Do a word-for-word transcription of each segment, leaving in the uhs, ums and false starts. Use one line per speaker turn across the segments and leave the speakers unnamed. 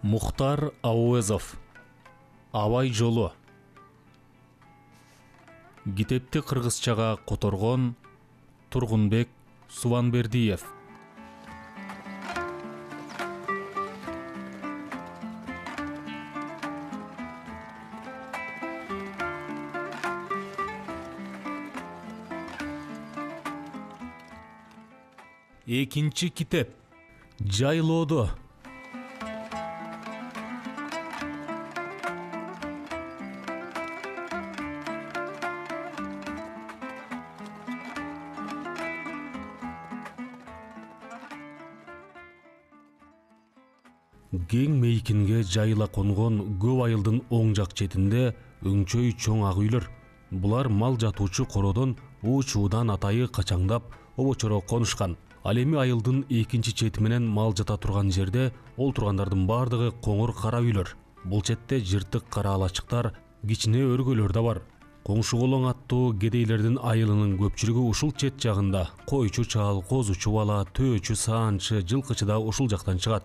Мухтар Ауезов. Абай жолу. Китепти кыргызчага которгон Тургунбек Субанбердиев. Экинчи китеп. Жайлоодо. Кең мейкинге жайыла конгон көп айылдын оң жак четинде өңчөй чоң ак үйлөр. Булар мал жатуучу кородон уу-чуудан атайы качаңдап обочоро конушкан. Ал эми айылдын экинчи чети менен мал жата турган жерде ол тургандардын бардыгы коңур кара үйлөр. Бул четте жыртык кара алачыктар, кичине өргөлөр да бар. Коңшу колоң аттуу кедейлердин айылынын көпчүлүгү ушул чет жагында, койчу чал, козучу бала, төөчү, саанчы, жылкычы да ушул жактан чыгат.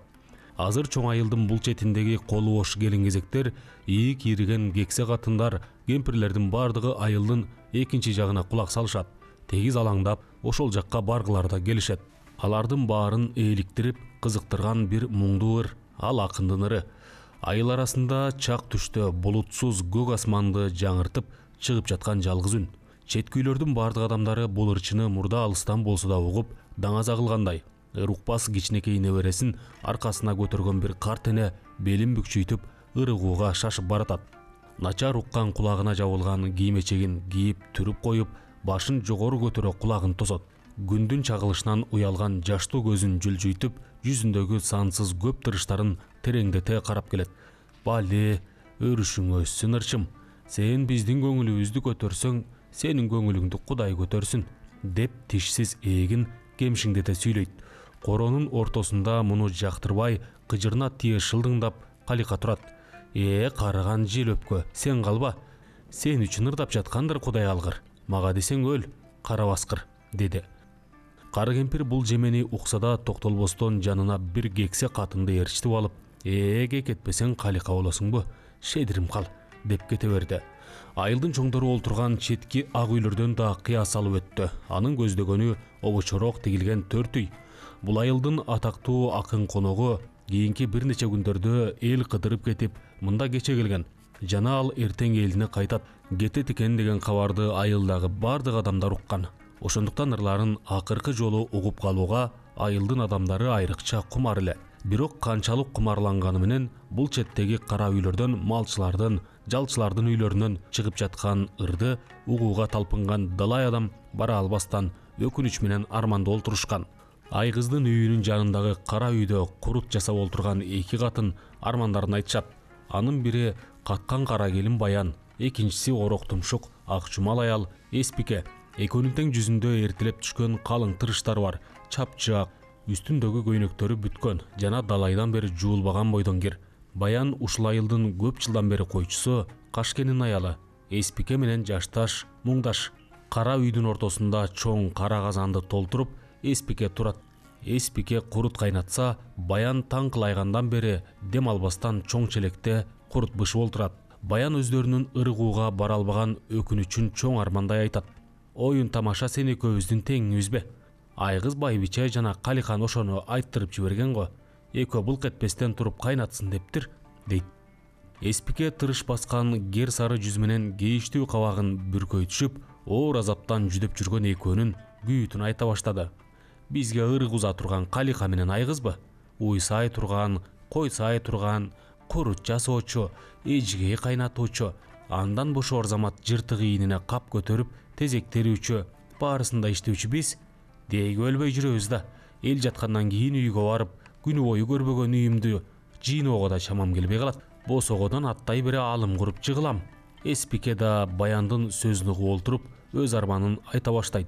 Азыр чоң айылдын бул четиндеги колу бош келин-кезектер, ийик ийриген кексе катындар, кемпирлердин бардыгы айылдын экинчи жагына кулак салышат. Тегиз алаңдап, ошол жакка баргылар да келишет. Алардын баарын ээликтирип, кызыктырган бир муңдуу ыр, ал акындын ыры. Айыл арасында чак түштө булутсуз көк асманды жаңыртып чыгып жаткан жалгыз үн. Четки үйлөрдүн бардык адамдары бул ырчыны мурда алыстан болсо да угуп, даңаза кылгандай. Ыр укпас кичинекей небересин аркасына көтөргөн бир карт эне белин бүкчүйтүп, ырыгууга шашып баратат. Начар уккан кулагына жабылган кийим-эчегин кийип түрүп коюп, башын жогору көтөрө кулагын тосот. Күндүн чагылышынан уялган жаштуу көзүн жүлжүйтүп, жүзүндөгү сансыз көп тырыштарын тереңдете карап келет. Бале, өрүшүң өссүн ырчым. Сен биздин көңүлүбүздү көтөрсөң, сенин көңүлүңдү Кудай көтөрсүн, деп тишсиз эгин кемшиңдете сүйлөйт. Коронун ортосунда муну жактырбай, кыжырына тие шылдыңдап Калика турат. Э, карыган жел өпкө, сен калба. Сен үчүн ырдап жаткандыр Кудай алгыр. Мага десең өл, кара баскыр, деди. Кары кемпир бул жемени укса да токтолбостон жанына бир кексе катынды ээрчитип алып, «Э, кекетпесең Калика болосуңбу? Шедирим кал», деп кете берди. Айылдын чоңдору олтурган четки ак үйлөрдөн да кыя салып өттү. Анын көздөгөнү обочорок тигилген төрт үй. Бул айылдын атактуу акын коногу кийинки бир нече күндөрдө эл кыдырып кетип, мында кече келген. Жана ал эртең элине кайтат. Кетет экен деген кабарды айылдагы бардык адамдар уккан. Ошондуктан ырларын акыркы жолу угуп калууга айылдын адамдары айрыкча кумар эле. Бирок канчалык кумарланганы менен бул четтеги кара үйлөрдөн, малчылардын, жалчылардын үйлөрүнөн чыгып жаткан ырды угууга талпынган далай адам бара албастан өкүнүч менен арманда олтурушкан. Айгыздын үйүнүн жанындагы кара үйдө курут жасап олтурган эки катын армандарын айтышат. Анын бири каткан кара келин Баян, экинчиси орок тумшук ак чумал аял Эспике. Экөөнүн тең жүзүндө эртилеп түшкөн калың тырыштар бар. Чапчак, үстүндөгү көйнөктөрү бүткөн жана далайдан бери жуулбаган бойдон кир. Баян ушул айылдын көп жылдан бери койчусу, Кашкенин аялы. Эспике менен жашташ, муңдаш. Кара үйдүн ортосунда чоң кара казанды толтуруп, Эспике турат. Эспике курут кайнатса, Баян таң кылайгандан бери дем албастан чоң челекте курут бышып олтурат. Баян өздөрүнүн ырыгууга бара албаган өкүнүчүн чоң армандай айтат. Оюн тамаша сен экөөбүздүн теңибизбе? Айгыз Байбиче жана Каликан ошону айттырып жиберген го. Экөө булк этпестен туруп кайнатсын дептир, дейт. Эспике тырыш баскан кер сары жүз менен кейиштүү кабагын бүркөйтүшүп, оор азаптан жүдөп жүргөн экөөнүн күйүтүн айта баштады. Бизге ырык уза турган Калика менен Айгызбы? Уйсай турган, койсай турган, курут жасоочу, эжигей кайнатуучу, андан бошоор замат жыртык ийинине кап көтөрүп, тезек терүүчү, баарысында иштөөчү биз дейги өлбөй жүрөбүз да. Эл жаткандан кийин үйгө барып, күнү бою көрбөгөн үйүмдү жыйноого да чамам келбей калат. Босогодон аттай бере алым куруп жыгылам. Эспике да Баяндын сөзүн угуп олтуруп, өз арманын айта баштайт.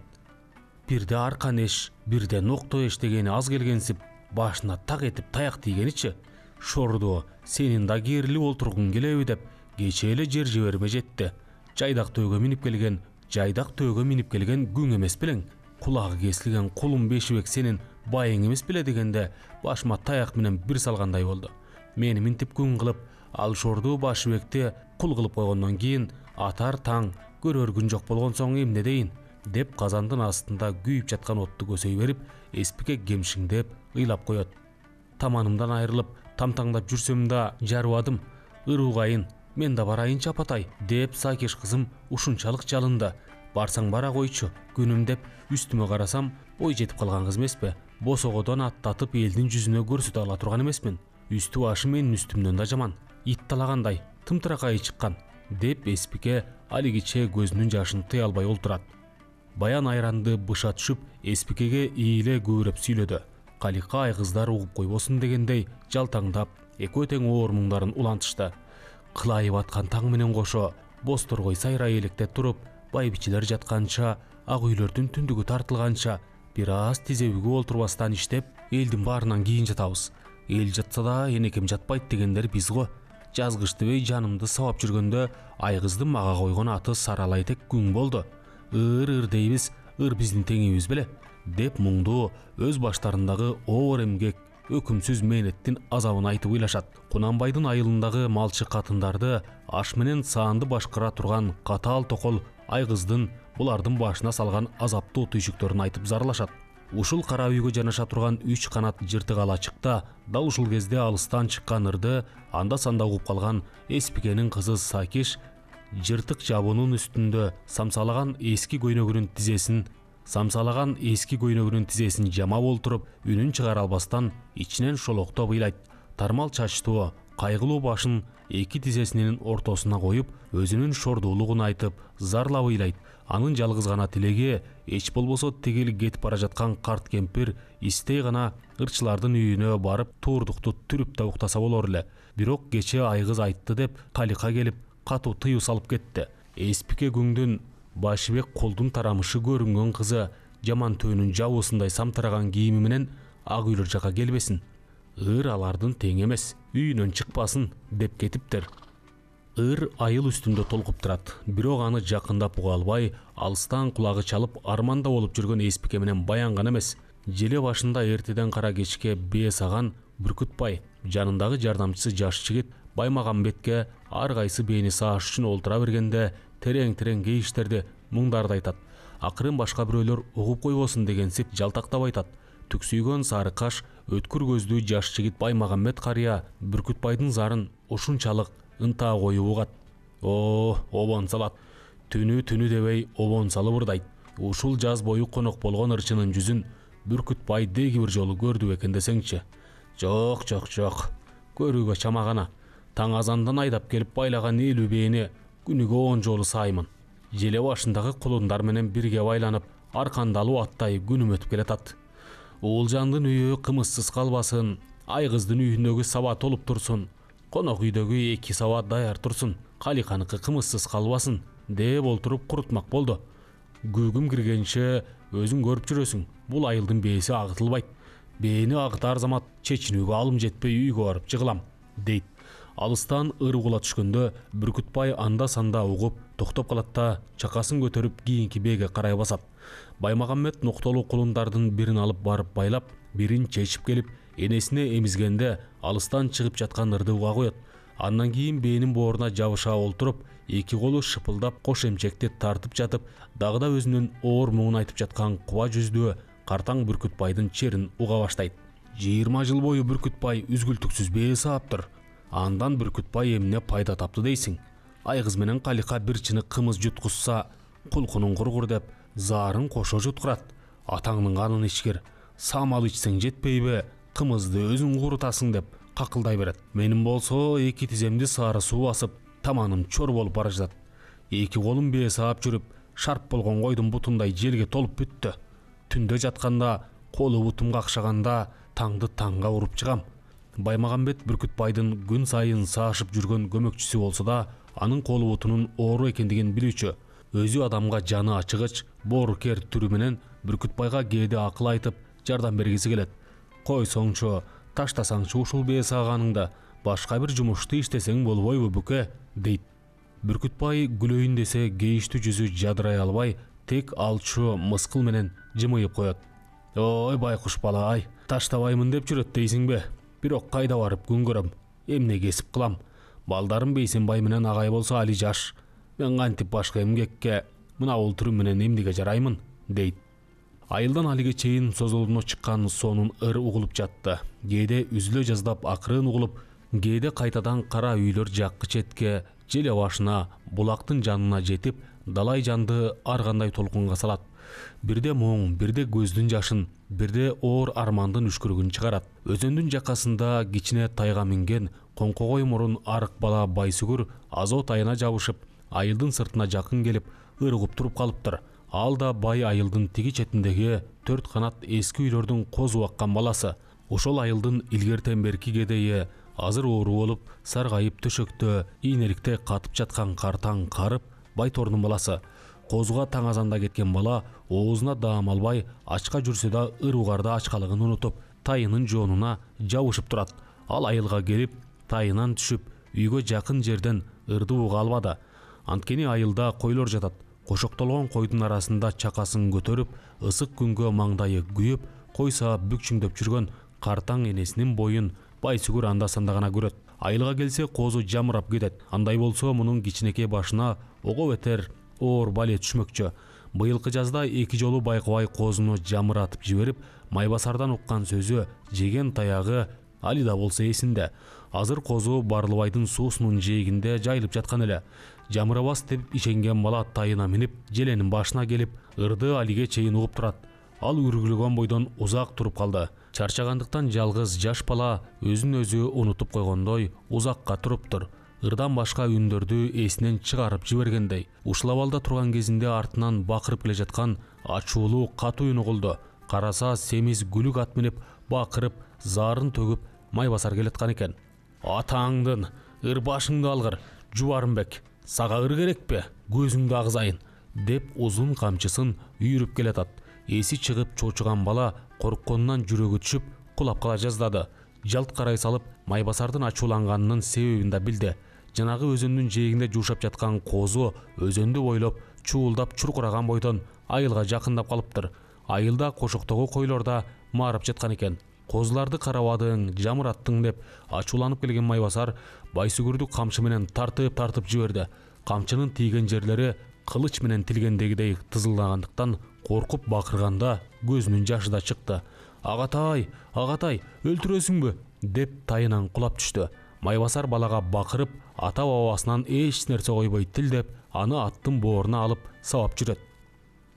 Бирде аркан эш, бирде нокто эш дегени аз келгенсип, башына так этип таяк тийгеничи. Шорду, сенин да керилип олтургуң келеби деп, кече эле жер жиберме жетти. Жайдак төөгө минип келген, жайдак төөгө минип келген күң эмес белең. Кулагы кесилген кулум Бешибек сенин байың эмес беле дегенде, башыма таяк менен бир салгандай болду. мени минтип күн кылып, Алшорду Башыбекти кул кылып койгондон кийин атар таң көрөр күн жок болгон соң эмне дейин деп казандын астында күйүп жаткан отту көсөй берип, Эспике кемшиңдеп ыйлап коет. Таманымдан айрылып, тамтаңдап жүрсөм да жарыбадым. Ыруугайын, мен да барайынчы апатай деп Сакиш кызым ушунчалык жалынды. Барсаң бара койчу, күнүм деп үстүмө карасам, ой жетип калган кыз эмеспи? Босогодон аттатып элдин жүзүнө көрсөтө ала турган эмесмин. Үстү башы менин үстүмдөн да жаман. Ит талагандай, тымтыракай чыккан деп Эспике алигиче көзүнүн жашын тыя албай олтурат. Баян айранды быша түшүп, Эспикеге ийиле күбүрөп сүйлөдү. Калика айгыздар угуп койбосун дегендей жалтаңдап, экөө тең оор муңдарын улантышты. Кылайып аткан таң менен кошо бозторгой сайрай электеп туруп, байбичелер жатканча, ак үйлөрдүн түндүгү тартылганча, бир аз тизе бүгүп олтурбастан иштеп, элдин баарынан кийин жатабыз. Эл жатса да энекем жатпайт дегендер биз го. Жазгыч дебей жанымды сабап жүргөндө айгыздын мага койгон аты Саралайтек күң болду. Ыр-ыр дейбиз, ыр биздин теңибиз беле деп муңду өз баштарындагы оор эмгек, өкүмсүз мээнеттин азабын айтып ыйлашат. Кунанбайдын айылындагы малчы катындарды аш менен саанды башкара турган катаал токол айгыздын булардын башына салган азаптуу түйшүктөрүн айтып зарлашат. Ушул кара үйгө жанаша турган үч канат жыртык алачыкта дал ушул кезде алыстан чыккан ырды анда санда угуп калган Эспикенин кызы Сакиш жыртык жабуунун үстүндө самсалаган эски көйнөгүнүн тизесин самсалаган эски көйнөгүнүн тизесин жамап олтуруп, үнүн чыгара албастан ичинен шолоктоп ыйлайт. Тармал чачтуу, кайгылуу башын эки тизесинин ортосуна коюп, өзүнүн шордуулугун айтып, зарлап ыйлайт. Анын жалгыз гана тилеги эч болбосо тигил кетип бара жаткан карт кемпир истей гана ырчылардын үйүнө барып туурдукту түрүп да уктаса болор эле. Бирок кечээ айгыз айтты деп Калика келип катуу тыюу салып кетти. Эспике күңдүн Башыбек колдун тарамышы көрүнгөн кызы жаман төөнүн жабуусундай самтыраган кийими менен ак үйлөр жака келбесин. Ыр алардын тең эмес, үйүнөн чыкпасын деп кетиптир. Ыр айыл үстүндө толкуп турат. Бирок аны жакындап уга албай, алыстан кулагы чалып арманда болуп жүргөн Эспике менен Баян гана эмес. Желе башында эртеден кара кечке бээ саган Бүркүтбай, жанындагы жардамчысы жаш жигит Баймагамбетке ар кайсы бээни сааш үчүн олтура бергенде терең-терең кейиштерди, муңдарды айтат. Акырын башка бирөөлөр угуп койбосун дегенсип жалтактап айтат. Түксүйгөн сары каш, өткүр көздүү жаш жигит Баймагамбет карыя Бүркүтбайдын зарын ушунчалык ынтаа коюп угат. О, обон салат. Түнү-түнү дебей обон салып ырдайт. Ушул жаз бою конок болгон ырчынын жүзүн Бүркүтбай деги бир жолу көрдү экен десеңчи. Жок, жок, жок. Көрүүгө чамагана. Таң азандан айдап келип байлаган элүү бээни күнүгө он жолу саймын. Желе башындагы кулундар менен бирге байланып, аркандалуу аттай күнүм өтүп келатат. Уулжандын үйү кымызсыз калбасын, айгыздын үйүндөгү саба толуп турсун, конок үйдөгү эки саба даяр турсун, Каликаныкы кымызсыз калбасын деп олтуруп курутмак болду. Күүгүм киргенче өзүң көрүп жүрөсүң, бул айылдын бээси агытылбайт. Бээни агытар замат чечинүүгө алым жетпей үйгө барып жыгылам, дейт. Алыстан ыр угула түшкөндө Бүркүтбай анда санда угуп токтоп калат да чакасын көтөрүп кийинки бээге карай басат. Баймагамбет ноктолуу кулундардын бирин алып барып байлап, бирин чечип келип, энесине эмизгенде алыстан чыгып жаткан ырды уга коет. Андан кийин бээнин бооруна жабыша олтуруп, эки колу шыпылдап кош эмчекти тартып жатып, дагы да өзүнүн оор муңун айтып жаткан куба жүздүү картаң Бүркүтбайдын черин уга баштайт. жыйырма жыл бою Бүркүтбай үзгүлтүксүз бээ сааптыр. Андан Бүркүтбай эмне пайда тапты дейсиң? Айгыз менен Калика бир чынык кымыз жуткузса, кулкунун кургур деп заарын кошо жуткурат. Атаңдын канын ичкир, самал ичсең жетпейби, кымызды өзүң курутасың деп какылдай берет. Менин болсо эки тиземди сары суу басып, таманым чор болуп бара жатат. Эки колум бээ саап жүрүп, шарп болгон койдун бутундай желге толуп бүттү. Түндө жатканда, колу бутум какшаганда таңды таңга уруп чыгам. Баймагамбет Бүркүтбайдын күн сайын саашып жүргөн көмөкчүсү болсо да, анын колу бутунун оору экендигин билүүчү. Өзү адамга жаны ачыгыч, боорукер түрү менен Бүркүтбайга кээде акыл айтып, жардам бергиси келет. Койсоңчу, таштасаңчы ушул бээ сааганыңда, башка бир жумушту иштесең болбойбу бүкө, дейт. Бүркүтбай күлөйүн десе кейиштүү жүзү жадырай албай, тек алчу мыскыл менен жымыйып коет. Ой, байкуш бала ай, таштабаймын деп жүрөт дейсиңби? Бирок кайда барып күн көрөм? Эмне кесип кылам? Балдарым Бейсенбай менен агай болсо али жаш. Мен кантип башка эмгекке мына бул түрүм менен эмнеге жараймын, дейт. Айылдан алиге чейин созолуна чыккан сонун ыр угулуп жатты. Кээде үзүлө жаздап акырын угулуп, кээде кайтадан кара үйлөр жаккы четке, желе башына, булактын жанына жетип, далай жанды ар кандай толкунга салат. Бирде моң, бирде көздүн жашын, бирде оор армандын үшкүрүгүн чыгарат. Өзөндүн жакасында кичине тайга минген коңкогой мурун арык бала Байсүгүр азот айына жабышып, айылдын сыртына жакын келип, ыр угуп туруп калыптыр. Ал да бай айылдын тиги четиндеги төрт канат эски үйлөрдүн козу баккан баласы. Ошол айылдын илгертен берки кедейи азыр оору болуп, саргайып төшөктө ийнеликте катып жаткан картаң карып Байтордун баласы. Козуга таң азанда кеткен бала оозуна даам албай, ачка жүрсө да ыр угарда ачкалыгын унутуп, тайынын жоонуна жабышып турат. Ал айылга келип, тайынан түшүп, үйгө жакын жерден ырды уга албады. Анткени айылда койлор жатат. Кошоктолгон койдун арасында чакасын көтөрүп, ысык күнгө маңдайы күйүп, кой саап бүкчүңдөп жүргөн картаң энесинин боюн Байсүгүр анда-санда гана көрөт. Айылга келсе козу жамырап кетет. Андай болсо мунун кичинекей башына ого бетер оор бале түшмөкчү. Быйылкы жазда эки жолу байкабай козуну жамыратып жиберип, Майбасардан уккан сөзү, жеген таягы али да болсо эсинде. Азыр козу Барлыбайдын суусунун жээгинде жайылып жаткан эле. Жамырабас деп ишенген бала тайына минип, желенин башына келип, ырды алиге чейин угуп турат. Ал үргүлөгөн бойдон узак туруп калды. Чарчагандыктан жалгыз жаш бала өзүн өзү унутуп койгондой узакка туруптур. Ырдан башка үндөрдү эсинен чыгарып жибергендей. Ушул абалда турган кезинде артынан бакырып келе жаткан ачуулуу катуу үн угулду. Караса семиз күлүк ат минип, бакырып, заарын төгүп Майбасар келаткан экен. Атаңдын ыр башыңды алгыр, Жубарымбек. Сага ыр керекпи? Көзүңдү агызайын, деп узун камчысын үйрүп келатат. Эси чыгып чочуган бала коркконунан жүрөгү түшүп, кулап кала жаздады. Жалт карай салып, Майбасардын ачууланганынын себебин да билди. Жанагы өзөндүн жээгинде жуушап жаткан козу өзөндү бойлоп, чуулдап чуркураган бойдон айылга жакындап калыптыр. Айылда кошоктогу койлор да маарып жаткан экен. Козуларды карабадың, жамыраттың деп ачууланып келген Майбасар Байсүгүрдү камчы менен тартып-тартып жиберди. Камчынын тийген жерлери кылыч менен тилгендегидей тызылдагандыктан коркуп бакырганда көзүнүн жашы да чыкты. Агатай, агатай, өлтүрөсүңбү? Деп тайынан кулап түштү. Майбасар балага бакырып, ата бабасынан эч нерсе койбой тилдеп, аны аттын бооруна алып сабап жүрөт.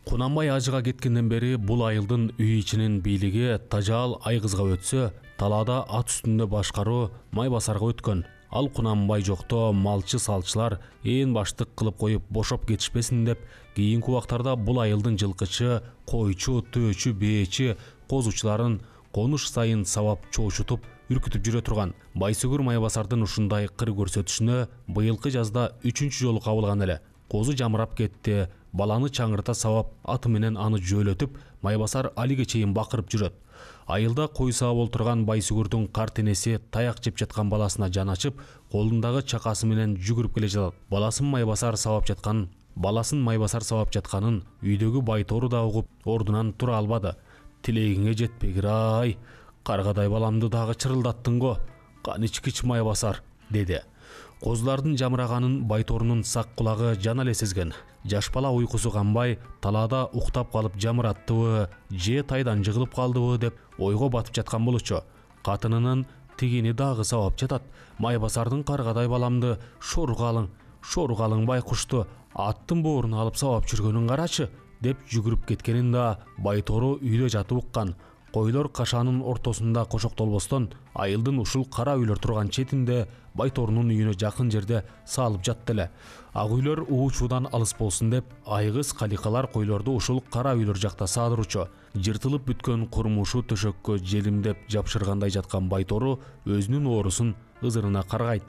Кунанбай ажыга кеткенден бери бул айылдын үй ичинин бийлиги Тажаал Айгызга өтсө, талаада ат үстүндө башкаруу Майбасарга өткөн. Ал Кунанбай жокто малчы салчылар ээн баштык кылып коюп бошоп кетишпесин деп, кийинки убактарда бул айылдын жылкычы, койчу, төөчү, бээчи, козучуларын конуш сайын сабап чоочутуп, үркүтүп жүрө турган. Байсүгүр Майбасардын ушундай кыр көрсөтүшүнө быйылкы жазда үчүнчү жолу кабылган эле. Козу жамырап кетти, баланы чаңырта сабап, аты менен аны жөөлөтүп, Майбасар алиге чейин бакырып жүрөт. Айылда кой саап олтурган Байсүгүрдүн карт энеси таяк жеп жаткан баласына жан ачып, колундагы чакасы менен жүгүрүп келе жатат. Баласын Майбасар сабап жаткан, баласын Майбасар сабап жатканын үйдөгү Байтору да угуп, ордунан тура албады. Тилегиңе жетпегир-ай, каргадай баламды дагы чырылдаттың го. Каничкич Майбасар, деди. Козулардын жамыраганын Байторунун сак кулагы жана эле сезген. Жаш бала уйкусу канбай, талаада уктап калып жамыраттыбы, же тайдан жыгылып калдыбы деп ойго батып жаткан болчу. Катынынын тигини дагы сабап жатат. Майбасардын каргадай баламды шоругалың, шоругалың байкушту аттын бооруна алып сабап жүргөнүн карачы, деп жүгүрүп кеткенин да Байтору үйдө жатып уккан. Койлор кашанын ортосунда кошоктолбостон, айылдын ушул кара үйлөр турган четинде Байторунун үйүнө жакын жерде салып жатты эле. Ак үйлөр уучуудан алыс болсун деп, айгыз каликалар койлорду ушул кара үйлөр жакта саадырчу. Жыртылып бүткөн курмушу төшөккө желимдеп жапшыргандай жаткан Байтору өзүнүн оорусун ызырына каргайт.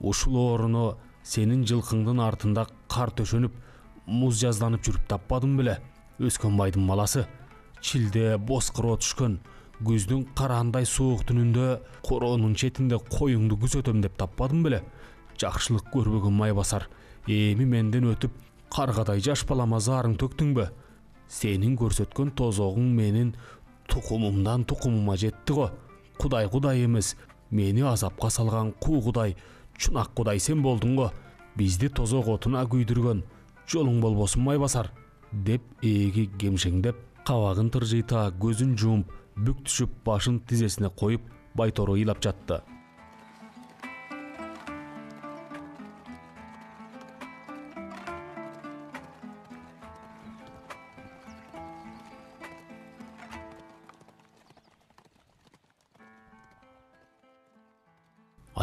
Ушул ооруну сенин жылкыңдын артында кар төшөнүп, муз жазданып жүрүп таппадым беле? Өскөн байдын баласы. Чилде боскыроо түшкөн, күздүн караандай суук түнүндө короонун четинде коюңду күзөтөм деп таппадым беле? Жакшылык көрбөгөн Майбасар, эми менден өтүп, каргадай жаш балама заарың төктүңбү? Сенин көрсөткөн тозогуң менин тукумумдан тукумума жетти го. Кудай кудай эмес, Мени азапка салган куу Кудай, чунак Кудай сен болдуң го. Бизди тозок отуна күйдүргөн, жолуң болбосун Майбасар, деп ээги кемшеңдеп, кабагын тыржыйта, көзүн жумуп, бүк түшүп, башын тизесине коюп, Байтору ыйлап жатты.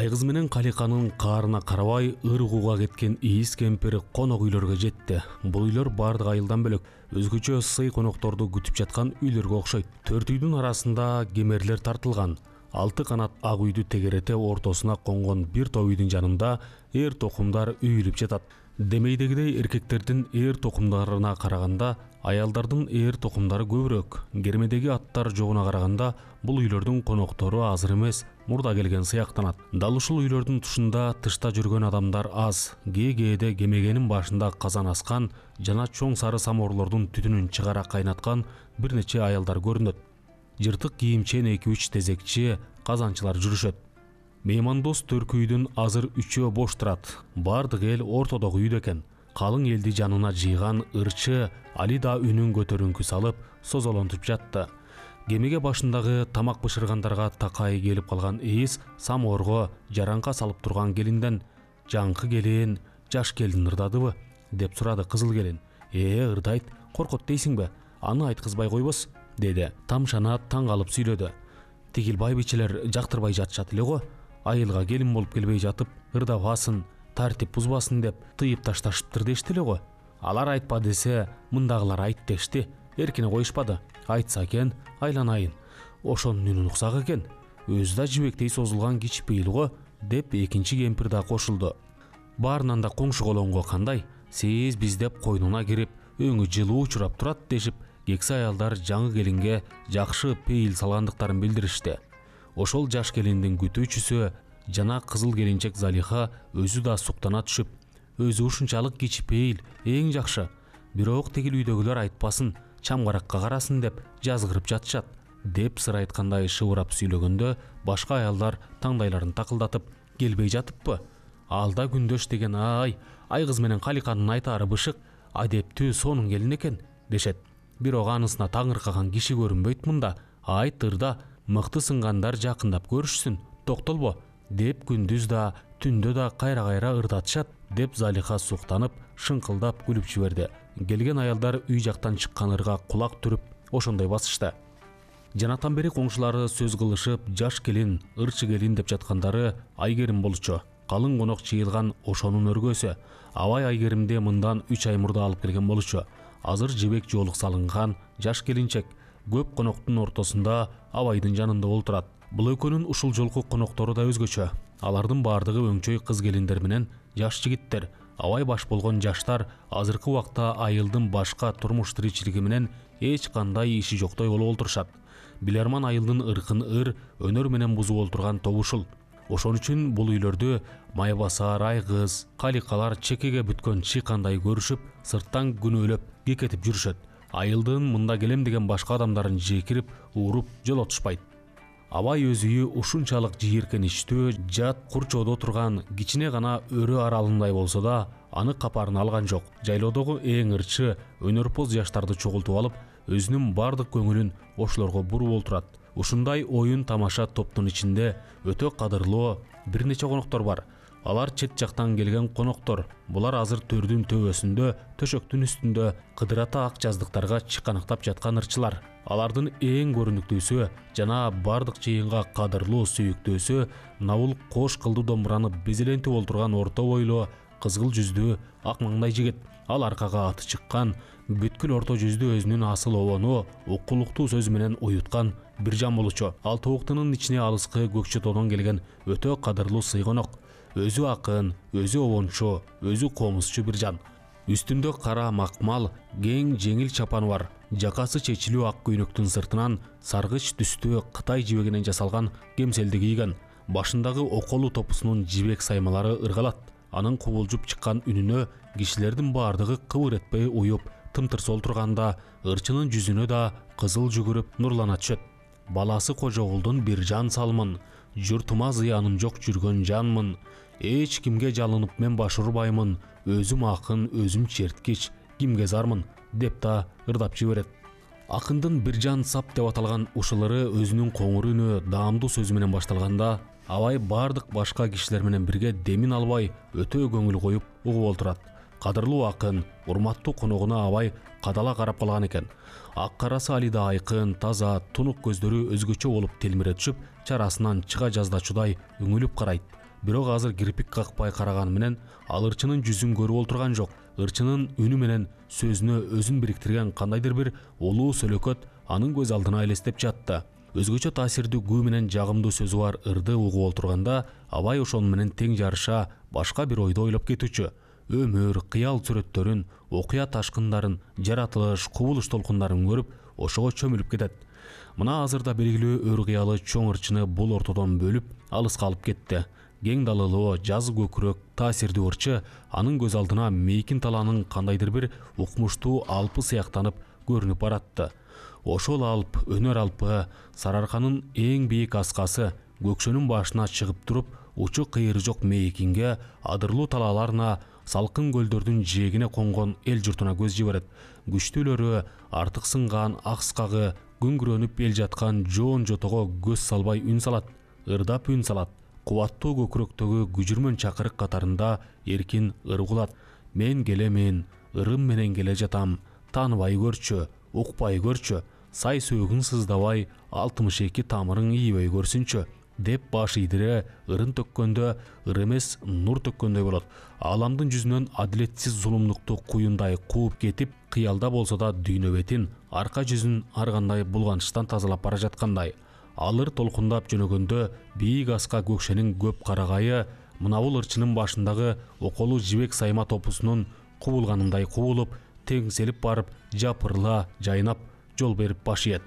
Айгыз менен Каликанын каарына карабай ыр кууга кеткен ийиз кемпир конок үйлөргө жетти. Бул үйлөр бардык айылдан бөлөк өзгөчө сый конокторду күтүп жаткан үйлөргө окшойт. Төрт үйдүн арасында кемерлер тартылган. Алты канат ак үйдү тегерете ортосуна конгон бир топ үйдүн жанында эр токумдар үйүлүп жатат. Демейдегидей эркектердин эр токумдарына караганда аялдардын эр токумдары көбүрөөк. Кермедеги аттар жогуна караганда бул үйлөрдүн коноктору азыр эмес, мурда келген сыяктанат. Дал ушул үйлөрдүн тушунда тышта жүргөн адамдар аз. Кээ-кээде кемегенин башында казан аскан жана чоң сары самоорлордун түтүнүн чыгара кайнаткан бир нече аялдар көрүнөт. Жыртык кийимчен эки үч тезекчи казанчылар жүрүшөт. Меймандос төркү үйдүн азыр үчөө бош турат. Бардык эл ортодогу үйдө экен. Калың элди жанына жыйган ырчы Али да үнүн көтөрүңкү салып, созолонтуп жатты. Кемеге башындагы тамак бышыргандарга такай келип калган эйис самоорго жаранка салып турган келинден: "Жаңкы келин, жаш келин ырдадыбы?" деп сурады кызыл келин. "Ээ, ырдайт, коркот дейсиңби? Аны айткызбай койбос", деди. Тамшана таң калып сүйлөдү. "Тигил байбичелер жактырбай жатышат эле го. Айылга келин болуп келбей жатып, ырдабасын, тартип бузбасын деп тыйып ташташыптыр дешти эле го. Алар айтпа десе, мындагылар айт дешти. Эркине коюшпады. Айтса экен, айланайын. Ошонун үнүн уксак экен. Өзү да жибектей созулган кичпейил го", деп экинчи кемпир да кошулду. "Баарынан да коңшу колоңго кандай? Сиз биз деп койнуна кирип, өңү жылуу учурап турат" дешип, кексе аялдар жаңы келинге жакшы пейил салгандыктарын билдиришти. Ошол жаш келиндин күтүүчүсү жана кызыл келинчек Залиха өзү да суктана түшүп: "Өзү ушунчалык кичпейил, эң жакшы. Бирок тигил үйдөгүлөр айтпасын, чамгаракка карасын деп жазгырып жатышат", деп сыр айткандай шыбырап сүйлөгөндө башка аялдар таңдайларын такылдатып: "Келбей жатыппы? Алда күндөш деген ай, Айгыз менен Каликанын айтаары бышык, адептүү сонун келин экен" дешет. "Бирок анысына таңыркаган киши көрүнбөйт мында. Айт ырда, мыкты сынгандар жакындап көрүшсүн, токтолбо", деп күндүз да түндө да кайра-кайра ырдатышат, деп Залиха суктанып, шыңкылдап күлүп жиберди. Келген аялдар үй жактан чыккан ырга кулак түрүп ошондой басышты. Жанатан бери коңшулары сөз кылышып, жаш келин, ырчы келин деп жаткандары Айгерим болчу. Калың конок чыйылган ошонун өргөсү. Абай Айгеримди мындан үч ай мурда алып келген болчу. Азыр жибек жоолук салынган жаш келинчек көп коноктун ортосунда Абайдын жанында олтурат. Бул экөөнүн ушул жолку коноктору да өзгөчө. Алардын бардыгы өңчөй кыз келиндер менен жаш жигиттер. Абай баш болгон жаштар азыркы убакта айылдын башка турмуш тиричилиги менен эч кандай иши жоктой болуп олтурушат. Биларман айылдын ыркын ыр, өнөр менен бузуп олтурган тобу ушул. Ошон үчүн бул үйлөрдү Майбасар, Айгыз, Каликалар чекеге бүткөн чыйкандай көрүшүп, сырттан күнөөлөп кекетип жүрүшөт. Айылдын мында келем деген башка адамдарын жекирип, ууруп жолотушпайт. Абай өз үйү ушунчалык жийиркеничтүү, жат курчоодо турган кичине гана өрө аралындай болсо да, аны капарына алган жок. Жайлоодогу эң ырчы, өнөрпоз жаштарды чогултуп алып, өзүнүн бардык көңүлүн ошолорго буруп олтурат. Ушундай оюн тамаша топтун ичинде өтө кадырлуу бир нече коноктор бар. Алар чет жактан келген коноктор. Булар азыр төрдүн төбөсүндө, төшөктүн үстүндө кыдырата ак жаздыктарга чыканактап жаткан ырчылар. Алардын эң көрүнүктүүсү жана бардык жыйынга кадырлуу сүйүктүүсү Навул кош кылдуу домбураны безелентип олтурган орто бойлуу, кызгыл жүздүү, ак маңдай жигит. Ал аркага аты чыккан, бүткүл орто жүздүү өзүнүн асыл обону укулуктуу сөзү менен уюткан бир жан болчу. Ал тобуктунун ичине алыскы көкчө тоодон келген өтө кадырлуу сыйгонок. Өзү акын, өзү обончу, өзү комузчу бир жан. Үстүндө кара макмал, кең жеңил чапаны бар. Жакасы чечилүү ак көйнөктүн сыртынан саргыч түстүү Кытай жибегинен жасалган кемселди кийген. Башындагы околу топусунун жибек саймалары ыргалат. Анын кубулжуп чыккан үнүнө кишилердин бардыгы кыбыр этпей уюп, тымтырса олтурганда ырчынын жүзүнө да кызыл жүгүрүп нурлана түшөт. баласы Кожогулдун Биржан Салмын, журтума зыяным жок жүргөн жанмын, эч кимге жалынып мен баш урбаймын, өзүм акын, өзүм черткич, кимге зармын деп да ырдап жиберет. Акындын Биржан Сап деп аталган ушулары өзүнүн коңур үнү, даамдуу сөзү менен башталганда, абай бардык башка кишилер менен бирге демин албай, өтө көңүл коюп угуп олтурат. Кадырлуу акын, урматтуу коногуна абай кадала карап калган экен. Ак карасы алида айкын, таза, тунук көздөрү өзгөчө болуп телмире түшүп, чарасынан чыга жаздачудай үңүлүп карайт. Бирок азыр кирпик какпай караганы менен ал ырчынын жүзүн көрүп олтурган жок. Ырчынын үнү менен сөзүнө өзүн бириктирген кандайдыр бир улуу сөлөкөт анын көз алдына элестеп жатты. Өзгөчө таасирдүү күү менен жагымдуу сөзү бар ырды угуп олтурганда, абай ошону менен тең жарыша башка бир ойду ойлоп кетүүчү. Өмүр, кыял сүрөттөрүн, окуя ташкындарын, жаратылыш, кубулуш толкундарын көрүп, ошого чөмүлүп кетет. Мына азырда белгилүү өр кыялы чоң ырчыны бул ортодон бөлүп, алыска алып кетти. Кең далылуу, жазы көкүрөк, таасирдүү ырчы анын көз алдына мейкин талаанын кандайдыр бир укмуштуу алпы сыяктанып көрүнүп баратты. Ошол алп, өнөр алпы, Сарыарканын эң бийик аскасы, көкшөнүн башына чыгып туруп, учу кыйыры жок мейкинге, адырлуу талааларына, салкын көлдөрдүн жээгине конгон эл журтуна көз жиберет. Күчтүүлөрү, артык сынган акскагы, күңгүрөнүп эл жаткан жоон жотого көз салбай үн салат, ырдап үн салат. Кубаттуу көкүрөктөгү күжүрмөн чакырык катарында эркин ыр угулат. Мен келемин, ырым менен келе жатам, тааныбай көрчү, укпай көрчү, сай сөөгүң сыздабай, алтымыш эки тамырың ийбей көрсүнчү деп баш ийдире ырын төккөндө ыр эмес нур төккөндөй болот. Ааламдын жүзүнөн адилетсиз зулумдукту куюндай кууп кетип, кыялда болсо да дүйнө бетин, арка жүзүн ар кандай булганычтан тазалап бара жаткандай. Алыр толкундап жөнөгөндө бийик аска көкшенин көп карагайы мына бул ырчынын башындагы околуу жибек сайма топусунун кубулганындай кубулуп, теңселип барып, жапырыла, жайнап, жол берип баш ийет.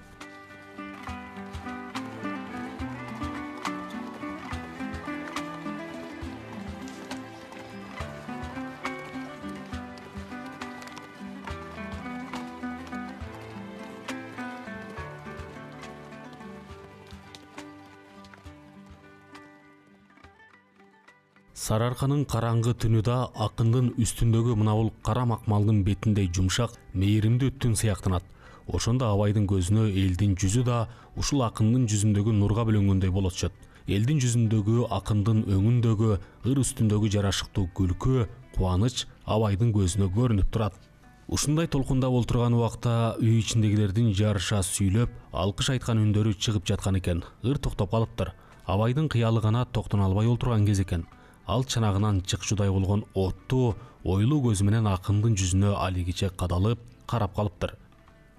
Сарыарканын караңгы түнүдө акындын үстүндөгү мына бул кара макмалдын бетиндей жумшак, мээримдүү түн сыяктанат. Ошондо абайдын көзүнө элдин жүзү да ушул акындын жүзүндөгү нурга бөлөнгөндөй болот түшөт. Элдин жүзүндөгү, акындын өңүндөгү, ыр үстүндөгү жарашыктуу күлкү, кубаныч абайдын көзүнө көрүнүп турат. Ушундай толкундап олтурган убакта үй ичиндегилердин жарыша сүйлөп, алкыш айткан үндөрү чыгып жаткан экен. Ыр токтоп калыптыр. Абайдын кыялы гана токтоно албай олтурган кез экен. Ал чанагынан чыкчудай болгон оттуу, ойлуу көзү менен акындын жүзүнө алигиче кадалып, карап калыптыр.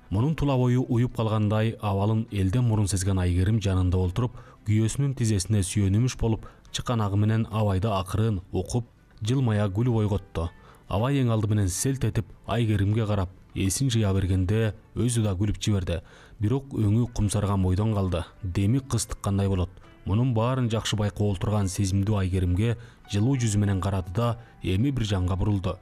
Мунун тула бою уюп калгандай абалын элден мурун сезген Айгерим жанында олтуруп, күйөөсүнүн тизесине сүйөнүмүш болуп, чыканагы менен абайды акырын укуп, жылмая күлүп ойготту. Абай эң алды менен селт этип Айгеримге карап, эсин жыя бергенде өзү да күлүп жиберди. Бирок өңү кумсарган бойдон калды. Деми кыз тыккандай болот. Мунун баарын жакшы байкап олтурган сезимдүү Айгеримге жылуу жүзү менен карады да эми Биржанга бурулду.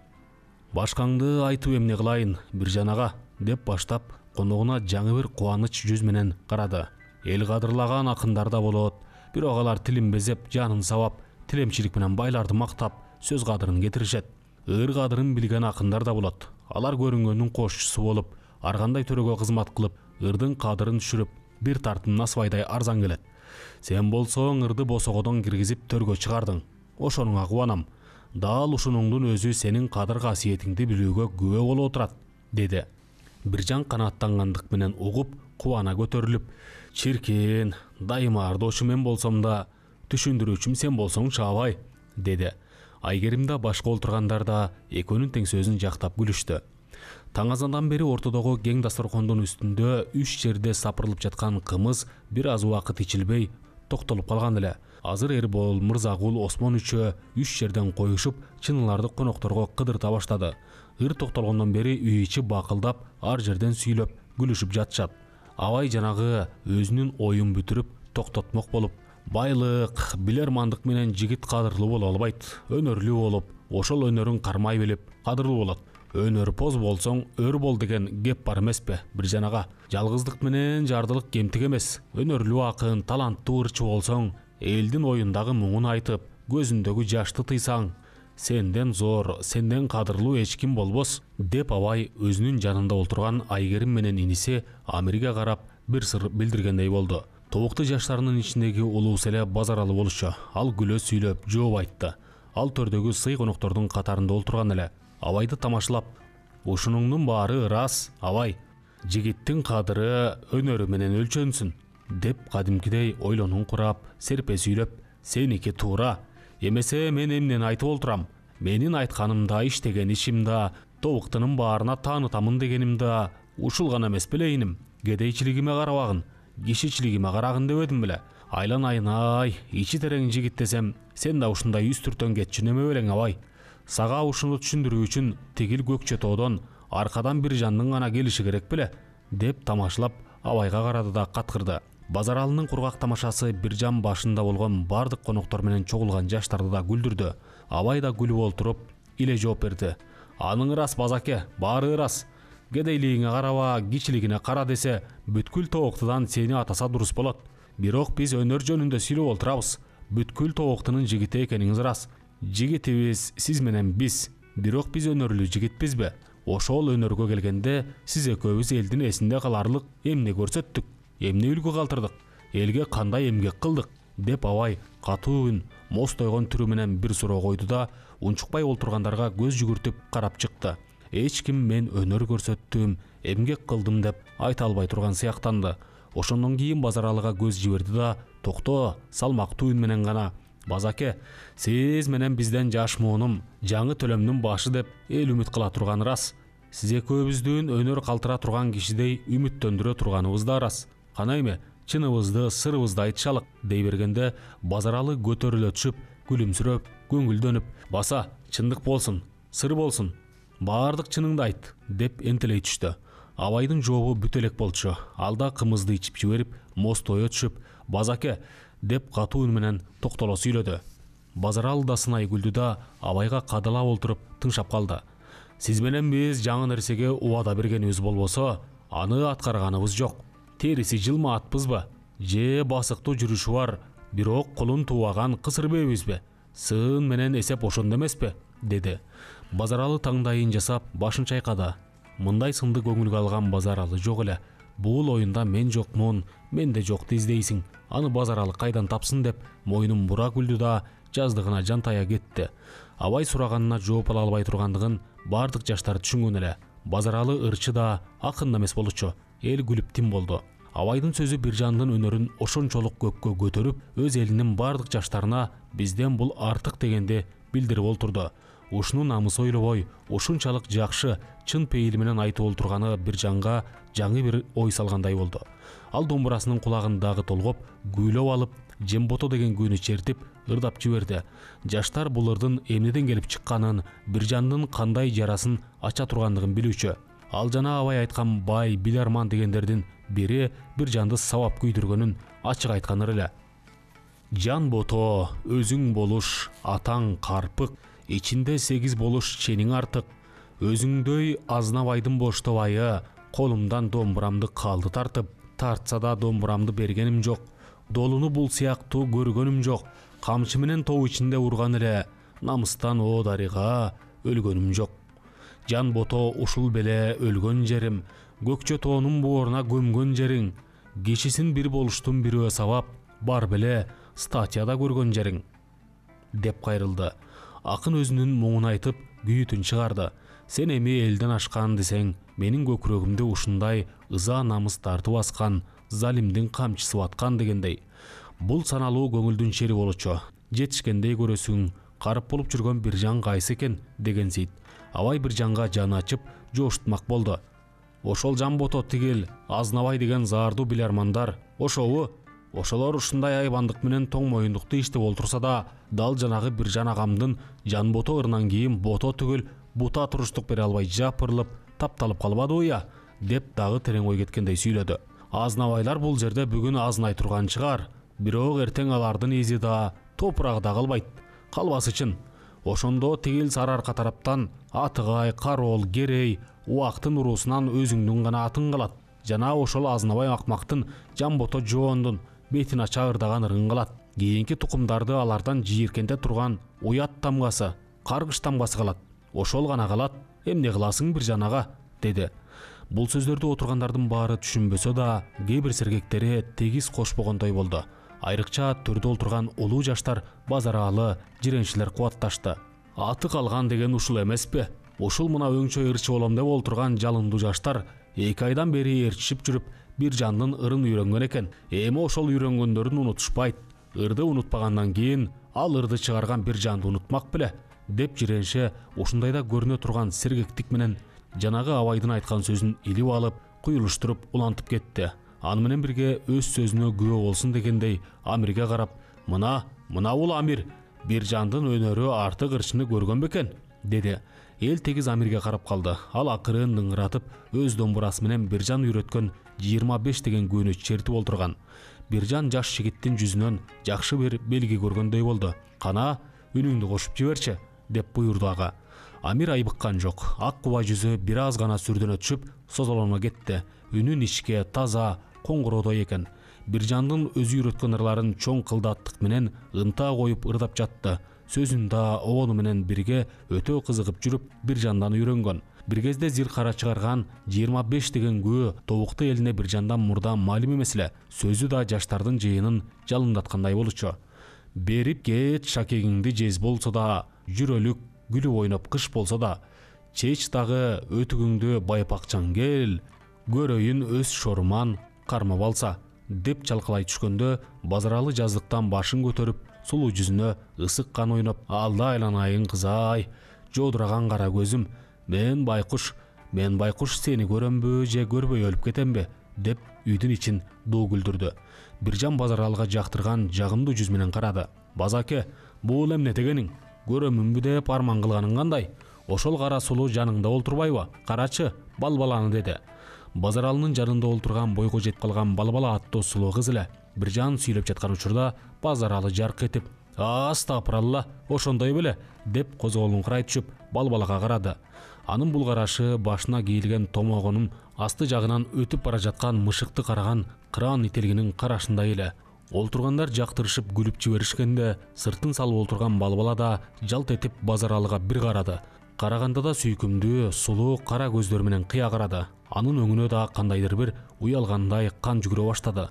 Башкаңды айтып эмне кылайын, Биржан ага, деп баштап коногуна жаңы бир кубаныч жүз менен карады. Эл кадырлаган акындар да болот, бирок алар тилин безеп, жанын сабап, тилемчилик менен байларды мактап, сөз кадырын кетиришет. Ыр кадырын билген акындар да болот. Алар көрүнгөндүн кошчусу болуп, ар кандай төрөгө кызмат кылып, ырдын кадырын түшүрүп, бир тартым насыбайдай арзан келет. Сен болсоң ырды босогодон киргизип төргө чыгардың. Ошонуңа кубанам. Дал ушунуңдун өзү сенин кадыр касиетиңди билүүгө күбө болуп отурат, деди. Биржан канааттангандык менен угуп, кубана көтөрүлүп, чиркин, дайыма ардоочу мен болсом да, түшүндүрүүчүм сен болсоң чаабай, деди. Айгерим да башка олтургандар да экөөнүн тең сөзүн жактап күлүштү. Таң азандан бери ортодогу кең дасторкондун үстүндө үч жерде сапырылып жаткан кымыз бир аз убакыт ичилбей токтолуп калган эле. Азыр Эрбол, Мырзагул, Осмон үчөө үч жерден коюшуп, чыныларды конокторго кыдырта баштады. Ыр токтолгондон бери үй ичи бакылдап, ар жерден сүйлөп, күлүшүп жатышат. Абай жанагы өзүнүн оюн бүтүрүп токтотмок болуп, байлык, билермандык менен жигит кадырлуу боло албайт. Өнөрлүү болуп, ошол өнөрүн кармай билип, кадырлуу болот. Өнөр-поз болсоң өр бол деген кеп бар эмеспи Биржан ага? Жалгыздык менен жардылык кемтик эмес. Өнөрлүү акын, таланттуу ырчы болсоң, элдин оюндагы муңун айтып, көзүндөгү жашты тыйсаң, сенден зор, сенден кадырлуу эч ким болбос, деп абай өзүнүн жанында отурган Айгерим менен иниси Амирге карап бир сыр билдиргендей болду. Тобуктуу жаштарынын ичиндеги улуусу эле Базаралы болчу. Ал күлө сүйлөп жооп айтты. Ал төрдөгү сый коноктордун катарында отурган эле. Абайды тамашалап, ушунуңдун баары ырас, абай. Жигиттин кадыры өнөрү менен өлчөнсүн, деп кадимкидей ойлонуң курап, серпе сүйлөп, сеники туура. Эмесе мен эмнени айтып олтурам? Менин айтканымда, иштеген ишимда, тобуктунун баарына таанытамын дегенимда ушул гана эмес беле иним. Кедейчилигиме карабагын, кишичилигиме карагын дебедим беле. Айланайын-ай, ичи терең жигит десем, сен да ушундай үстүртөн кетчү неме белең абай? Сага ушуну түшүндүрүү үчүн тигил көкчө тоодон аркадан Биржандын гана келиши керек беле, деп тамашалап Абайга карады да каткырды. Базаралынын кургак тамашасы Биржан башында болгон бардык коноктор менен чогулган жаштарды да күлдүрдү. Абай да күлүп олтуруп, иле жооп берди. Аның ырас базаке, баары ырас. Кедейлигиңе караба, кичилигине кара десе, бүткүл тобуктудан сени атаса дурус болот. Бирок биз өнөр жөнүндө сүйлөп олтурабыз. Бүткүл тобуктунун жигити экениңиз ырас. Жигитибиз сиз менен биз. Бирок биз өнөрлүү жигитпизби? Ошол өнөргө келгенде сиз экөөбүз элдин эсинде каларлык эмне көрсөттүк? Эмне үлгү калтырдык? Элге кандай эмгек кылдык? Деп Абай катуу үн, мостойгон түрү менен бир суроо койду да, унчукпай олтургандарга көз жүгүртүп карап чыкты. Эч ким мен өнөр көрсөттүм, эмгек кылдым деп айта албай турган сыяктанды. Ошондон кийин Базаралыга көз жиберди да, токто, салмактуу үн менен гана: Базаке, сиз менен бизден жаш муунум, жаңы төлөмдүн башы деп эл үмүт кыла турганы рас. Сиз экөөбүздүн өнөр калтыра турган кишидей үмүттөндүрө турганыбыз да рас. Кана эме, чыныбызды, сырыбызды айтышалык, дей бергенде Базаралы көтөрүлө түшүп, күлүмсүрөп, көңүлдөнүп: Баса, чындык болсун, сыр болсун, баардык чыныңды айт, деп энтелей түштү. Абайдын жообу бүт элек болчу. Ал да кымызды ичип жиберип, мостое түшүп: Базаке, деп катуу үн менен токтоло сүйлөдү. Базаралы да сынай күлдү да Абайга кадалап олтуруп тыңшап калды. Сиз менен биз жаңы нерсеге убада бергенибиз болбосо, аны аткарганыбыз жок. Териси жылма атпызбы? Же басыктуу жүрүшү бар, бирок колун туубаган кысыр бебизби? Сын менен эсеп ошондо эмеспи? Деди. Базаралы таңдайын жасап, башын чайкады. Мындай сынды көңүлгө алган Базаралы жок эле. Бул оюнда мен жокмун, менде жокту издейсиң. Аны Базаралы кайдан тапсын деп мойнун бура күлдү да жаздыгына жантая кетти. Абай сураганына жооп ала албай тургандыгын бардык жаштар түшүнгөн эле. Базаралы ырчы да, акын да эмес болчу. Эл күлүп тим болду. Абайдын сөзү Биржандын өнөрүн ошончолук көккө көтөрүп, өз элинин бардык жаштарына бизден бул артык дегенди билдирип олтурду. Ушуну намыс ойлобой, ушунчалык жакшы, чын пейил менен айтып олтурганы Биржанга жаңы бир ой салгандай болду. Ал домбурасынын кулагындагы толгоп, күйлөп алып, Жембото деген күүнү чертип, ырдап жиберди. Жаштар бул ырдын эмнеден келип чыкканын, Биржандын кандай жарасын ача тургандыгын билүүчү. Ал жана Абай айткан бай, биларман дегендердин бири Биржанды сабап күйдүргөнүн ачык айтканыр эле. Жамбото, өзүң болуш, атаң карпык, ичинде сегиз болуш чениң артык. Өзүңдөй Азнабайдын боштобайы, колумдан домбурамды калды тартып, тартса да домбурамды бергеним жок. Долуну бул сыяктуу көргөнүм жок. Камчы менен тоо ичинде урган эле, намыстан о дарыга өлгөнүм жок. Жамбото ушул беле өлгөн жерим, көкчө тоонун бооруна көмгөн жериң. Кишисин бир болуштун бирөө сабап, бар беле статьяда көргөн жериң, деп кайрылды. Акын өзүнүн муңун айтып, күйүтүн чыгарды. Сен эми элден ашкан десең, менин көкүрөгүмдү ушундай ыза намыс тартып баскан, залимдин камчысы баткан дегендей. Бул саналуу көңүлдүн шери болчу. Жетишкендей көрөсүң, карып болуп жүргөн Биржан кайсы экен дегенсейт. Абай Биржанга жаны ачып, жооштурмак болду. Ошол Жамбото тигил, Азнабай деген заардуу билармандар, ошобу? Ошолор ушундай айбандык менен тоң моюндукту иштеп олтурса да, дал жанагы Биржан агамдын Жанбото ырынан кийин бото түгүл, бута туруштук бере албай жапырылып, тапталып калбадыбы я? Деп дагы терең ой кеткендей сүйлөдү. Азнабайлар бул жерде бүгүн азнай турган чыгар, бирок эртең алардын изи да, топурагы да калбайт. Калбас үчүн Ошондо тигил Сарыарка тараптан Атыгай, Кароол, Керей, Убактын уруусунан өзүңдүн гана атың калат жана ошол Азнабай Акмактын Жамбото Жоондун бетин ача ырдаган ырын калат. Кийинки тукумдарды алардан жийиркенте турган Уят тамгасы, Каргыш тамгасы калат. Ошол гана калат. Эмне кыласың Биржан ага, деди. Бул сөздөрдү отургандардын баары түшүнбөсө да, кээ бир сергектери тегиз кошпогондой болду. Айрыкча төрдө олтурган улуу жаштар Базаралы, жиренчилер кубатташты. Аты калган деген ушул эмеспи? Ушул мына өңчөй ырчы болом деп олтурган жалындуу жаштар эки айдан бери ээрчишип жүрүп Биржандын ырын үйрөнгөн экен. Эми ошол үйрөнгөндөрүн унутушпайт. Ырды унутпагандан кийин ал ырды чыгарган Биржанды унутмак беле, деп жиренше ушундайда көрүнө турган сергектик менен жанагы абайдын айткан сөзүн илип алып, куюлуштуруп улантып кетти. Аны менен бирге өз сөзүнө күбө болсун дегендей Амирге карап, мына, мына бул Амир, Биржандын өнөрү артык ырчыны көргөн бекен, деди. Эл тегиз Амирге карап калды. Ал акырын дыңыратып, өз домбурасы менен Биржан үйрөткөн жыйырма беш деген күнү чертип олтурган. Биржан жаш жигиттин жүзүнөн жакшы бир белги көргөндөй болду. Кана, үнүңдү кошуп жиберчи, деп буйрду ага. Амир айбыккан жок. Ак куба жүзү бир аз гана сүрдөнө түшүп, созолоно кетти. Үнү ичке, таза, коңгуродой экен. Биржандын өзү үйрөткөн ырларын чоң кылдаттык менен ынта коюп ырдап жатты. Сөзүн да обону менен бирге өтө кызыгып жүрүп Биржандан үйрөнгөн. Бир кезде Зилкара чыгарган жыйырма беш деген күбө Тобукту элине Биржандан мурда маалим эмес эле. Сөзү да жаштардын жыйынын жалындаткандай болчу. Берип кет шакегиңди жез болсо да, жүрөлүк гүлүп ойноп кыш болсо да, чеч дагы өтүгүңдү байпакчаң кел, көрөйүн өз шоруман кармап алса, деп чалкалай түшкөндө Базаралы жаздыктан башын көтөрүп, сулуу жүзүнө ысык кан ойноп, алда айланайын кызай, жодураган кара көзүм, мен байкуш, мен байкуш сени көрөмбү же көрбөй өлүп кетемби, деп үйдүн ичин дуу күлдүрдү. Биржан Базаралыга жактырган жагымдуу жүз менен карады. Базаке, бул эмне дегениң? Көрөмүнбү деп арман кылганың кандай? Ошол кара сулуу жаныңда олтурбайбы? Карачы, Балбаланы, деди. Базаралынын жанында олтурган бойго жетип калган Балбала аттуу сулуу кыз эле. Биржан сүйлөп жаткан учурда Базаралы жарк этип, "Астапыралла, ошондой беле", деп козголуңкурай түшүп Балбалага карады. Анын бул карашы башына кийилген томогунун асты жагынан өтүп бара жаткан мышыкты караган кыран ителгинин карашындай эле. Олтургандар жактырышып күлүп жиберишкенде, сыртын салып олтурган Балбала да жалт этип Базаралыга бир карады. Караганда да сүйкүмдүү, сулуу кара көздөр менен кыя карады. Анын өңүнө да кандайдыр бир уялгандай кан жүгүрө баштады.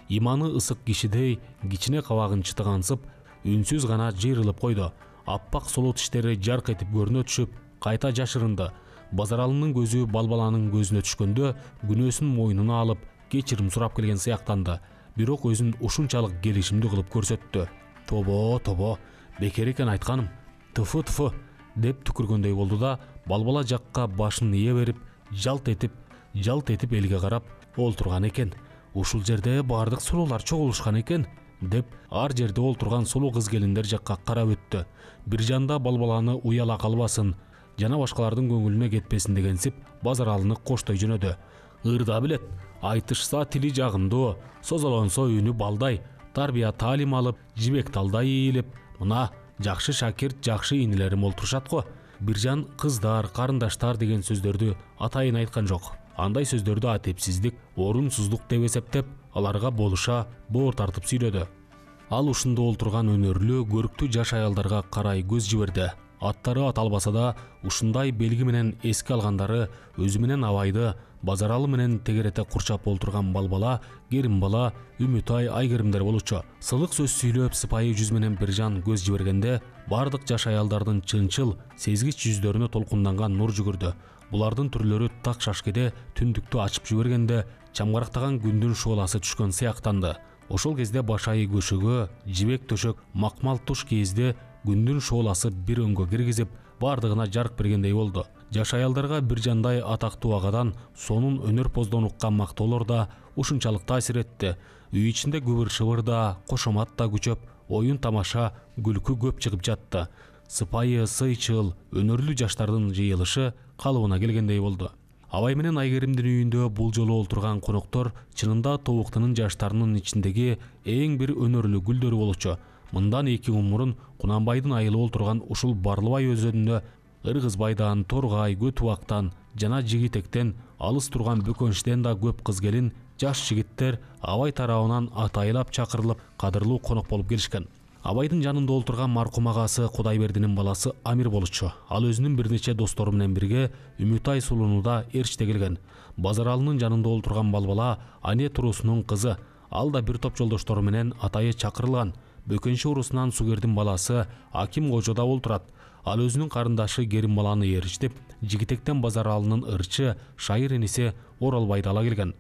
Иманы ысык кишидей кичине кабагын чытыгансып, үнсүз гана жыйрылып койду. Аппак сулуу тиштери жарк этип көрүнө түшүп, кайта жашырынды. Базаралынын көзү Балбаланын көзүнө түшкөндө күнөөсүн мойнуна алып, кечирим сурап келген сыяктанды. Бирок өзүн ушунчалык келишимдүү кылып көрсөттү. Тобо, тобо, бекер экен айтканым. Тыфы-тыфы, деп түкүргөндөй болду да, Балбала жакка башын ие берип, жалт этип, жалт этип элге карап олтурган экен. Ушул жерде бардык сулуулар чогулушкан экен, деп ар жерде олтурган сулуу кыз келиндер жакка карап өттү. Биржан да Балбаланы уяла калбасын, жана башкалардын көңүлүнө кетпесин дегенсип Базаралыны коштой жөнөдү. Ырда билет, айтышса тили жагымдуу, созолонсо үнү балдай, тарбия таалим алып, жибек талдай ийилип, мына жакшы шакирт, жакшы инилерим олтурушат го. Биржан кыздар, карындаштар деген сөздөрдү атайын айткан жок. Андай сөздөрдү атепсиздик, орунсуздук деп эсептеп, аларга болуша боор тартып сүйлөдү. Ал ушунда олтурган өнөрлүү, көрктүү жаш аялдарга карай көз жиберди. Аттары аталбаса да, ушундай белги менен эске алгандары өзү менен Абайды, Базаралы менен тегерете курчап олтурган Балбала, Керимбала, Үмүтай, Айгеримдер болчу. Сылык сөз сүйлөп, сыпайы жүз менен Биржан көз жибергенде, бардык жаш аялдардын чынчыл, сезгич жүздөрүнө толкунданган нур жүгүрдү. Булардын түрлөрү так шашкеде түндүктү ачып жибергенде, чамгарактаган күндүн шууласы түшкөн сыяктанды. Ошол кезде башайы көшөгө, жибек төшөк, макмал туш кийизде күндүн шууласы бир өңгө киргизип, бардыгына жарык бергендей болду. Жаш аялдарга Биржандай атактуу агадан сонун өнөр поздон уккан мактоолор да ушунчалык таасир этти. Үй ичинде күбүр-шыбыр да, кошомат да күчөп, оюн тамаша, күлкү көп чыгып жатты. Сыпайы, сыйчыл, өнөрлүү жаштардын жыйылышы калыбына келгендей болду. Абай менен Айгеримдин үйүндө бул жолу олтурган коноктор чынында Тобуктунун жаштарынын ичиндеги эң бир өнөрлүү гүлдөрү болчу. Мындан эки күн мурун Кунанбайдын айылы олтурган ушул Барлыбай өзөнүндө Ыргызбайдан, Торгай, Көтүбактан жана Жигитектен алыс турган Бөкөнчтен да көп кыз келин, жаш жигиттер Абай тарабынан атайлап чакырылып, кадырлуу конок болуп келишкен. Абайдын жанында олтурган маркум агасы Кудайбердинин баласы Амир болчу. Ал өзүнүн бир нече достору менен бирге Үмүтай сулунуда Эрчте келген. Базаралынын жанында олтурган балбала Ане туруусунун кызы. Ал да бир топ жолдоштору менен атайы чакырылган. Бөкөнчү урусунан Сугердин баласы Аким кожода олтурат. Ал өзүнүн карындашы Керимбаланы ээрчитип, Жигитектен Базаралынын ырчы Шайыр иниси Оралбайды ала келген.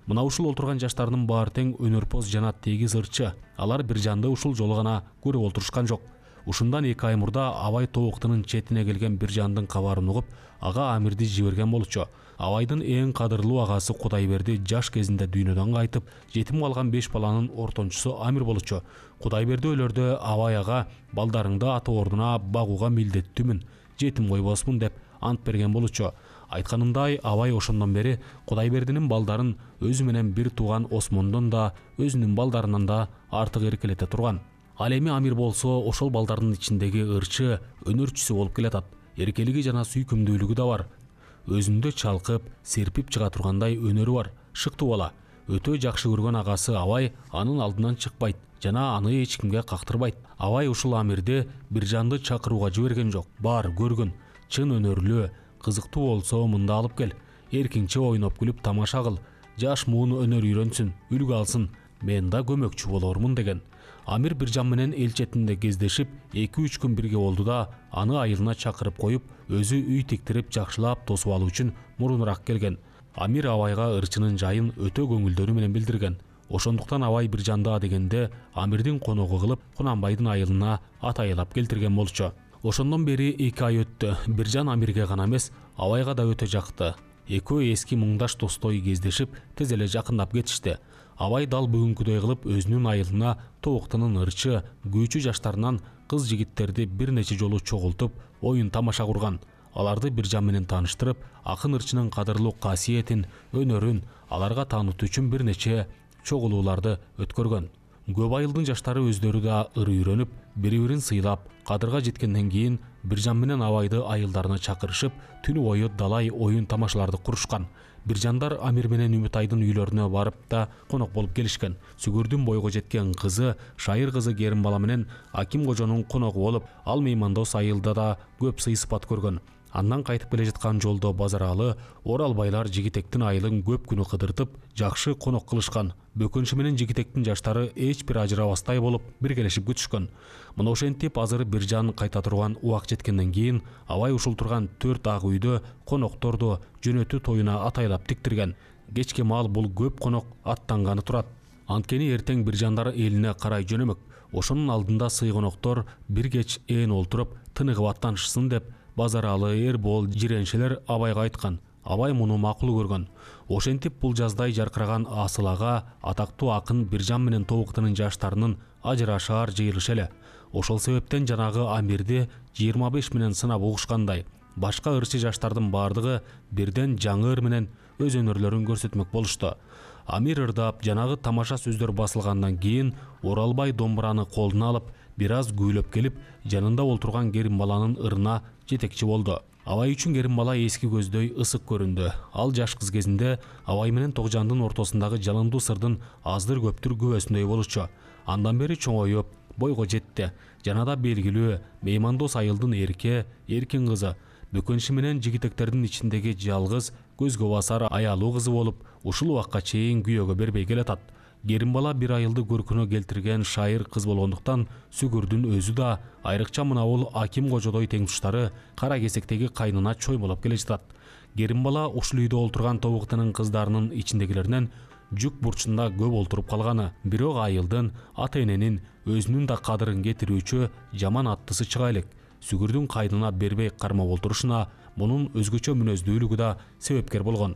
Мына ушул олтурган жаштардын баары тең өнөрпоз жана тегиз ырчы. Алар бир жанды ушул жолу гана көрүп олтурушкан жок. Ушундан эки ай мурда Абай Тобуктунун четине келген бир жандын кабарын угуп, ага Амирди жиберген болчу. Абайдын эң кадырлуу агасы Кудайберди жаш кезинде дүйнөдөн кайтып, жетим калган беш баланын ортончусу Амир болчу. Кудайберди өлөрдө Абай ага балдарыңды ата ордуна багууга милдеттүүмүн, жетим койбосмун деп ант берген болчу. Айтканымдай, Абай ошондон бери Кудайбердинин балдарын өзү менен бир тууган Осмондон да, өзүнүн балдарынан да артык эркелете турган. Ал эми Амир болсо ошол балдардын ичиндеги ырчы, өнөрчүсү болуп келатат. Эркелиги жана сүйкүмдүүлүгү да бар. Өзүндө чалкып, серпип чыга тургандай өнөрү бар. Шыктуу бала. Өтө жакшы көргөн агасы Абай анын алдынан чыкпайт жана аны эч кимге кактырбайт. Абай ушул Амирди бир жанды чакырууга жиберген жок. Бар, көргүн, чын өнөрлүү, кызыктуу болсо мында алып кел. Эркинче ойноп күлүп тамаша кыл. Жаш муун өнөр үйрөнсүн, үлгү алсын. Мен да көмөкчү болормун деген. Амир бир жан менен эл четинде кездешип, эки үч күн бирге болду да, аны айылына чакырып коюп, өзү үй тиктирип жакшылап тосуп алуу үчүн мурунураак келген. Амир Абайга ырчынын жайын өтө көңүлдөрү менен билдирген. Ошондуктан Абай бир жанда дегенде Амирдин коногу кылып, Кунанбайдын айылына атайлап келтирген болчу. Ошондон бери эки ай өттү. Бир жан Амирге гана эмес, Абайга да өтө жакты. Экөө эски муңдаш достой кездешип, тез эле жакындап кетишти. Абай дал бүгүнкүдөй кылып өзүнүн айылына Тобуктунун ырчы, күүчү жаштарынан кыз жигиттерди бир нече жолу чогултуп, оюн тамаша курган. Аларды бир жан менен тааныштырып, акын ырчынын кадырлуу касиетин, өнөрүн аларга таанытуу үчүн бир нече чогулууларды өткөргөн. Көп айылдын жаштары өздөрү да ыр үйрөнүп, бири-бирин сыйлап, кадырга жеткенден кийин бир жан менен Абайды айылдарына чакырышып, түнү бою далай оюн тамашаларды курушкан. Бир жандар Амир менен Үмүтайдын үйлөрүнө барып да конок болуп келишкен. Сүгүрдүн бойго жеткен кызы, Шайыр кызы Керимбала менен Аким кожонун коногу болуп, ал меймандос айылда да көп сый-сыпат көргөн. Андан кайтып келе жаткан жолдо Базаралы, Оралбайлар Жигитектин айылын көп күнү кыдыртып, жакшы конок кылышкан. Бөкөнчү менен Жигитектин жаштары эч бир ажырабастай болуп, биргелешип күтүшкөн. Мына ошентип азыр бир жан кайта турган убак жеткенден кийин Абай ушул турган төрт ак үйдө конокторду жөнөтүү тоюна атайлап тиктирген. Кечке маал бул көп конок аттанганы турат. Анткени эртең бир жандар элине карай жөнөмөк. Ошонун алдында сый коноктор бир кеч ээн олтуруп, тыныгып аттанышсын деп Базаралы, Эрбол, жиреншелер Абайга айткан. Абай муну макул көргөн. Ошентип бул жаздай жаркыраган асыл ага, атактуу акын бир жан менен Тобуктунун жаштарынын ажырашаар жыйылышы эле. Ошол себептен жанагы Амирди жыйырма беш менен сынап угушкандай, башка ырчы жаштардын баардыгы бирден жаңы ыр менен өз өнөрлөрүн көрсөтмөк болушту. Амир ырдап, жанагы тамаша сөздөр басылгандан кийин Оралбай домбураны колуна алып, бир аз күйлөп келип, жанында олтурган Керимбаланын ырына жетекчи болду. Абай үчүн Керимбала эски көздөй ысык көрүндү. Ал жаш кыз кезинде Абай менен Тогжандын ортосундагы жалындуу сырдын аздыр көптүр күбөсүндөй болчу. Андан бери чоңоюп, бойго жетти. Жанада белгилүү меймандос айылдын эрке, эркин кызы, Бөкөнчү менен Жигитектердин ичиндеги жалгыз, көзгө басар аялуу кызы болуп, ушул убакка чейин күйөөгө бербей келатат. Керимбала бир айылды көркүнө келтирген шайыр кыз болгондуктан Сүгүрдүн өзү да, айрыкча мына бул Аким кожодой тең туштары кара кесектеги кайнына чоймолоп келе жатат. Керимбала ушул үйдө олтурган Тобуктунун кыздарынын ичиндегилеринен жүк бурчунда көп олтуруп калганы, бирок айылдын, ата-эненин, өзүнүн да кадырын кетирүүчү жаман аттысы чыга элек. Сүгүрдүн кайнына бербей кармап олтурушуна мунун өзгөчө мүнөздүүлүгү да себепкер болгон.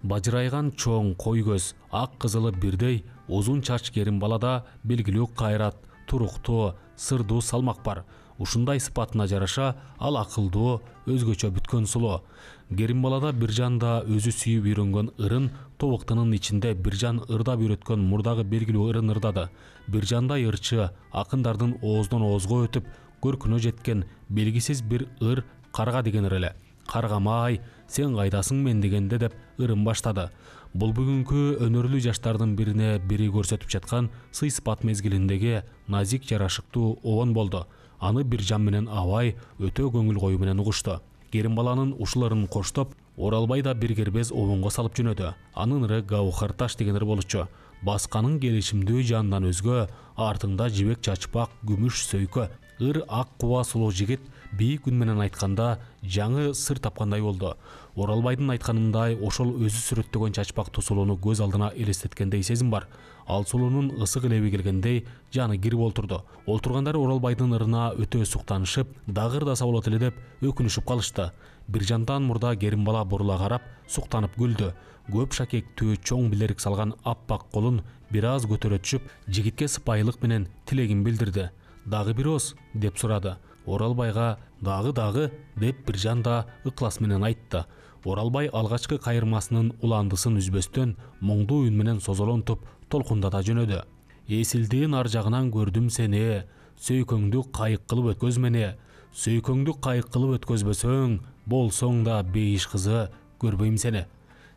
Бажырайган чоң кой көз, ак кызылы бирдей, узун чач Керимбалада белгилүү кайрат, туруктуу, сырдуу салмак бар. Ушундай сыпатына жараша ал акылдуу, өзгөчө бүткөн сулуу. Керимбалада Биржан да өзү сүйүп үйрөнгөн ырын тобуктунун ичинде Биржан ырдап үйрөткөн мурдагы белгилүү ырын ырдады. Биржандай ырчы акындардын ооздон оозго өтүп көркүнө жеткен белгисиз бир ыр карга деген ыр эле. Каргамай, сен кайдасың мен дегенде деп ырын баштады. Бул бүгүнкү өнөрлүү жаштардын бирине бири көрсөтүп жаткан сый сыпат мезгилиндеги назик жарашыктуу обон болду. Аны Биржан менен Абай өтө көңүл коюу менен угушту. Керимбаланын ушул ырын коштоп, Оралбай да бир кербез обонго салып жөнөдү. Анын ыры Гаухар таш деген ыр болчу. Басканын келишимдүү жандан өзгө, артыңда жибек чачпак, күмүш сөйкө. Ыр ак куба сулуу жигит бийик үн менен айтканда жаңы сыр тапкандай болду. Оралбайдын айтканындай ошол өзү сүрөттөгөн чачпактуу сулууну көз алдына элестеткендей сезим бар. Ал сулуунун ысык леби келгендей жаны кирип олтурду. Олтургандар Оралбайдын ырына өтө суктанышып, дагы ырдаса болот эле деп өкүнүшүп калышты. Биржандан мурда Керимбала бурула карап, суктанып күлдү. Көп шакектүү чоң билерик салган аппак колун бир аз көтөрө түшүп, жигитке сыпайылык менен тилегин билдирди. Дагы бир ооз деп сурады. Оралбайга дагы дагы деп Биржан да ыклас менен айтты. Оралбай алгачкы кайырмасынын уландысын үзбөстөн моңдуу үн менен созолонтуп толкундата жөнөдү. Эсилдин ар жагынан көрдүм сени, сөйкөңдү кайык кылып өткөзмени. Сөйкөңдү кайык кылып өткөзбөсөң, болсоң да бейиш кызы көрбөйм сени.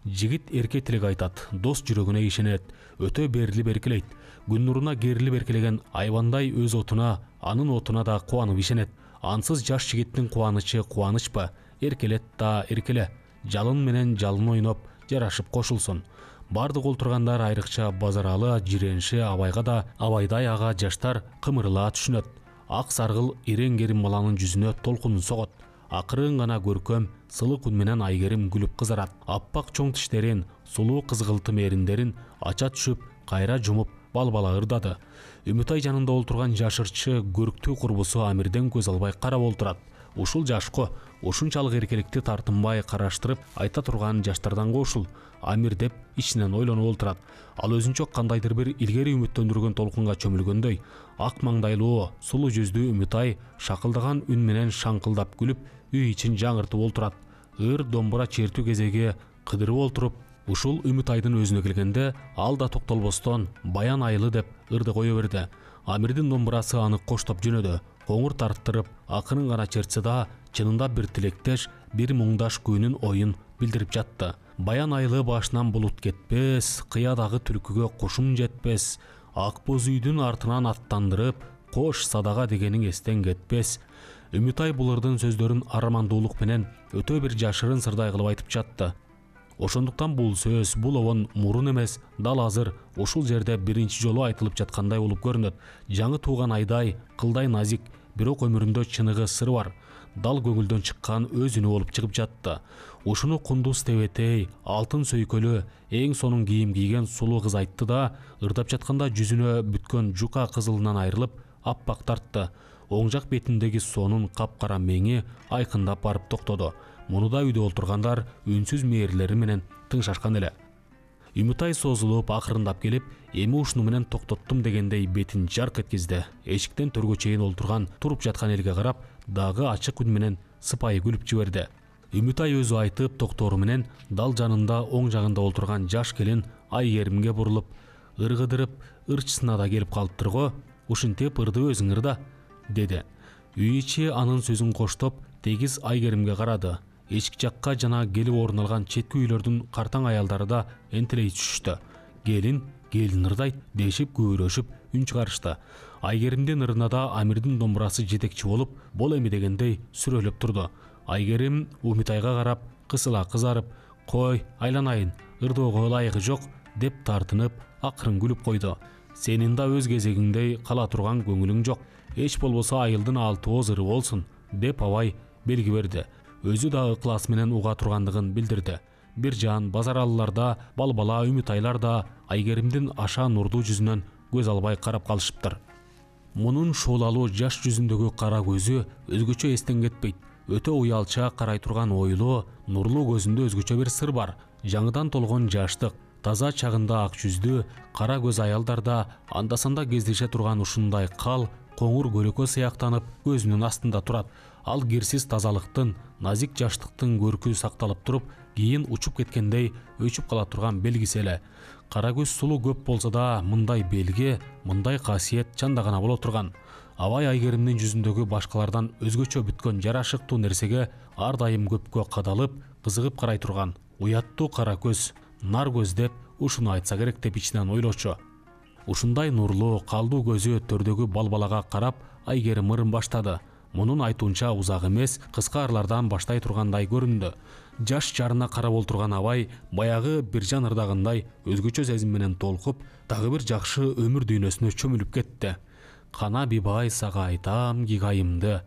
Жигит эрке тилек айтат, дос жүрөгүнө ишенет, өтө берилип эркелейт. Күн нуруна керилип эркелеген айбандай өз отуна, анын отуна да кубанып ишенет. Ансыз жаш жигиттин кубанычы кубанычпы? Эркелет да эркеле. Жалын менен жалын ойноп, жарашып кошулсун. Бардык олтургандар, айрыкча Базаралы, жирениши Абайга да Абайдай ага жаштар кымырыла түшүнөт. Ак саргыл эрең Керимбаланын жүзүнө толкунун согот. Акырын гана көркөм, сылык үн менен Айгерим күлүп кызарат. Аппак чоң тиштерин, сулуу кызгылтым эриндерин ача түшүп, кайра жумуп, балбала ырдады. Үмүтай жанында олтурган жашырчы көрктүү курбусу Амирден көз албай карап олтурат. Ушул жашко, ушунчалык эркеликти тартынбай караштырып айта турган жаштардан ушул Амир деп ичинен ойлонуп олтурат. Ал өзүнчө кандайдыр бир илгери үмүттөндүргөн толкунга чөмүлгөндөй. Ак маңдайлуу, сулуу жүздүү Үмүтай шакылдаган үн менен шаңкылдап күлүп, үй ичин жаңыртып олтурат. Ыр домбура чертүү кезеги кыдырып олтуруп, ушул Үмүтайдын өзүнө келгенде ал да токтолбостон Баян Айлы деп ырды кое берди. Амирдин домбурасы аны коштоп жөнөдү. Коңур тарттырып, акырын гана чертсе да, чынында бир тилектеш, бир муңдаш күүнүн оюн билдирип жатты. Баян Айлы башынан булут кетпес, кыядагы түлкүгө кушум жетпес, ак боз үйдүн артынан аттандырып, кош садага дегениң эстен кетпес. Үмүтай бул ырдын сөздөрүн арамандуулук менен өтө бир жашырын сырдай кылып айтып жатты. Ошондуктан бул сөз, бул обон мурун эмес, дал азыр ушул жерде биринчи жолу айтылып жаткандай болуп көрүнөт. Жаңы тууган айдай, кылдай назик, бирок өмүрүндө чыныгы сыр бар. Дал көңүлдөн чыккан өз үнү болуп чыгып жатты. Ушуну кундуз тебетей, алтын сөйкөлү, эң сонун кийим кийген сулуу кыз айтты да, ырдап жатканда жүзүнө бүткөн жука кызылынан айрылып, аппак тартты. Оң жак бетиндеги сонун капкара меңи айкындап барып токтоду. Муну да үйдө олтургандар үнсүз мээрлери менен тыңшашкан эле. Үмүтай созулуп, акырындап келип, эми ушуну менен токтоттум дегендей бетин жарк эткизди. Эшиктен төргө чейин олтурган, туруп жаткан элге карап, дагы ачык үн менен сыпайы күлүп жиберди. Үмүтай өзү айтып токтору менен дал жанында оң жагында олтурган жаш келин Айгеримге бурулуп, ыргыдырып, ырчысына да келип калыптыр го, ушинтип ырды өзүң ырда, деди. Үй ичи анын сөзүн коштоп, тегиз Айгеримге карады. Эшик жакка жана келип орун алган четки үйлөрдүн картаң аялдары да энтелей түшүштү. Келин, келин ырдайт дешип күбүрөшүп үн чыгарышты. Айгеримдин ырына да Амирдин домбурасы жетекчи болуп, бол эми дегендей сүрөлөп турду. Айгерим Үмүтайга карап, кысыла кызарып, "Кой, айланайын, ырдоого ылайыгы жок" деп тартынып, акырын күлүп койду. "Сенин да өз кезегиңдей кала турган көңүлүң жок. Эч болбосо айылдын алты ооз ыры болсун" деп Абай белги берди. Өзү да ыклас менен уга тургандыгын билдирди. Биржан, Базаралылар да, Балбала, Үмүтайлар да Айгеримдин аша нурдуу жүзүнөн көз албай карап калышыптыр. Мунун шоолалуу жаш жүзүндөгү кара көзү өзгөчө эстен кетпейт. Өтө уялча карай турган ойлуу, нурлуу көзүндө өзгөчө бир сыр бар. Жаңыдан толгон жаштык, Таза чагында ак жүздүү, кара көз аялдарда анда-санда кездеше турган ушундай кал, коңур көлөкө сыяктанып көзүнүн астында турат. Ал кирсиз тазалыктын, назик жаштыктын көркү сакталып туруп, кийин учуп кеткендей өчүп кала турган белгиси эле. Кара көз сулуу көп болсо да, мындай белги, мындай касиет чанда гана боло турган. Абай Айгеримдин жүзүндөгү башкалардан өзгөчө бүткөн жарашыктуу нерсеге ар дайым көпкө кадалып, кызыгып карай турган. Уяттуу кара көз, нар көз деп ушуну айтса керек деп ичинен ойлочу. Ушундай нурлуу, калдуу көзү төрдөгү балбалага карап, Айгерим ырын баштады. Мунун айтуунча узак эмес, кыска ырлардан баштай тургандай көрүндү. Жаш жарына карап олтурган Абай баягы Биржан ырдагындай өзгөчө сезим менен толкуп, дагы бир жакшы өмүр дүйнөсүнө чөмүлүп кетти. Кана бибай сага айтам гигайымды.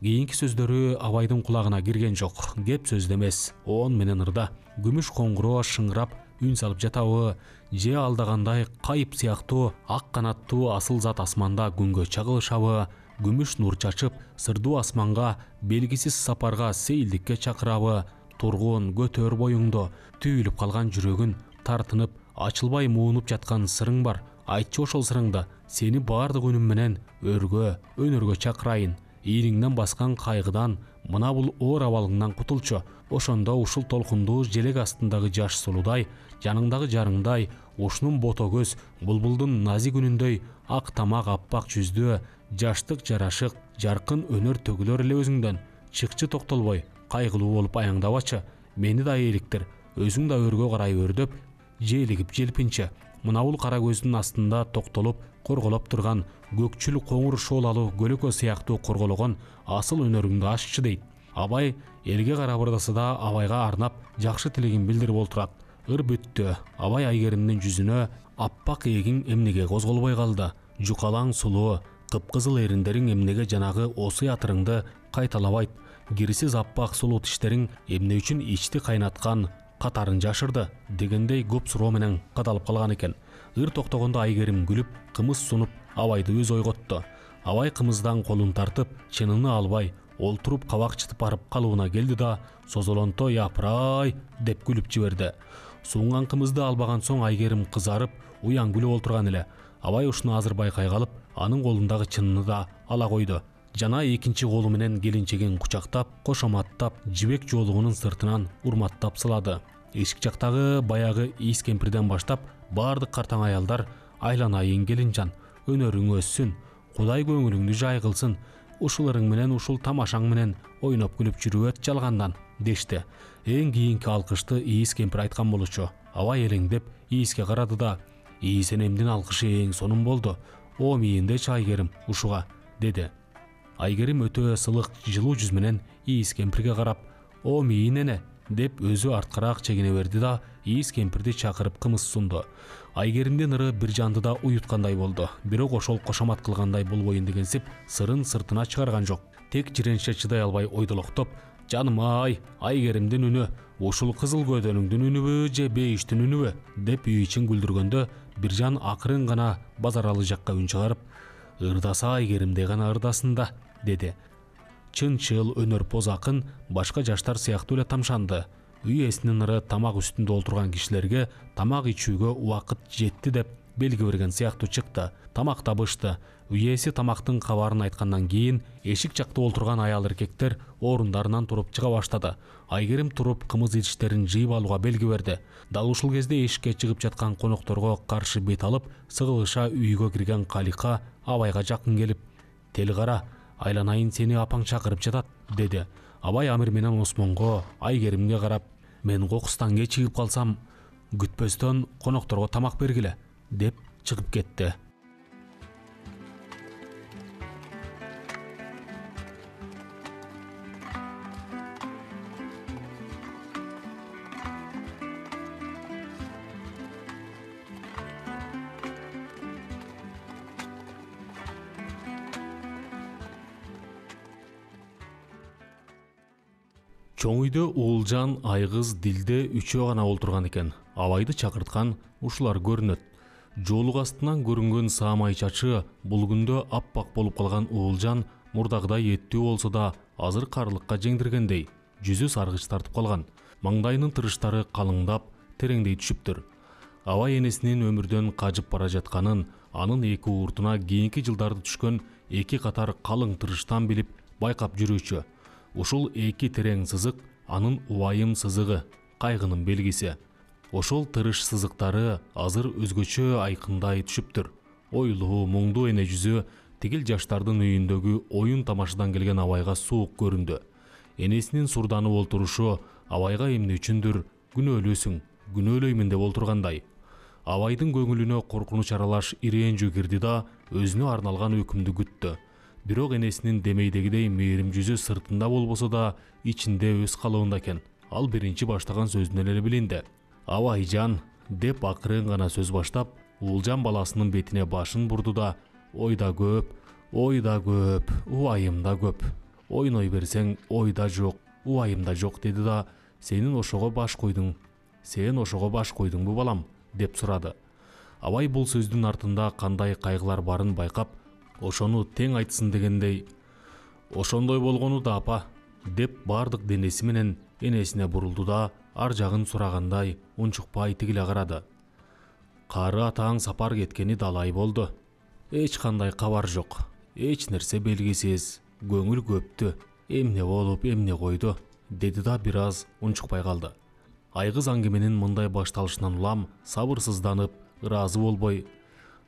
Кийинки сөздөрү Абайдын кулагына кирген жок. Кеп сөздө эмес, оон менен ырда. Күмүш коңгуроо шыңырап үн салып жатабы, же алдагандай кайып сыяктуу ак канаттуу асыл зат асманда күнгө чагылышабы, күмүш нур чачып сырдуу асманга белгисиз сапарга сейилдикке чакырабы, тургун көтөр боюңду, түйүлүп калган жүрөгүн тартынып ачылбай муунуп жаткан сырың бар. Айтчы ошол сырыңды, сени баардык үнүм менен өргө, өнөргө чакырайын. Ийриңден баскан кайгыдан, мына бул оор абалыңдан кутулчу. Ошондо ушул толкундуу желек астындагы жаш сулуудай, жаныңдагы жарыңдай, ушунун бото көз, булбулдун назик үнүндөй, ак тамак аппак жүздүү, жаштык жарашык, жаркын өнөр төгүлөр эле өзүңдөн. Чыкчы токтолбой, кайгылуу болуп аяңдабачы. Мени да ээликтир, өзүң да өргө карай өрдөп, желигип желпинчи. Мына бул кара көздүн астында токтолуп, корголоп турган көкчүл коңур шоолалуу көлөкө сыяктуу коргологон асыл өнөрүңдү аччы дейт. Абай элге карап ырдаса да Абайга арнап жакшы тилегин билдирип олтурат. Ыр бүттү. Абай Айгеримдин жүзүнө аппак эгиң эмнеге козголбой калды? Жукалаң сулуу, кыпкызыл эриндериң эмнеге жанагы осуй атырыңды кайталабайт? Кирсиз аппак сулуу тиштериң эмне үчүн ичти кайнаткан катарын жашырды дегендей көп суроо менен кадалып калган экен. Ыр токтогондо Айгерим күлүп, кымыз сунуп Абайды өз ойготту. Абай кымыздан колун тартып, чыныны албай, олтуруп кабак чытып барып калыбына келди да, созолонто япырай деп күлүп жиберди. Суунган кымызды албаган соң Айгерим кызарып, уяң күлүп олтурган эле. Абай ушуну азыр байкай калып, анын колундагы чыныны да ала койду. Жана экинчи колу менен келинчегин кучактап, кошоматтап, жибек жоолугунун сыртынан урматтап сылады. Эшик жактагы баягы ийис кемпирден баштап баардык картаң аялдар айланайын келинжан, өнөрүң өссүн, Кудай көңүлүңдү жай кылсын, ушуларың менен ушул тамашаң менен ойноп күлүп жүрүп өт жалгандан дешти. Эң кийинки алкышты ийис кемпир айткан болчу. Абай элеңдеп ийиске карады да, ийис энемдин алкышы эң сонун болду. О мийиндечи Айгерим ушуга деди. Айгерим өтө сылык жылуу жүз менен ийис кемпирге карап, о мийин эне деп өзү арткараак чегине берди да, ийис кемпирди чакырып кымыз сунду. Айгеримдин ыры Биржанды да уюткандай болду. Бирок ошол кошомат кылгандай болбоюн дегенсип, сырын сыртына чыгарган жок. Тек жиренче чыдай албай ойдолоктоп, жаным ай, Айгеримдин үнү, ушул кызыл көдөнүңдүн үнүбү же бейиштин үнүбү деп үй ичин күлдүргөндө, Биржан акырын гана Базаралы жакка үн чыгарып, ырдаса Айгеримдей гана ырдасын да деди. Чынчыл, өнөр поз акын башка жаштар сыяктуу эле тамшанды. Үй ээсинин ыры тамак үстүндө олтурган кишилерге тамак ичүүгө убакыт жетти деп белги берген сыяктуу чыкты. Тамак табышты. Үй ээси тамактын кабарын айткандан кийин эшик жакта олтурган аял эркектер орундарынан туруп чыга баштады. Айгерим туруп кымыз идиштерин жыйып алууга белги берди. Дал ушул кезде эшикке чыгып жаткан конокторго каршы бет алып, сыгылыша үйгө кирген Калика Абайга жакын келип, "Тел кара, айланайын сени апаң чакырып жатат" деди. Абай Амир менен Осмонго, Айгеримге карап, "Мен кокустан кечигип калсам, күтпөстөн конокторго тамак бергиле" деп чыгып кетти. Чоң үйдө Уулжан, Айгыз, Дилде үчөө гана олтурган экен. Абайды чакырткан ушулар көрүнөт. Жоолук астынан көрүнгөн саамай чачы бул күндө аппак болуп калган Уулжан мурдагыдай эттүү болсо да азыр карлыкка жеңдиргендей, жүзү саргыч тартып калган. Маңдайынын тырыштары калыңдап, тереңдей түшүптүр. Абай энесинин өмүрдөн кажып бара жатканын, анын эки ууртуна кийинки жылдарды түшкөн эки катар калың тырыштан билип байкап жүрүүчү. Ушул эки терең сызык анын убайым сызыгы, кайгынын белгиси. Ошол тырыш сызыктары азыр өзгөчө айкындай түшүптүр. Ойлуу, муңдуу эне жүзү тигил жаштардын үйүндөгү оюн тамашадан келген абайга суук көрүндү. Энесинин сурданып олтурушу абайга эмне үчүндүр күнөөлүүсүң, күнөөлөймүн деп олтургандай. Абайдын көңүлүнө коркунуч аралаш ирээндүү кирди да өзүнө арналган өкүмдү күттү. Бирок энесинин демейдегидей мээрим жүзү сыртында болбосо да ичинде өз калыбында экен. Ал биринчи баштаган сөзүнөн эле билинди. Абайжан деп акырын гана сөз баштап, Уулжан баласынын бетине башын бурду да, ой да көп, ой да көп, убайым да көп. Ойной берсең, ой да жок, убайым да жок деди да, сенин ошого баш койдуң, сен ошого баш койдуңбу балам, деп сурады. Абай бул сөздүн артында кандай кайгылар барын байкап, ошону тең айтсын дегендей, ошондой болгону да апа, деп бардык денеси менен энесине бурулду да, ар жагын сурагандай унчукпай тигиле карады. Кары атаң сапар кеткени далай болду. Эч кандай кабар жок, эч нерсе белгисиз, көңүл көптү, эмне болуп, эмне койду, деди да бир аз унчукпай калды. Айгыз аңгеменин мындай башталышынан улам сабырсызданып, ыраазы болбой,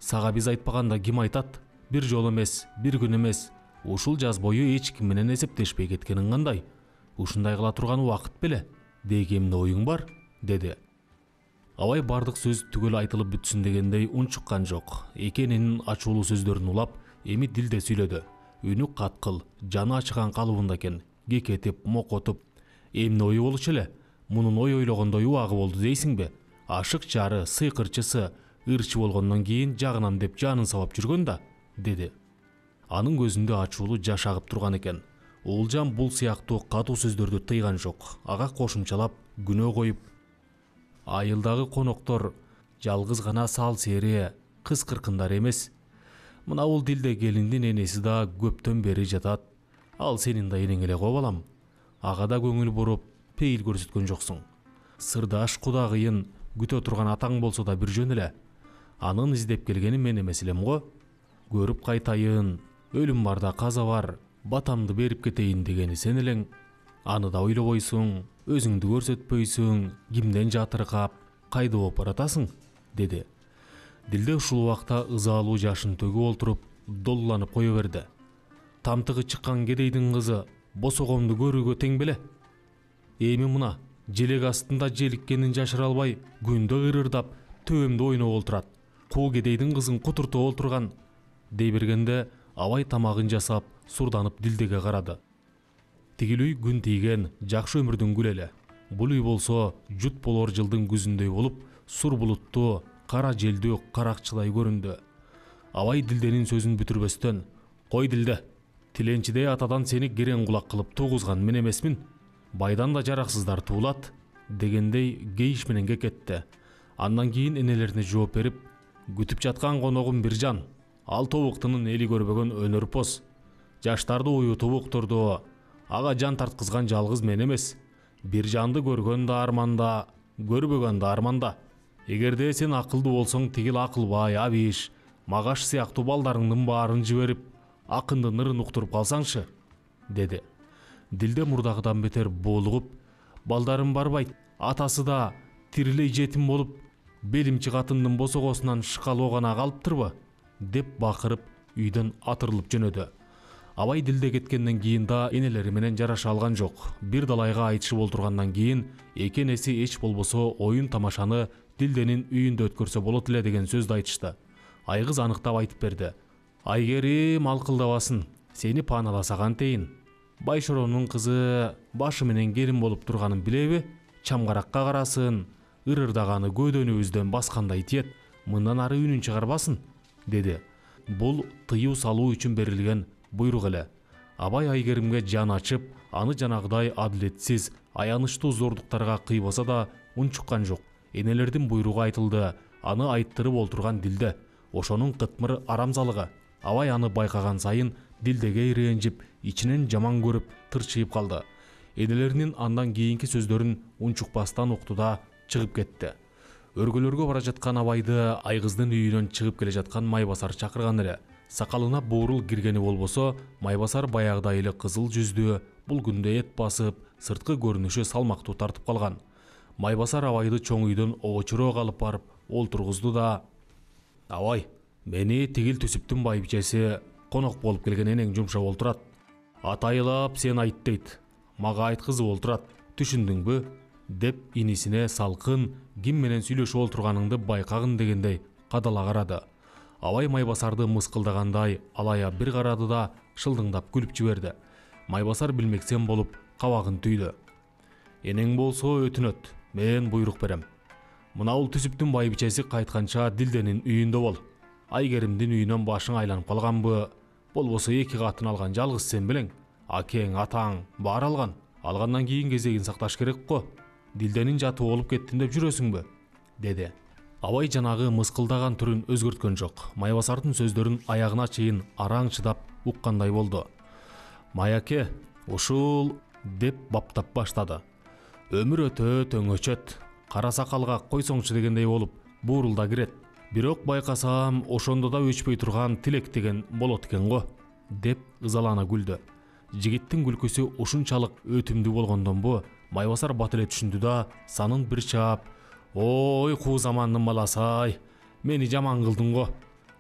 сага биз айтпаганда ким айтат? Бир жол эмес, бир күн эмес, ушул жаз бою эч ким менен эсептешпей кеткениң кандай? Ушундай кыла турган убакыт беле? Деги эмне оюң бар? Деди. Абай бардык сөз түгөл айтылып бүтсүн дегендей унчуккан жок. Экенинин ачуулуу сөздөрүн улап, эми дилде сүйлөдү. Үнү каткыл, жаны ачыган калыбында экен, кекетип, мокотуп. Эмне ою болчу эле? Мунун ой ойлогондой убагы болду дейсиңби? Ашык жары, сыйкырчысы, ырчы болгондон кийин жагынам деп жанын сабап жүргөн да, деди. Анын көзүндө ачуулуу жаш агып турган экен. Уулжан бул сыяктуу катуу сөздөрдү тыйган жок. Ага кошумчалап, күнөө коюп, айылдагы коноктор жалгыз гана сал сери, кыз кыркындар эмес. Мына бул дилде келиндин энеси да көптөн бери жатат. Ал сенин да энең эле го балам. Ага да көңүл буруп, пейил көрсөткөн жоксуң. Сырдаш кудагыйын күтө турган атаң болсо да бир жөн эле. Анын издеп келгени мен эмес элем го. Көрүп кайтайын, өлүм барда каза бар, батамды берип кетейин дегени сен элең. Аны да ойлобойсуң, өзүңдү көрсөтпөйсүң, кимден жатыркап, кайда болуп баратасың, деди. Дилде ушул убакта ызалуу жашын төгүп олтуруп, долланып кое берди. Тамтыгы чыккан кедейдин кызы босогомду көрүүгө тең беле? Эми мына желек астында желиккенин жашыра албай, күндө кырырдап, төбөмдө ойноп олтурат. Куу кедейдин кызын кутуртуп олтурган, дей бергенде Абай тамагын жасап, сурданып дилдеге карады. Тигил үй күн тийген жакшы өмүрдүн гүлү эле. Бул үй болсо жут болор жылдын күзүндөй болуп, сур булуттуу, кара желдүү каракчыдай көрүндү. Абай дилденин сөзүн бүтүрбөстөн, кой дилде, тиленчидей атадан сени керең кулак кылып тугузган мен эмесмин? Байдан да жараксыздар туулат, дегендей кейиш менен кекетти. Андан кийин энелерине жооп берип, күтүп жаткан коногум Биржан, ал тобуктунун эли көрбөгөн өнөрпоз. Жаштарды уютуп уктурду, ага жан тарткызган жалгыз мен эмес. Биржанды көргөн да арманда, көрбөгөн да арманда. Эгерде сен акылдуу болсоң, тигил Акылбай, Абиш, Магаш сыяктуу балдарыңдын баарын жиберип, акындын ырын уктуруп калсаңчы, деди. Дилде мурдагыдан бетер боолугуп, балдарым барбайт, атасы да тирилей жетим болуп, белимчи катындын босогосунан шкалоо гана калыптырбы, деп бакырып үйдөн атырылып жөнөдү. Абай дилде кеткенден кийин да энелери менен жараша алган жок. Бир далайга айтышып олтургандан кийин эки энеси эч болбосо оюн тамашаны дилденин үйүндө өткөрсө болот эле деген сөздү айтышты. Айгыз аныктап айтып берди. Айгерим алкылдабасын, сени пааналаса кантейин. Байшоронун кызы башы менен келин болуп турганын билеби? Чамгаракка карасын, ырырдаганы көдөнүбүздөн баскандай тиет, мындан ары үнүн чыгарбасын, деди. Бул тыюу салуу үчүн берилген буйрук эле. Абай Айгеримге жан ачып, аны жанагыдай адилетсиз, аянычтуу зордуктарга кыйбаса да унчуккан жок. Энелердин буйругу айтылды, аны айттырып олтурган дилде. Ошонун кытмыр арамзалыгы. Абай аны байкаган сайын дилдеге ирэнжип, ичинен жаман көрүп, тырчыйып калды. Энелеринин андан кийинки сөздөрүн унчукпастан укту да чыгып кетти. Өргөлөргө бара жаткан Абайды Айгыздын үйүнөн чыгып келе жаткан Майбасар чакырган эле. Сакалына буурул киргени болбосо, Майбасар баягыдай эле кызыл жүздүү, бул күндө эт басып, сырткы көрүнүшү салмактуу тартып калган. Майбасар Абайды чоң үйдөн обочуроок алып барып олтургузду да: "Абай, мени тигил түсүптүн байбичеси конок болуп келген энең жумшап олтурат. Атайылап сен айт дейт. Мага айткызып олтурат. Түшүндүңбү?" деп инисине салкын, ким менен сүйлөшүп олтурганыңды байкагын дегендей кадала карады. Абай Майбасарды мыскылдагандай алая бир карады да шылдыңдап күлүп жиберди. Майбасар билмексен болуп кабагын түйдү. "Энең болсо өтүнөт, мен буйрук берем. Мынабул түсүптүн байбичеси кайтканча Дилденин үйүндө бол. Айгеримдин үйүнөн башың айланып калганбы? Болбосо эки катын алган жалгыз сен белең. Акең, атаң баары алган. Алгандан кийин кезегин сакташ керек го. Дилденин жаты болуп кеттим деп жүрөсүңбү?" деди. Абай жанагы мыскылдаган түрүн өзгөрткөн жок. Майбасардын сөздөрүн аягына чейин араң чыдап уккандай болду. "Майаке, ушул" деп баптап баштады. "Өмүр өтөт, өңөчөт. Кара сакалга койсоңчу дегендей болуп буурулда кирет. Бирок байкасам, ошондо да өчпөй турган тилек деген болот экен го" деп ызалана күлдү. Жигиттин күлкүсү ушунчалык өтүмдүү болгондонбу, Майбасар бат эле түшүндү да санын бир чаап: "Ой, куу замандын баласы-ай, мени жаман кылдың го.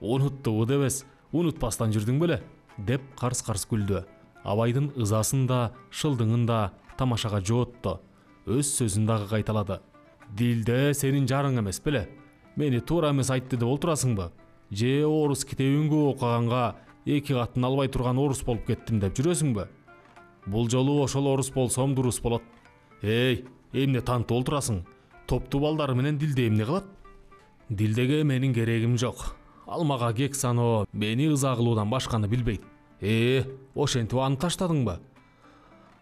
Унуттубу дебес, унутпастан жүрдүң беле" деп карс-карс күлдү. Абайдын ызасын да, шылдыңын да тамашага жоотту. Өз сөзүн дагы кайталады. "Дилде сенин жарың эмес беле? Мени туура эмес айтты деп олтурасыңбы? Же орус китебин көп окуганга эки катын албай турган орус болуп кеттим деп жүрөсүңбү? Бул жолу ошол орус болсом дурус болот. Эй, эмне тантып олтурасың? Топтуу балдары менен Дилде эмне кылат? Дилдеге менин керегим жок. Ал мага кек саноо, мени ыза кылуудан башканы билбейт. Э, ошентип аны таштадыңбы?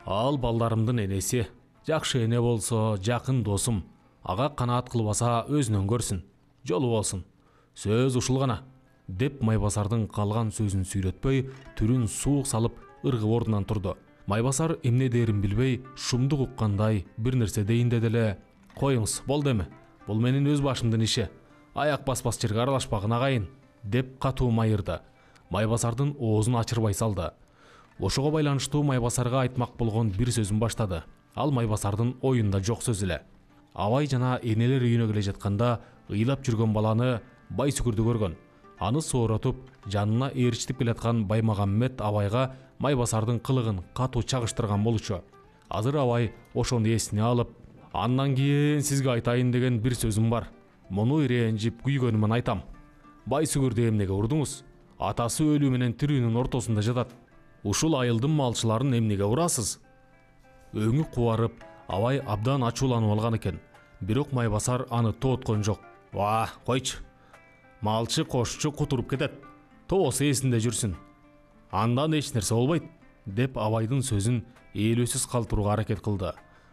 Ал балдарымдын энеси. Жакшы эне болсо, жакын досум. Ага канаат кылбаса өзүнөн көрсүн. Жолу болсун. Сөз ушул гана" деп Майбасардын калган сөзүн сүйлөтпөй, түрүн суук салып ыргып ордунан турду. Майбасар эмне дээрин билбей, шумдук уккандай бир нерсе дейин деди эле: "Коюңуз, болду эми. Бул менин өз башымдын иши. Аяк баспас жерге аралашпагын агайын" деп катуу майырды. Майбасардын оозун ачырбай салды. Ошого байланыштуу Майбасарга айтмак болгон бир сөзүн баштады. Ал Майбасардын оюнда жок сөз эле. Абай жана энелер үйүнө келе жатканда ыйлап жүргөн баланы Байсүгүрдү көргөн. Аны сооротуп, жанына ээрчитип келаткан Баймагамбет Абайга Майбасардын кылыгын катуу чагыштырган болчу. Азыр Абай ошону эсине алып: "Андан кийин сизге айтайын деген бир сөзүм бар. Муну ирэнжип күйгөнүмөн айтам. Байсүгүрдү эмнеге урдуңуз? Атасы өлүү менен тирүүнүн ортосунда жатат. Ушул айылдын малчыларын эмнеге урасыз?" Өңү кубарып, Абай абдан ачууланып алган экен. Бирок Майбасар аны тооткон жок. "Ва, койчу. Малчы кошчу кутуруп кетет. Тобосу эсинде жүрсүн. Андан эч нерсе болбойт" деп Абайдын сөзүн ээлөөсүз калтырууга аракет кылды.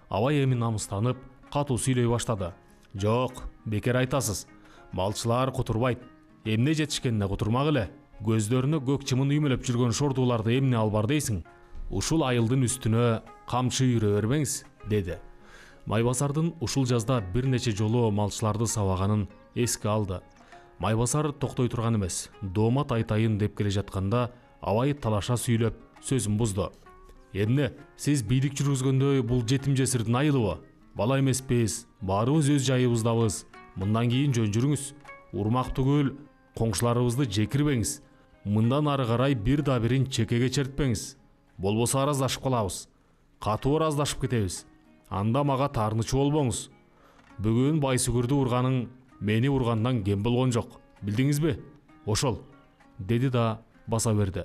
Абай эми намыстанып, катуу сүйлөй баштады. "Жок, бекер айтасыз. Малчылар кутурбайт. Эмне жетишкенине кутурмак эле. Көздөрүнө көк чымын үймөлөп жүргөн шордууларды эмне албар дейсиң? Ушул айылдын үстүнө камчы үйрө бербеңиз" деди. Майбасардын ушул жазда бир нече жолу малчыларды сабаганын эске алды. Майбасар токтой турган эмес. Доомат айтайын деп келе жатканда Абай талаша сүйлөп сөзүн бузду. "Эмне, сиз бийлик жүргүзгөндөй бул жетим жесирдин айылыбы? Бала эмеспиз, баарыбыз өз жайыбыздабыз. Мындан кийин жөн жүрүңүз. Урмак түгүл, коңшуларыбызды жекирбеңиз. Мындан ары карай бир да бирин чекеге чертпеңиз. Болбосо араздашып калабыз. Катуу араздашып кетебиз. Анда мага таарынычы болбоңуз. Бүгүн Байсүгүрдү урганың мени ургандан кем болгон жок. Билдиңизби? Ошол" деди да баса берди.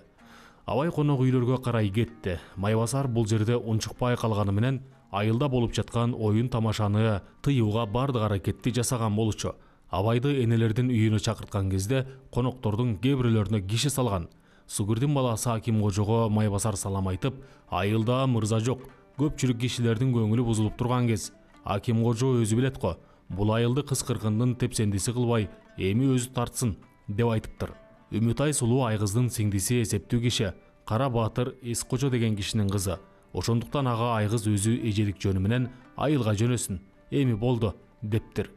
Абай конок үйлөргө карай кетти. Майбасар бул жерде унчукпай калганы менен айылда болуп жаткан оюн тамашаны тыюуга бардык аракетти жасаган болчу. Абайды энелердин үйүнө чакырткан кезде коноктордун кээ бирлөрүнө киши салган. Сугурдин баласы Аким кожого Майбасар салам айтып: "Айылда мырза жок. Көпчүлүк кишилердин көңүлү бузулуп турган кез. Аким кожо өзү билет го. Бул айылды кыскыркындын тепсендиси кылбай, эми өзү тартсын" деп айтыптыр. Үмүтай сулуу Айгыздын сиңдиси эсептүү киши, Кара Баатыр Эскожо деген кишинин кызы. Ошондуктан ага Айгыз өзү эжелик жөнү менен айылга жөнөсүн. Эми болду дептир.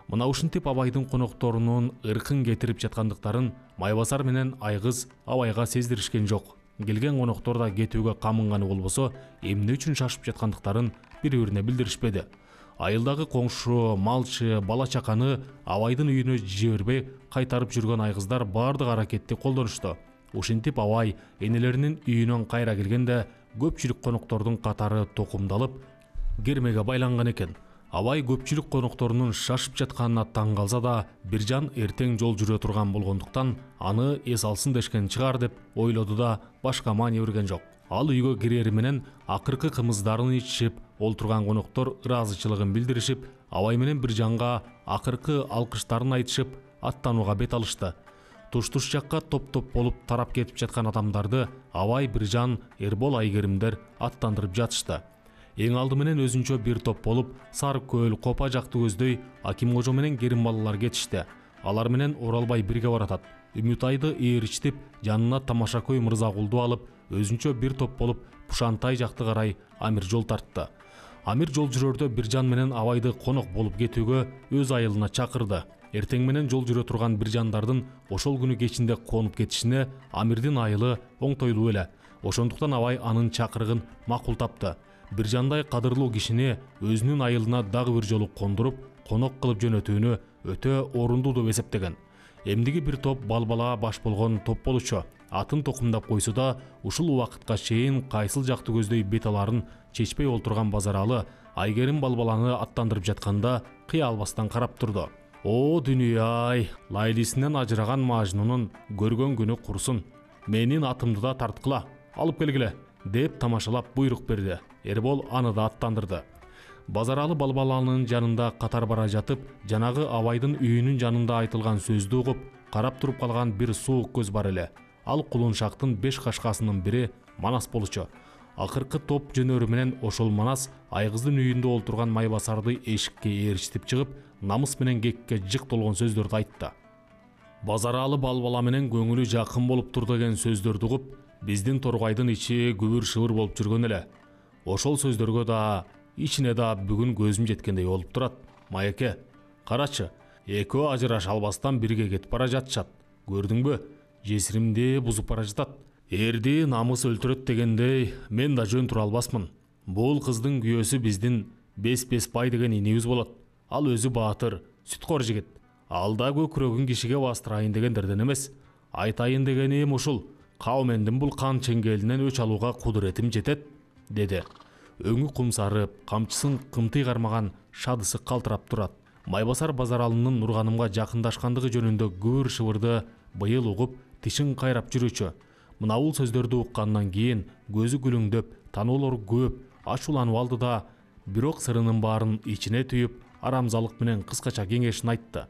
Мына ушинтип абайдын конокторунун ыркын кетирип жаткандыктарын Майбасар менен Айгыз абайга сездиришкен жок. Келген коноктор да кетүүгө камынганы болбосо, эмне үчүн шашып жаткандыктарын бири-бирине билдиришпеди. Айылдагы коңшу, малчы, бала чаканы абайдын үйүнө жибербей кайтарып жүргөн айгыздар бардык аракетти колдонушту. Ушинтип абай энелеринин үйүнөн кайра келгенде көпчүлүк коноктордун катары токумдалып, кермеге байланган экен. Абай көпчүлүк конокторунун шашып жатканына таң калса да, Биржан эртең жол жүрө турган болгондуктан аны эс алсын дешкен чыгар деп ойлоду да башка маани берген жок. Ал үйгө кирери менен акыркы кымыздарын ичишип, ол турган коноктор ыраазычылыгын билдиришип, Абай менен Биржанга акыркы алкыштарын айтышып, аттанууга бет алышты. Туш-туш жакка топ-топ болуп тарап кетип жаткан адамдарды Абай, Биржан, Эрбол, Айгеримдер аттандырып жатышты. Эң алды менен өзүнчө бир топ болуп, Сары көл, Копа жакты көздөй Аким кожо менен Керим балалар кетишти. Алар менен Оралбай бирге баратат. Үмүтайды ээричтип, жанына Тамашакөй Мырзагулду алып, өзүнчө бир топ болуп Пушантай жакты карай Амир жол тартты. Амир жол жүрөрдө Биржан менен Абайды конок болуп кетүүгө өз айылына чакырды. Эртең менен жол жүрө турган Биржандардын ошол күнү кечинде конуп кетишине Амирдин айылы оңтойлуу эле. Ошондуктан Абай анын чакырыгын макул тапты. Биржандай кадырлуу кишини өзүнүн айылына дагы бир жолу кондуруп, конок кылып жөнөтүүнү өтө орундуу деп эсептеген. Эмдиги бир топ балбала баш болгон топ болчу. Атын токумдап койсо да, ушул убакытка чейин кайсыл жакты көздөй бет аларын чечпей олтурган Базаралы Айгерим балбаланы аттандырып жатканда кыя албастан карап турду. О дүнүйай, лайлисинен ажыраган Мажнунун көргөн күнү курсун. Менин атымды да тарткыла, алып келгиле, деп тамашалап буйрук берди. Эрбол аны да аттандырды. Базаралы балбаланын жанында катар бара жатып, жанагы Абайдын үйүнүн жанында айтылган сөздү угуп, карап туруп калган бир суук көз бар эле. Ал Кулуншактын беш кашкасынын бири Манас болчу. Акыркы топ жөнөрү менен ошол Манас Айгыздын үйүндө олтурган Майбасарды эшикке ээрчитип чыгып, намыс менен кекке жык толгон сөздөрдү айтты. Базаралы балбала менен көңүлү жакын болуп тур деген сөздөрдү угуп, биздин Торгайдын ичи күбүр-шыбыр болуп жүргөн эле. Ошол сөздөргө да, ичине да бүгүн көзүм жеткендей болуп турат. Майеке, карачы, экөө ажыраша албастан бирге кетип бара жатышат. Көрдүңбү? Жесиримди бузуп бара жатат. Эрди намыс өлтүрөт дегендей, мен да жөн тура албасмын. Бул кыздын күйөөсү биздин Бес-бес бай деген инибиз болот. Ал өзү баатыр, сүткор жигит. Ал да көкүрөгүн кишиге бастырайын дегендерден эмес. Айтайын дегеним ушул. Каумендин бул кан чеңгелинен өч алууга кудуретим жетет, деди. Өңү кумсарып, камчысын кымтый кармаган шадысы калтырап турат. Майбасар Базаралынын Нурганымга жакындашкандыгы жөнүндө күбүр шыбырды быйыл угуп, тишин кайрап жүрүүчү. Мына бул сөздөрдү уккандан кийин көзү күлүңдөп, таноолору көп, ачууланып алды да, бирок сырынын баарын ичине түйүп, арамзалык менен кыскача кеңешин айтты.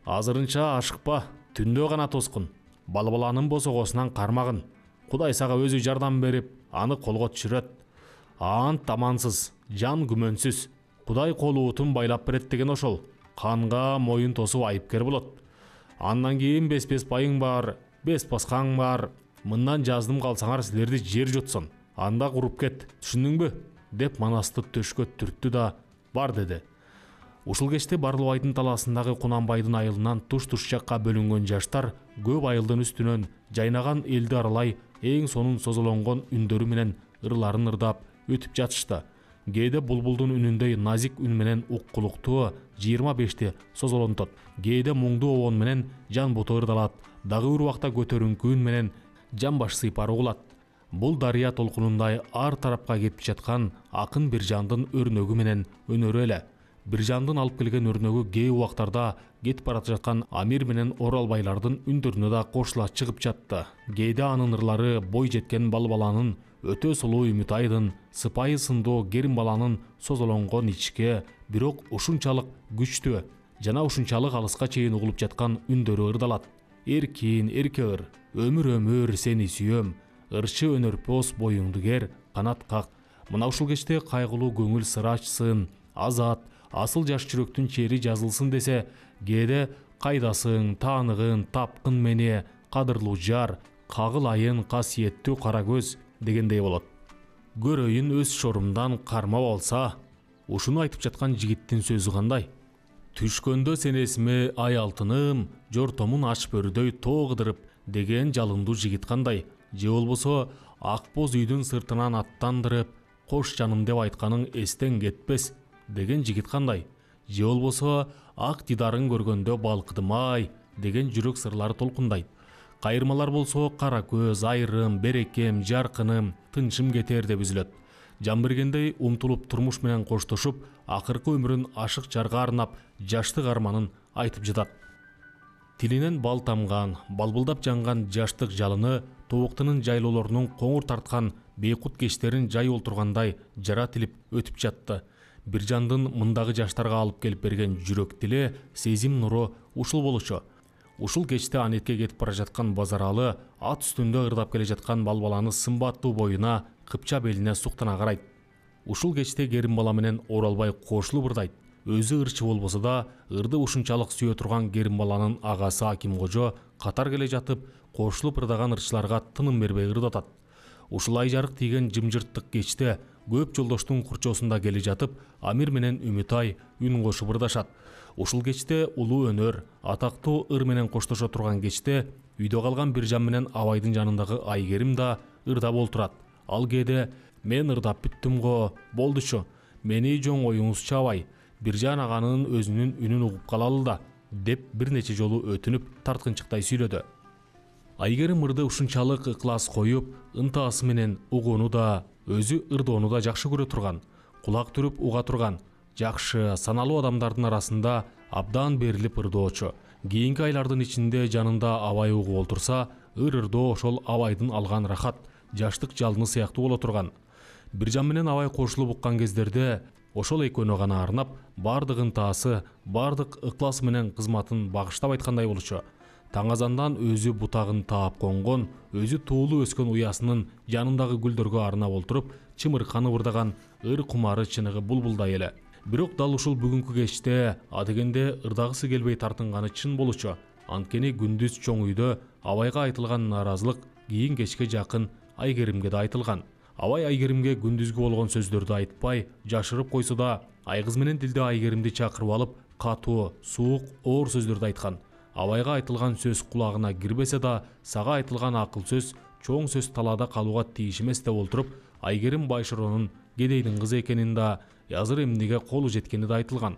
Азырынча ашыкпа, түндө гана тоскун. Балбаланын босогосунан кармагын. Кудай сага өзү жардам берип, аны колго түшүрөт. Ант амансыз, жан күмөнсүз. Кудай колуутун байлап берет деген ошол. Канга моюн тосуп айыпкер болот. Андан кийин Бес-бес байың бар, бес баскаң бар. Мындан жаздым калсаңар силерди жер жутсын. Анда куруп кет, түшүндүңбү? Деп Манасты төшкө түрттү да бар деди. Ушул кечте Барлыбайдын талаасындагы Кунанбайдын айылынан туш-туш жакка бөлүнгөн жаштар көп айылдын үстүнөн жайнаган элди аралай эң сонун созолонгон үндөрү менен ырларын ырдап өтүп жатышты. Кээде булбулдун үнүндөй назик үн менен уккулуктуу жыйырма бешти созолонтот. Кээде муңдуу обон менен жан буту ырдалат. Дагы бир убакта көтөрүңкү үн менен жан баш сыйпары угулат. Бул дарыя толкунундай ар тарапка кетип жаткан акын Биржандын өрнөгү менен өнөрү эле. Биржандын алып келген өрнөгү кээ убактарда кетип бара жаткан Амир менен Оралбайлардын үндөрүнө да кошула чыгып жатты. Кээде анын ырлары бой жеткен Балбаланын, өтө сулуу Үмүтайдын, сыпайы сындуу Керим баланын созолонгон ичке, бирок ушунчалык күчтүү жана ушунчалык алыска чейин угулуп жаткан үндөрү ырдалат. Эркин, эрке ыр, өмүр-өмүр сени сүйөм, ырчы өнөрпөс боюңду кер, канат как. Мына ушул кечте кайгылуу көңүл сыр ачсын, азат, асыл жаш жүрөктүн чери жазылсын десе, кээде кайдасың, тааныгын, тапкын мени, кадырлуу жар, кагылайын касиеттүү кара көз дегендей болот. Көрөйүн өз шорумдан кармап алса, ушуну айтып жаткан жигиттин сөзү кандай? Түшкөндө сен эсиме ай алтыным, жортомун аш бөрүдөй тоогыдырып деген жалындуу жигит кандай, же болбосо ак боз үйдүн сыртынан аттандырып кош жаным деп айтканың эстен кетпес деген жигит кандай, же болбосо ак дидарын көргөндө балкыдым ай деген жүрөк сырлары толкундайт. Кайырмалар болсо кара көз, айрым, берекем, жаркыным, тынчым кетер деп үзүлөт. Жан бергендей умтулуп турмуш менен коштошуп, акыркы өмүрүн ашык жарга арнап, жаштык арманын айтып жатат. Тилинен бал тамган, балбылдап жанган жаштык жалыны тобуктунун жайлоолорунун коңур тарткан бейкут кечтерин жай олтургандай жара тилип өтүп жатты. Бир жандын мындагы жаштарга алып келип берген жүрөк тиле, сезим нуру ушул болчу. Ушул кечте анетке кетип бара жаткан Базаралы ат үстүндө ырдап келе жаткан бал баланы сымбаттуу боюна, кыпча белине суктана карайт. Ушул кечте Керим бала менен Оралбай кошулуп ырдайт. Өзү ырчы болбосо да, ырды ушунчалык сүйө турган Керим баланын агасы Аким кожо катар келе жатып, кошулуп ырдаган ырчыларга тыным бербей ырдатат. Ушул ай жарык тийген жымжырттык кечте көп жолдоштун курчоосунда келе жатып, Амир менен Үмүтай үн кошуп ырдашат. Ушул кечте улуу өнөр, атактуу ыр менен коштошо турган кечте үйдө калган Биржан менен Абайдын жанындагы Айгерим да ырдап олтурат. Ал кээде мен ырдап бүттүм го, болдучу. Мени жоң оюңузчу Абай, Биржан аганын өзүнүн үнүн угуп калалы да, деп бир нече жолу өтүнүп тарткынчыктай сүйлөдү. Айгерим ырды ушунчалык ыклас коюп, ынтаасы менен угууну да, өзү ырдоону да жакшы көрө турган, кулак түрүп уга турган, жакшы, саналуу адамдардын арасында абдан берилип ырдоочу. Кийинки айлардын ичинде жанында Абай угуп олтурса, ыр ырдоо ошол Абайдын алган рахат, жаштык жалыны сыяктуу боло турган. Биржан менен Абай кошулуп уккан кездерде ошол экөөнө гана арнап, бардык ынтаасы, бардык ыкласы менен кызматын багыштап айткандай болчу. Таң азандан өзү бутагын таап конгон, өзү туулуу өскөн уясынын жанындагы гүлдөргө арнап олтуруп, чымырканып ырдаган ыр кумары чыныгы булбулдай эле. Бирок дал ушул бүгүнкү кечте адегенде ырдагысы келбей тартынганы чын болчу. Анткени күндүз чоң үйдө Абайга айтылган нааразылык кийин кечке жакын Айгеримге да айтылган. Абай Айгеримге күндүзгү болгон сөздөрдү айтпай, жашырып койсо да, айгыз менен тилде Айгеримди чакырып алып, катуу, суук, оор сөздөрдү айткан. Абайга айтылган сөз кулагына кирбесе да, сага айтылган акыл сөз, чоң сөз талаада калууга тийиш эмес деп олтуруп, Айгерим Байшоронун кедейдин кызы экенин да, азыр эмнеге колу жеткени да айтылган.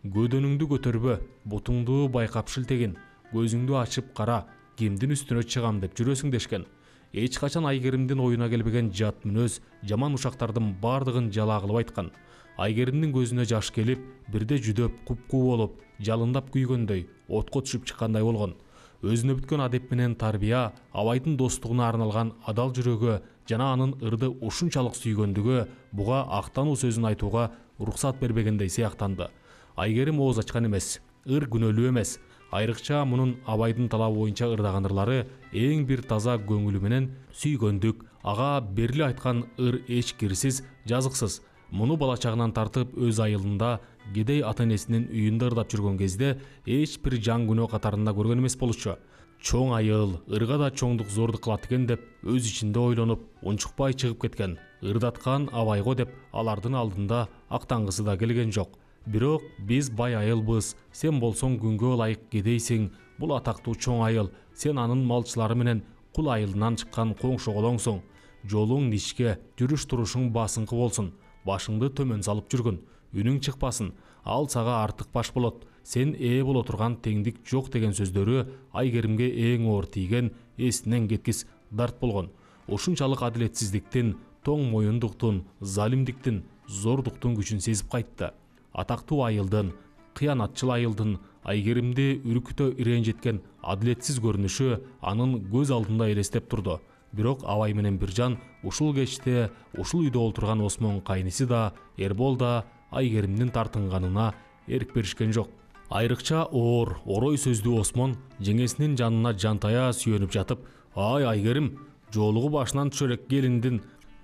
Көдөнүңдү көтөрбө, бутуңду байкап шилтегин, көзүңдү ачып кара, кимдин үстүнө чыгам деп жүрөсүң дешкен. Эч качан Айгеримдин оюна келбеген жат мүнөз, жаман ушактардын бардыгын жала кылып айткан. Айгеримдин көзүнө жаш келип, бирде жүдөп, куп-куу болуп, жалындап күйгөндөй, отко түшүп чыккандай болгон. Өзүнө бүткөн адеп менен тарбия, Абайдын достугуна арналган адал жүрөгү жана анын ырды ушунчалык сүйгөндүгү буга актануу сөзүн айтууга уруксат бербегендей сыяктанды. Айгерим ооз ачкан эмес, ыр күнөөлүү эмес. Айрыкча мунун Абайдын талабы боюнча ырдаган ырлары эң бир таза көңүлү менен сүйгөндүк, ага берили айткан ыр эч кирсиз, жазыксыз. Муну бала чагынан тартып өз айылында кедей ата-энесинин үйүндө ырдап жүргөн кезде эч бир жан күнөө катарында көргөн эмес болчу. Чоң айыл ырга да чоңдук зордук кылат экен деп өз ичинде ойлонуп, унчукпай чыгып кеткен. Ырдаткан Абайго деп алардын алдында актангысы да келген жок. Бирок биз бай айылбыз, сен болсоң күнгө ылайык кедейсиң, бул атактуу чоң айыл, сен анын малчылары менен кул айылынан чыккан коңшоголоңсуң. Жолуң ничке, жүрүш турушуң басыңкы болсун, башыңды төмөн салып жүргүн, үнүң чыкпасын, ал сага артык баш болот, сен ээ боло турган теңдик жок деген сөздөрү Айгеримге эң оор тийген, эсинен кеткис дарт болгон. Ушунчалык адилетсиздиктин, тоң моюндуктун, залимдиктин, зордуктун күчүн сезип кайтты. Атактуу айылдын, кыянатчыл айылдын Айгеримди үркүтө иренжеткен адилетсиз көрүнүшү анын көз алдында элестеп турду. Бирок Абай менен Биржан ушул кечте ушул үйдө олтурган Осмон кайниси да, Эрбол да Айгеримдин тартынганына эрк беришкен жок. Айрыкча оор, орой сөздүү Осмон жеңесинин жанына жантая сүйөнүп жатып, "Ай Айгерим, жолугу башынан түшөрөк келиндин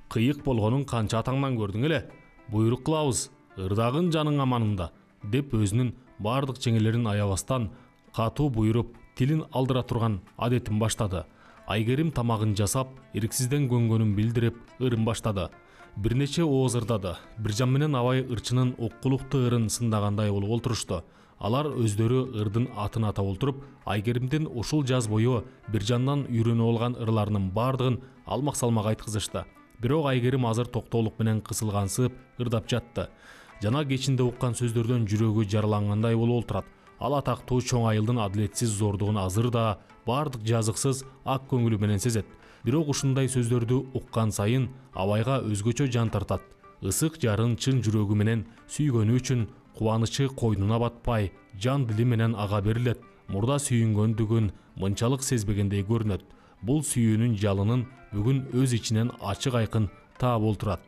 кыйык болгонун канча атаңдан көрдүң эле. Буйрук кылабыз, ырдагын жаның аманында", деп өзүнүн бардык жеңелерин аябастан катуу буйруп, тилин алдыра турган адетин баштады. Айгерим тамагын жасап, ирксизден көнгөнүн билдирип, ырын баштады. Бир нече ооз ырдады. Биржан менен Абай ырчынын оккулуктуу ырын сындагандай болуп олтурушту. Алар өздөрү ырдын атын атап олтуруп, Айгеримдин ушул жаз бою бир жандан үйрөнүп алган ырларынын бардыгын алмак салмак айткызышты. Бирок Айгерим азыр токтоолук менен кысылгансып ырдап жатты. Жана кечинде уккан сөздөрдөн жүрөгү жаралангандай болуп олтурат. Ал атактуу чоң айылдын адилетсиз зордугун азыр да бардык жазыксыз ак көңүлү менен сезет. Бирок ушундай сөздөрдү уккан сайын абайга өзгөчө жан тартат. Ысык жарын чын жүрөгү менен сүйгөнү үчүн кубанычы койнуна батпай, жан дили менен ага берилет. Мурда сүйүнгөндүгүн мынчалык сезбегендей көрүнөт. Бул сүйүүнүн жалынын бүгүн өз ичинен ачык айкын таап олтурат.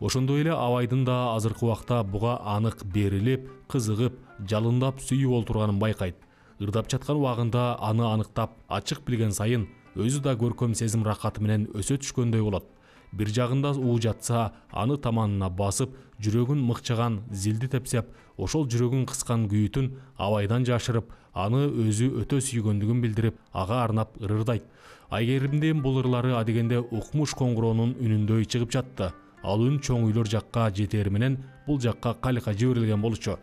Ошондой эле абайдын да азыркы убакта буга анык берилип, кызыгып, жалындап сүйүп олтурганын байкайт. Ырдап жаткан убагында аны аныктап, ачык билген сайын өзү да көркөм сезим рахаты менен өсө түшкөндөй болот. Бир жагында уу жатса, аны таманына басып, жүрөгүн мыкчаган зилди тепсеп, ошол жүрөгүн кыскан күйүтүн абайдан жашырып, аны өзү өтө сүйгөндүгүн билдирип, ага арнап ырырдайт. Айгеримдин бул ырлары адегенде укмуш коңгуроонун үнүндөй чыгып жатты. Ал үн чоң үйлөр жакка жетери менен бул жакка калка жиберилген болчу.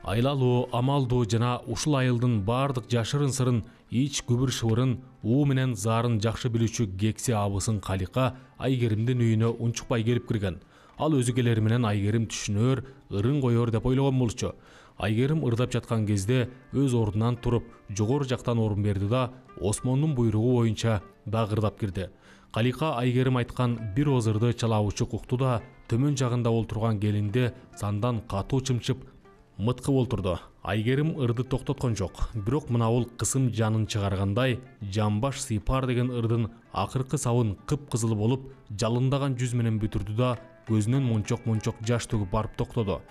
Айлалуу, амалдуу жана ушул айылдын бардык жашырын сырын, ич күбүр шыбырын, уу менен заарын жакшы билүүчү кекси абысын Калика Айгеримдин үйүнө унчукпай келип кирген. Ал өзү келери менен Айгерим түшүнөр, ырын коёр деп ойлогон болчу. Айгерим ырдап жаткан кезде өз ордунан туруп, жогору жактан орун берди да Осмондун буйругу боюнча дагы ырдап кирди. Калика Айгерим айткан бир ооз ырды чалаабычык укту да, төмөн жагында олтурган келинде сандан катуу чымчып мыткып олтурду. Айгерим ырды токтоткон жок, бирок мынабул кысым жанын чыгаргандай «Жамбаш сыйпар» деген ырдын акыркы сабын кып-кызыл болуп, жалындаган жүз менен бүтүрдү да көзүнөн мончок-мончок жаш төгүп барып токтоду.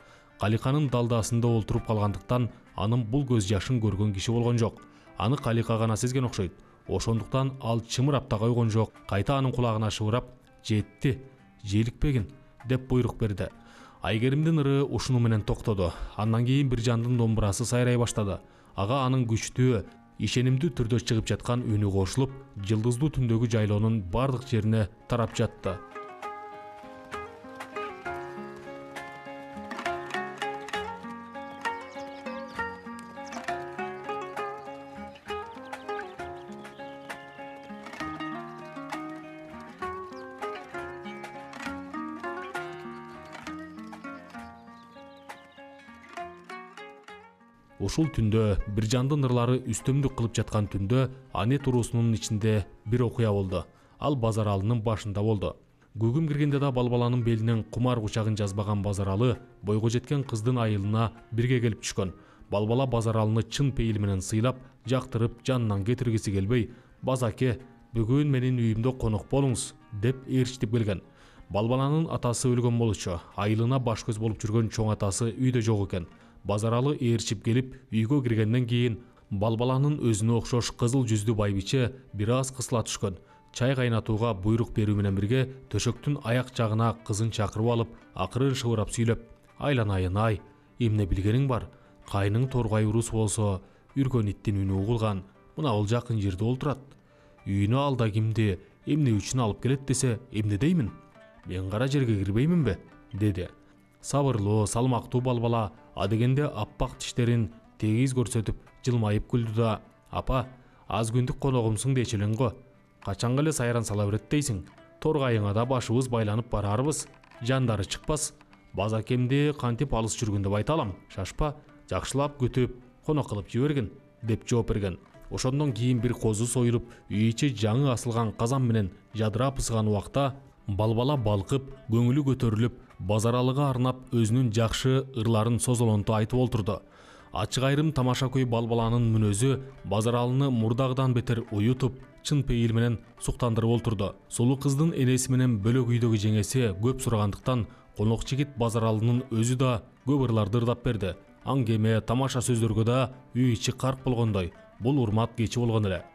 Каликанын далдасында олтуруп калгандыктан анын бул көз жашын көргөн киши болгон жок. Аны Калика гана сезген окшойт. Ошондуктан ал чымырап да койгон жок. Кайта анын кулагына шыбырап «Жетти, желикпегин» деп буйрук берди. Айгеримдин ыры ушуну менен токтоду. Андан кийин бир жандын домбурасы сайрай баштады. Ага анын күчтүү, ишенимдүү түрдө чыгып жаткан үнү кошулуп, жылдыздуу түндөгү жайлоонун бардык жерине тарап жатты. Ушул түндө бир жандын ырлары үстөмдүк кылып жаткан түндө Анет уруусунун ичинде бир окуя болду. Ал Базаралынын башында болду. Күгүм киргенде да балбаланын белинен кумар кучагын жазбаган Базаралы бойго жеткен кыздын айылына бирге келип түшкөн. Балбала Базаралыны чын пейил менен сыйлап, жактырып, жанынан кетиргиси келбей, «Базаке, бүгүн менин үйүмдө конок болуңуз» деп ээрчитип келген. Балбаланын атасы өлгөн болчу. Айылына баш көз болуп жүргөн чоң атасы үйдө жок экен. Базаралы ээрчип келип, үйгө киргенден кийин Балбаланын өзүнө окшош кызыл жүздүү байбиче бир аз кысыла түшкөн. Чай кайнатууга буйрук берүү менен бирге төшөктүн аяк жагына кызын чакырып алып, акырын шыбырап сүйлөп: «Айланайын ай, эмне билгениң бар? Кайның торгай урус болсо, үргөн иттин үнү угулган, мына бул жакын жерде олтурат. Үйүнө алда кимди, эмне үчүн алып келет десе, эмне деймин? Мен кара жерге кирбейминби?» деди. Сабырлуу, салмактуу Балбала адегенде аппак тиштерин тегиз көрсөтүп жылмайып күлдү да: «Апа, аз күндүк коногумсуң дечи элең го. Качанга эле сайран сала берет дейсиң? Торгайыңа да башыбыз байланып барарбыз. Жандары чыкпас. Базакемди кантип алыс жүргүн деп айта алам. Шашпа, жакшылап күтүп, конок кылып жибергин» деп жооп берген. Ошондон кийин бир козу союлуп, үй ичи жаңы асылган казан менен жадырап ысыган убакта Балбала балкып, көңүлү көтөрүлүп, Базаралыга арнап өзүнүн жакшы ырларын созолонто айтып олтурду. Ачык айрым тамаша көй Балбаланын мүнөзү Базаралыны мурдагыдан бетер уютуп, чын пейил менен суктандырып олтурду. Сулуу кыздын энеси менен бөлөк үйдөгү жеңеси көп сурагандыктан конок жигит Базаралынын өзү да көп ырларды ырдап берди. Аңгеме, тамаша сөздөргө да үй ичи карк болгондой. Бул урмат кечи болгон эле.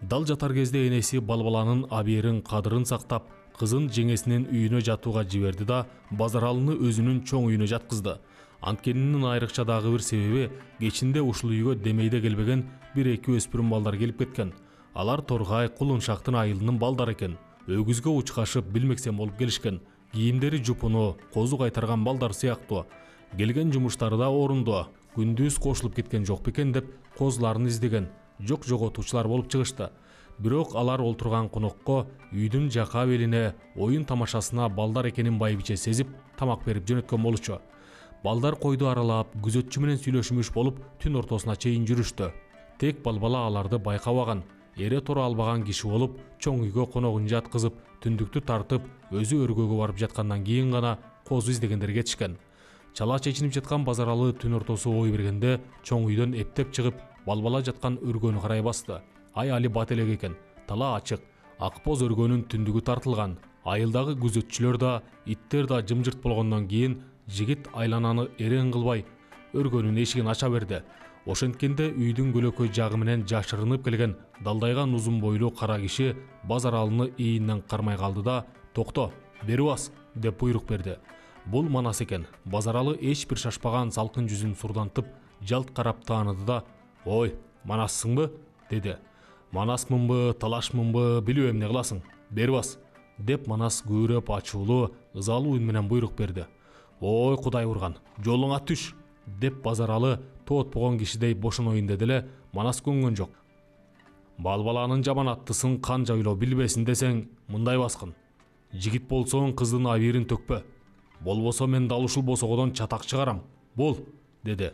Дал жатар кезде энеси Балбаланын абийирин кадырын сактап, кызын жеңесинин үйүнө жатууга жиберди да Базаралыны өзүнүн чоң үйүнө жаткызды. Анткенинин айрыкча дагы бир себеби, кечинде ушул үйгө демейде келбеген бир эки өспүрүм балдар келип кеткен. Алар Торгай Кулуншактын айылынын балдары экен. Өгүзгө учкашып билмексен болуп келишкен. Кийимдери жупуну, козу кайтарган балдар сыяктуу. Келген жумуштары да орундуу. күндүз кошулуп кеткен жок бекен деп козуларын издеген жок жоготуучулар болуп чыгышты. Бирок алар олтурган конокко үйдүн жака белине оюн тамашасына балдар экенин байбиче сезип тамак берип жөнөткөн болчу. Балдар койду аралап күзөтчү менен сүйлөшмүш болуп түн ортосуна чейин жүрүштү. Тек балбала аларды байкабаган, эре тура албаган киши болуп, чоң үйгө коногун жаткызып, түндүктү тартып, өзү өргөгө барып жаткандан кийин гана козу издегендер кетишкен. Чала чечинип жаткан Базаралы түн ортосу ой бергенде чоң үйдөн эптеп чыгып, балбала жаткан өргөнү карай басты. Ай али бат элек экен, тала ачык, ак боз өргөнүн түндүгү тартылган. Айылдагы күзөтчүлөр да, иттер да жымжырт болгондон кийин жигит айлананы эрең кылбай өргөнүн эшигин ача берди. Ошенткенде үйдүн көлөкөй жагы менен жашырынып келген далдайган узун бойлуу кара киши Базаралыны ийинен кармай калды да «Токто, бери бас» деп буйрук берди. Бул Манас экен. Базаралы эч бир шашпаган салкын жүзүн сурдантып, жалт карап тааныды да «Ой, Манассыңбы?» деди. «Манасмынбы, талашмынбы, билбейм, эмне кыласың? Бери бас» деп Манас күбөрөп ачуулуу, ызалуу үн менен буйрук берди. «Ой, Кудай урган, жолуңа түш» деп Базаралы тоотпогон кишидей бошоноюн деди эле, Манас көнгөн жок. Балбаланын жаман аттысын канча ойлоо билбесин десең, мындай баскын. Жигит болсоң кыздын абийирин төкпө. Болбосо мен дал ушул босогодон чатак чыгарам. Бол, деди.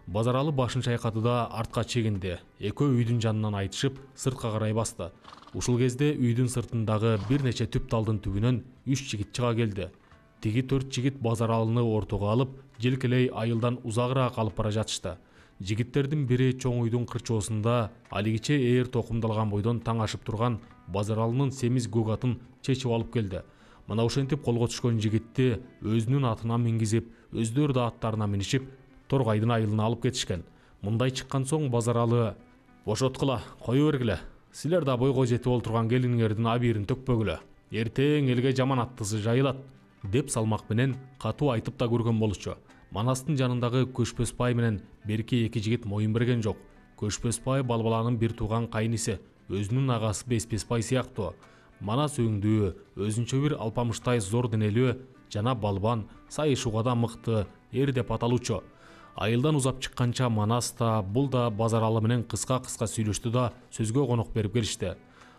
Базаралы башын чайкады да артка чегинди. Экөө үйдүн жанынан айтышып, сыртка карай басты. Ушул кезде үйдүн сыртындагы бир нече түп талдын түбүнөн үч жигит чыга келди. Тиги төрт жигит Базаралыны ортого алып, желкелей айылдан узагыраак алып бара жатышты. Жигиттердин бири чоң үйдүн кырчоосунда алигиче ээр токумдалган бойдон таң ашып турган Базаралынын семиз көк атын чечип алып келди. Мына ошентип колго түшкөн жигитти өзүнүн атына мингизип, өздөрү да аттарына минишип, Торгайдын айылына алып кетишкен. Мындай чыккан соң Базаралы «Бошоткула, кое бергиле. Силер да бойго жетип олтурган келиниңердин абийирин төкпөгүлө. Эртең элге жаман аттысы жайылат» деп салмак менен катуу айтып да көргөн болчу. Манастын жанындагы Көшпөс бай менен берки эки жигит моюн берген жок. Көшпөс бай Балбаланын бир тууган кайниси, өзүнүн агасы Беспес бай сыяктуу. Манас өңдүү, өзүнчө бир алпамыштай зор денелүү жана балбан, сайышууга да мыкты эр деп аталуучу. Айылдан узап чыкканча Манас да, бул да Базаралы менен кыска-кыска сүйлөштү да сөзгө конок берип келишти.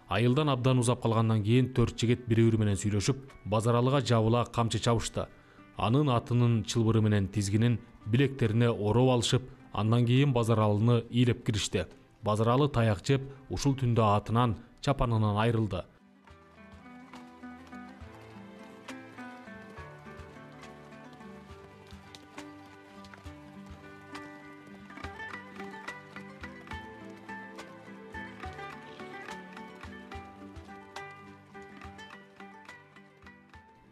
Айылдан абдан узап калгандан кийин төрт жигит бири-бири менен сүйлөшүп, Базаралыга жабыла камчы чабышты. Анын атынын чылбыры менен тизгинин билектерине ороп алышып, андан кийин Базаралыны ыйлеп киришти. Базаралы таяк жеп, ушул түндө атынан, чапанынан айрылды.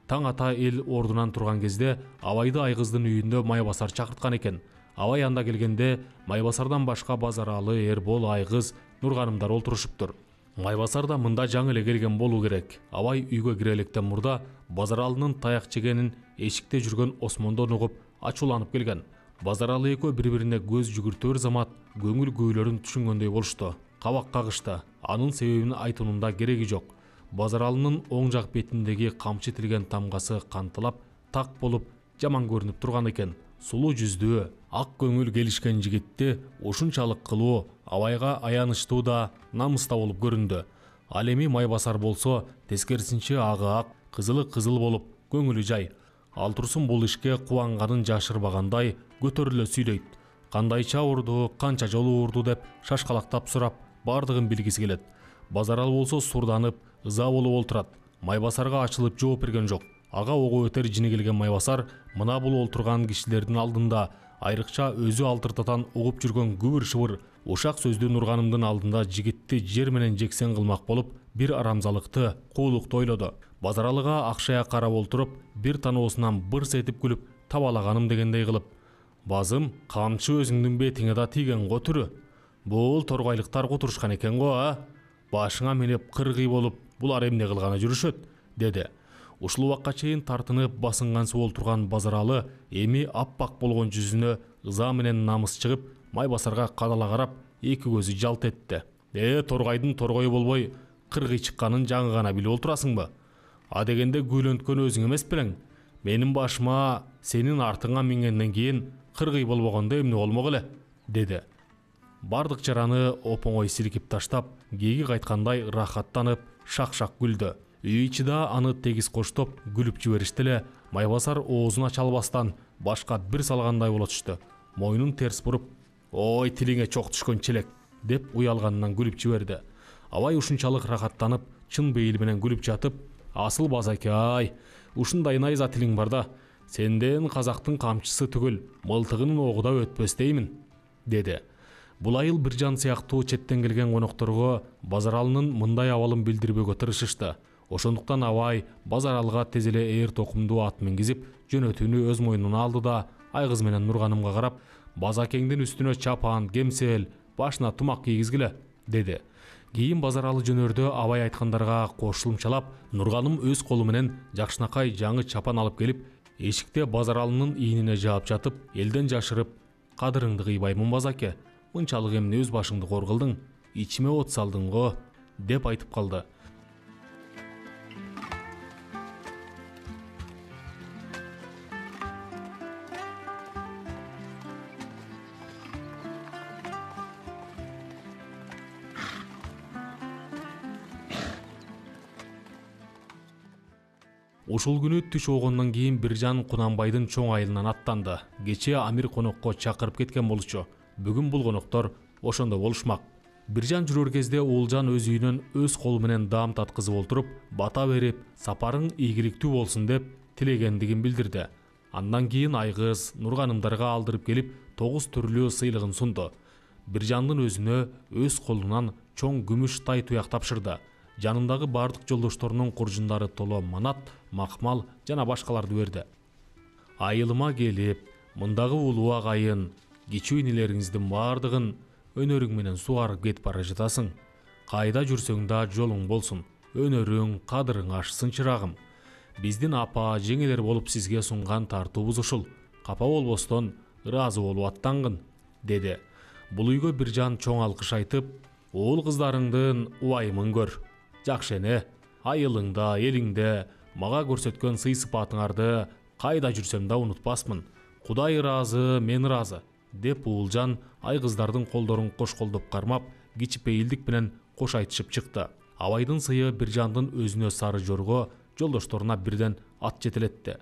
Таң ата эл ордунан турган кезде Абайды Айгыздын үйүндө Майбасар чакырткан экен. Абай анда келгенде Майбасардан башка Базаралы, Эрбол, Айгыз, Нурганымдар олтурушуптур. Майбасар да мында жаңы эле келген болуу керек. Абай үйгө кире электен мурда Базаралынын таяк жегенин эшикте жүргөн Осмондон угуп, ачууланып келген. Базаралы экөө бири-бирине көз жүгүртөр замат көңүл күүлөрүн түшүнгөндөй болушту. Кабак кагышты. Анын себебин айтуунун да кереги жок. Базаралынын оң жак бетиндеги камчы тилген тамгасы кантылап, так болуп, жаман көрүнүп турган экен. Сулуу жүздүү, ак көңүл келишкен жигитти ушунчалык кылуу Абайга аянычтуу да, намыста болуп көрүндү. Ал эми Майбасар болсо, тескерисинче агы ак, кызылы кызыл болуп, көңүлү жай. Ал турсун бул ишке кубанганын жашырбагандай көтөрүлө сүйлөйт. Кандайча урду, канча жолу урду деп шашкалактап сурап, бардыгын билгиси келет. Базаралы болсо сурданып, ыза болуп олтурат. Майбасарга ачылып жооп берген жок. Ага ого өтер жини келген Майбасар мына бул олтурган кишилердин алдында, айрыкча өзү алтыртатан угуп жүргөн күбүр-шыбыр, ушак сөздүү Нурганымдын алдында жигитти жер менен жексен кылмак болуп, бир арамзалыкты, куулукту ойлоду. Базаралыга акшая карап олтуруп, бир таноосунан бырс этип күлүп, табалаганым дегендей кылып: «Базым, камчы өзүңдүн бетиңе да тийген го түрү. Бул торгайлыктар кутурушкан экен го, а? Башыңа минип кыргый болуп, булар эмне кылганы жүрүшөт?» деди. Ушул убакка чейин тартынып басынгансып олтурган Базаралы эми аппак болгон жүзүнө ыза менен намыс чыгып, Майбасарга кадала карап, эки көзү жалт этти. «Э, торгайдын торгою болбой, кыргый чыкканын жаңы гана билип олтурасыңбы? А дегенде күйлөнткөн өзүң эмес белең? Менин башыма сенин артыңа мингенден кийин кыргый болбогондо эмне болмок эле, деди. Бардык жараны оп-оңой силкип таштап, кээги кайткандай рахаттанып, шак-шак күлдү. Үй ичи да аны тегиз коштоп күлүп жиберишти эле. Майбасар оозун ача албастан башка бир салгандай боло түштү. Мойнун терс буруп, «Ой, тилиңе чок түшкөн челек», деп уялганынан күлүп жиберди. Абай ушунчалык рахаттанып, чын бейил менен күлүп жатып, «Асыл Базаке-ай, ушундай найза тилиң бар да, сенден казактын камчысы түгүл, мылтыгынын огу да өтпөс деймин», деди. Бул айыл Биржан сыяктуу четтен келген конокторго Базаралынын мындай абалын билдирбөөгө тырышышты. Ошондуктан Абай Базаралга тез эле ээр токумдуу ат мингизип, жөнөтүүнү өз мойнуна алды да, Айгыз менен Нурганымга карап, «Базакеңдин үстүнө чапан, кемсел, башына тумак кийгизгиле», деди. Кийин Базаралы жөнөрдө Абай айткандарга кошулумчалап, Нурганым өз колу менен жакшынакай жаңы чапан алып келип, эшикте Базаралынын ийинине жаап жатып, элден жашырып, «Кадырыңды кыйбаймын Базаке, мынчалык эмне өз башыңды кор кылдың, ичиме от салдың го», деп айтып калды. Ушул күнү түш огондон кийин Биржан Кунанбайдын чоң айылынан аттанды. Кече Амир конокко чакырып кеткен болчу. Бүгүн бул коноктор ошондо болушмак. Биржан жүрөр кезде Уулжан өз үйүнөн өз колу менен даам таткызып олтуруп, бата берип, сапарың ийгиликтүү болсун деп тилегендигин билдирди. Андан кийин Айгыз Нурганымдарга алдырып келип, тогуз түрлүү сыйлыгын сунду. Биржандын өзүнө өз колунан чоң күмүш тай туяк тапшырды. Жанындагы бардык жолдошторунун куржундары толо манат, макмал жана башкаларды берди. Айылыма келип, мындагы улуу агайын, кичүү инелериңиздин бардыгын өнөрүң менен сугарып кетип бара жатасың. Кайда жүрсөң да жолуң болсун. Өнөрүң, кадырың ашсын чырагым. Биздин апа, жеңелер болуп сизге сунган тартуубуз ушул. Капа болбостон ыраазы болуп аттангын, деди. Бул үйгө Биржан чоң алкыш айтып, уул кыздарыңдын убайымын көр. Жакшы эне, айылыңда, элиңде мага көрсөткөн сый-сыпатыңарды кайда жүрсөм да унутпасмын. Кудай ыраазы, мен ыраазы, деп Уулжан Айгыздардын колдорун кош колдоп кармап, кичипейилдик менен кош айтышып чыкты. Абайдын сыйы Биржандын өзүнө сары жорго, жолдошторуна бирден ат жетелетти.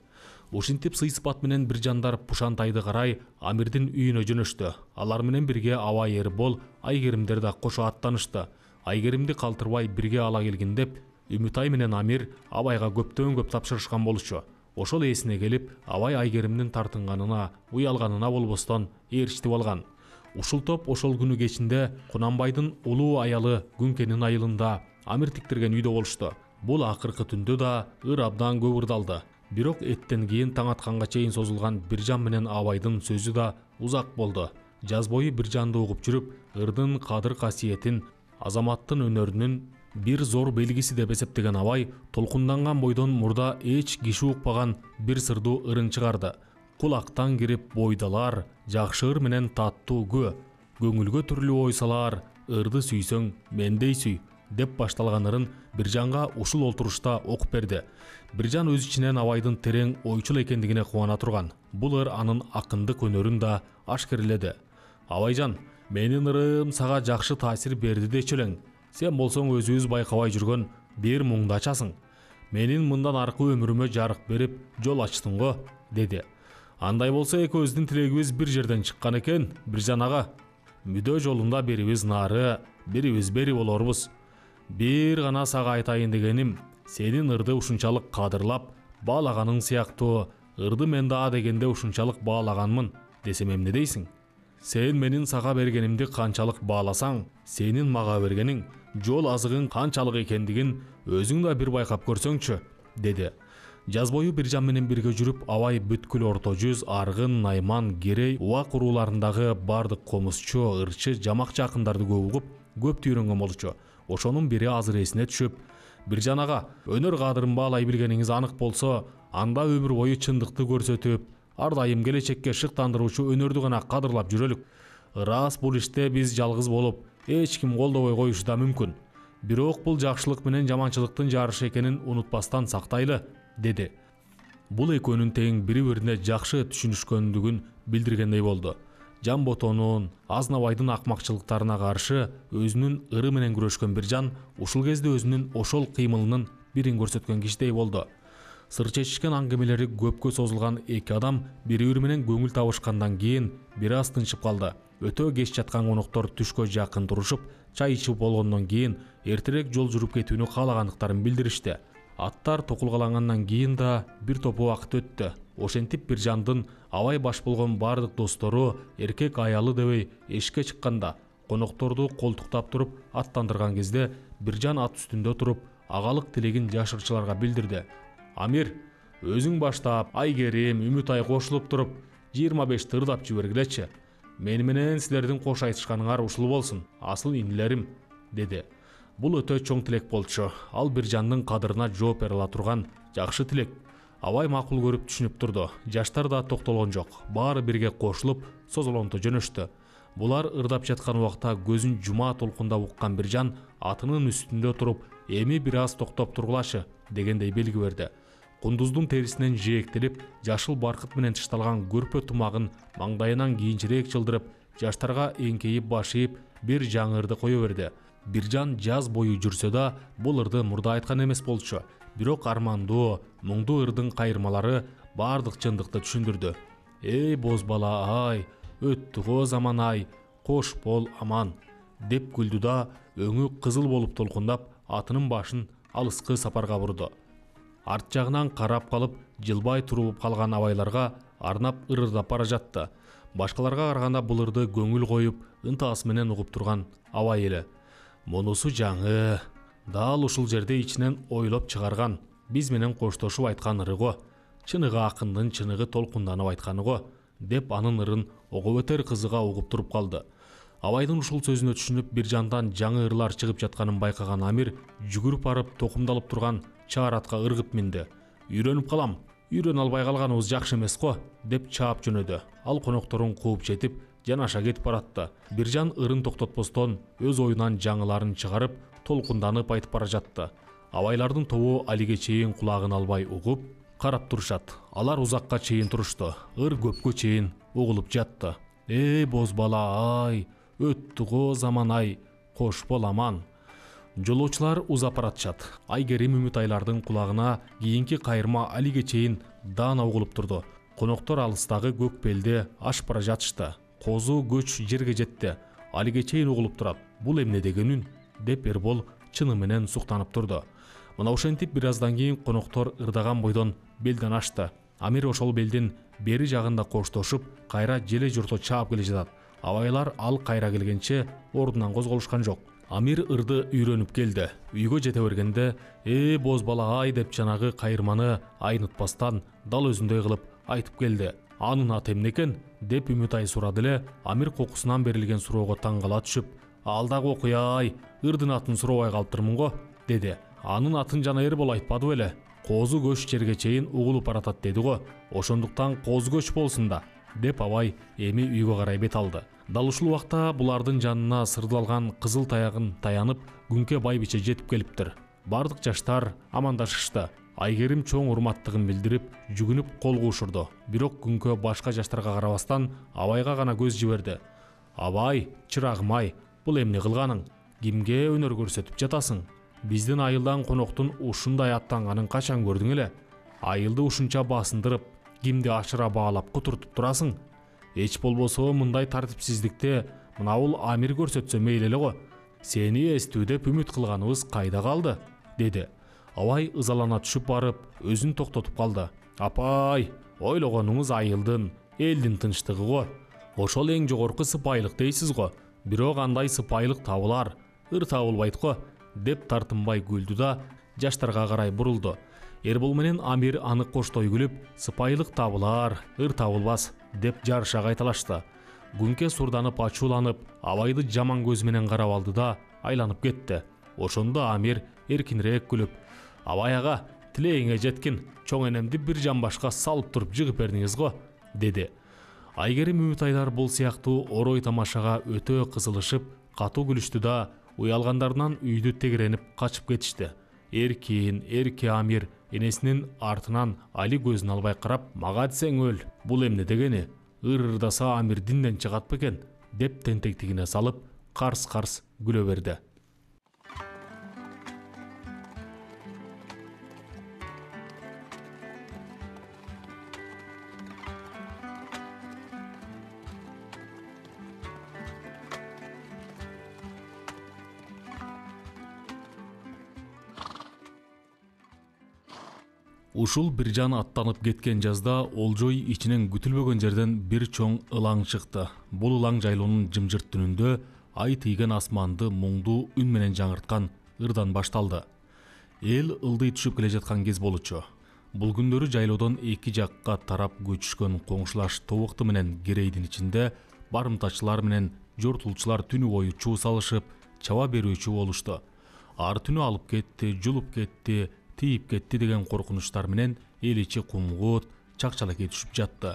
Ушинтип сый-сыпат менен Биржандар Пушантайды карай Амирдин үйүнө жөнөштү. Алар менен бирге Абай Эрбол, Айгеримдер да кошо аттанышты. Айгеримди калтырбай бирге ала келгин деп, Үмүтай менен Амир Абайга көптөн көп тапшырышкан болчу. Ошол эсине келип, Абай Айгеримдин тартынганына, уялганына болбостон ээрчитип алган. Ушул топ ошол күнү кечинде Кунанбайдын улуу аялы Күнкенин айылында Амир тиктирген үйдө болушту. Бул акыркы түндө да ыр абдан көп ырдалды. Бирок эттен кийин таң атканга чейин созулган Биржан менен Абайдын сөзү да узак болду. Жаз бою Биржанды угуп жүрүп, ырдын кадыр касиетин, азаматтын өнөрүнүн бир зор белгиси деп эсептеген Абай толкунданган бойдон мурда эч киши укпаган бир сырдуу ырын чыгарды. Кулактан кирип бойдалар, жакшы ыр менен таттуу кө, көңүлгө түрлүү ой салар, ырды сүйсөң мендей сүй, деп башталган ырын Биржанга ушул олтурушта окуп берди. Биржан өз ичинен Абайдын терең ойчул экендигине кубана турган. Бул ыр анын акындык өнөрүн да ашкерледи. Абайжан, менин ырым сага жакшы таасир берди дечү элең. Сен болсоң өзүбүз байкабай жүргөн бир муңду ачасың. Менин мындан аркы өмүрүмө жарык берип, жол ачтың го, деди. Андай болсо экөөбүздүн тилегибиз бир жерден чыккан экен, Биржан ага. Мүдө жолунда бирибиз нары, бирибиз бери болорбуз. Бир гана сага айтайын дегеним, сенин ырды ушунчалык кадырлап, баалаганың сыяктуу, ырды мен да дегенде ушунчалык баалаганмын десем эмне дейсиң? Сен менин сага бергенимди канчалык бааласаң, сенин мага бергениң, жол азыгың канчалык экендигин өзүң да бир байкап көрсөңчү, деди. Жаз бою Биржан менен бирге жүрүп, Абай бүткүл Орто жүз, Аргын, Найман, Керей, Убак урууларындагы бардык комузчу, ырчы, жамак жакындарды көп угуп, көп түйрөнгөн болчу. Ошонун бири азыр эсине түшүп, Биржан ага, өнөр кадырын баалай билгениңиз анык болсо, анда өмүр бою чындыкты көрсөтүп, ар дайым келечекке шыктандыруучу өнөрдү гана кадырлап жүрөлүк. Ырас бул иште биз жалгыз болуп, эч ким колдобой коюшу да мүмкүн. Бирок бул жакшылык менен жаманчылыктын жарышы экенин унутпастан сактайлы, деди. Бул экөөнүн тең бири-бирине жакшы түшүнүшкөндүгүн билдиргендей болду. Жамботонун, Азнабайдын акмакчылыктарына каршы өзүнүн ыры менен күрөшкөн Биржан ушул кезде өзүнүн ошол кыймылынын бирин көрсөткөн кишидей болду. Сыр чечишкен аңгемелери көпкө созулган эки адам бири-бири менен көңүл табышкандан кийин бир аз тынчып калды. Өтө кеч жаткан коноктор түшкө жакын турушуп, чай ичип болгондон кийин эртерээк жол жүрүп кетүүнү каалагандыктарын билдиришти. Аттар токулгалангандан кийин да бир топ убакыт өттү. Ошентип Биржандын абай баш болгон бардык достору эркек аялы дебей эшикке чыкканда, конокторду колтуктап туруп аттандырган кезде Биржан ат үстүндө туруп агалык тилегин жашырчыларга билдирди. Амир, өзүң баштап, Айгерим, Үмүтай кошулуп туруп, жыйырма бешти ырдап жибергилечи. Мени менен силердин кош айтышканыңар ушул болсун, асыл инилерим, деди. Бул өтө чоң тилек болчу. Ал Биржандын кадырына жооп бере ала турган жакшы тилек. Абай макул көрүп түшүнүп турду. Жаштар да токтолгон жок. Баары бирге кошулуп, созолонто жөнөштү. Булар ырдап жаткан убакта көзүн жума толкундап уккан Биржан атынын үстүндө туруп, эми бир аз токтоп тургулачы дегендей белги берди. Кундуздун терисинен жээктелип, жашыл баркыт менен тышталган көрпө тумагын маңдайынан кийинчерээк чылдырып, жаштарга эңкейип баш ийип, бир жаңы ырды кое берди. Биржан жаз бою жүрсө да, бул ырды мурда айткан эмес болчу. Бирок армандуу, муңдуу ырдын кайырмалары бардык чындыкты түшүндүрдү. Эй боз бала ай, өттү го заман ай, кош бол аман, деп күлдү да өңү кызыл болуп толкундап, атынын башын алыскы сапарга бурду. Арт жагынан карап калып, жылбай туруп калган абайларга арнап ырдап бара жатты. Башкаларга караганда бул ырды көңүл коюп, ынтаасы менен угуп турган абай эле. Мунусу жаңы, дал ушул жерде ичинен ойлоп чыгарган, биз менен коштошуп айткан ыры го. Чыныгы акындын чыныгы толкунданып айтканы го, деп анын ырын ого өтөр кызыга угуп туруп калды. Абайдын ушул сөзүнө түшүнүп, Биржандан жаңы ырлар чыгып жатканын байкаган Амир жүгүрүп барып токумдалып турган чаар атка ыргып минди. Үйрөнүп калам, үйрөнө албай калганыбыз жакшы эмес го, деп чаап жөнөдү. Ал конокторун кууп жетип, жанаша кетип баратты. Биржан ырын токтотпостон өз оюнан жаңыларын чыгарып, толкунданып айтып бара жатты. Абайлардын тобу алиге чейин кулагын албай угуп, карап турушат. Алар узакка чейин турушту. Ыр көпкө чейин угулуп жатты. Эй боз бала ай, өттү го заман ай, кош бол аман. Жолоочулар узап баратышат. Айгерим Үмүтайлардын кулагына кийинки кайырма алиге чейин даана угулуп турду. Коноктор алыстагы көк белде ашып бара жатышты. Козу көч жерге жетти. Алиге чейин угулуп турат. Бул эмне деген үн? Деп Эрбол чыны менен суктанып турду. Мына ошентип бир аздан кийин коноктор ырдаган бойдон белден ашты. Амир ошол белдин бери жагында коштошуп, кайра желе журто чаап келе жатат. Абайлар ал кайра келгенче ордунан козголушкан жок. Амир ырды үйрөнүп келди. Үйгө жете бергенде, «Э боз бала ай» деп жанагы кайырманы айнытпастан дал өзүндөй кылып айтып келди. Анын аты эмне экен? Деп Үмүтай сурады эле. Амир кокусунан берилген суроого таң кала түшүп, «Ал дагы окуя ай, ырдын атын сурабай калыптырмын го», деди. Анын атын жана Эрбол айтпады беле? Козу көч жерге чейин угулуп баратат деди го. Ошондуктан козу көч болсун да, деп абай эми үйгө карай бет алды. Дал ушул убакта булардын жанына сырдалган кызыл таягын таянып, Күнкө байбиче жетип келиптир. Бардык жаштар амандашышты. Айгерим чоң урматтыгын билдирип, жүгүнүп кол куушурду. Бирок Күнкө башка жаштарга карабастан абайга гана көз жиберди. «Абай, чырагым ай, бул эмне кылганың? Кимге өнөр көрсөтүп жатасың? Биздин айылдан коноктун ушундай аттанганын качан көрдүң эле? Айылды ушунча басындырып, кимди ашыра баалап кутуртуп турасың? Эч болбосо мындай тартипсиздикте мынабул Амир көрсөтсө мейли эле го. Сени эстүү деп үмүт кылганыбыз кайда калды?» деди. Абай ызалана түшүп барып, өзүн токтотуп калды. «Апай, ойлогонуңуз айылдын, элдин тынчтыгы го. Ошол эң жогорку сыпайылык дейсиз го. Бирок андай сыпайылык табылар, ыр табылбайт го», деп тартынбай күлдү да жаштарга карай бурулду. Эрбол менен Амир аны коштой күлүп, «Сыпайылык табылар, ыр табылбас», деп жарыша кайталашты. Күнкө сурданып ачууланып, Абайды жаман көз менен карап алды да айланып кетти. Ошондо Амир эркинирээк күлүп, «Абай ага, тилегиңе жеткин, чоң энемди бир жамбашка салып туруп жыгып бердиңиз го», деди. Айгерим Үмүтайлар бул сыяктуу орой тамашага өтө кызылышып, катуу күлүштү да уялгандарынан үйдү тегеренип качып кетишти. Эркин, эрке Амир энесинин артынан Али көзүн албай карап, мага десең өл, бул эмне дегени, ыр-ырдаса Амир динден чыгат бекен, деп тентектигине салып карс-карс күлө берди. Ушул бир жан аттанып кеткен жазда Олжой ичинен күтүлбөгөн жерден бир чоң ылаң чыкты. Бул ылаң жайлоонун жымжырт түнүндө ай тийген асманды муңдуу үн менен жаңырткан ырдан башталды. Эл ылдый түшүп келе жаткан кез болчу. Бул күндөрү жайлоодон эки жакка тарап көчүшкөн коңшулаш тобукту менен керейдин ичинде барымтачылар менен жортулчулар түнү бою чуу салышып, чаба берүүчү болушту. Ар түнү алып кетти, жулуп кетти, тийип кетти деген коркунучтар менен эл ичи кумгут, чакчалакей түшүп жатты.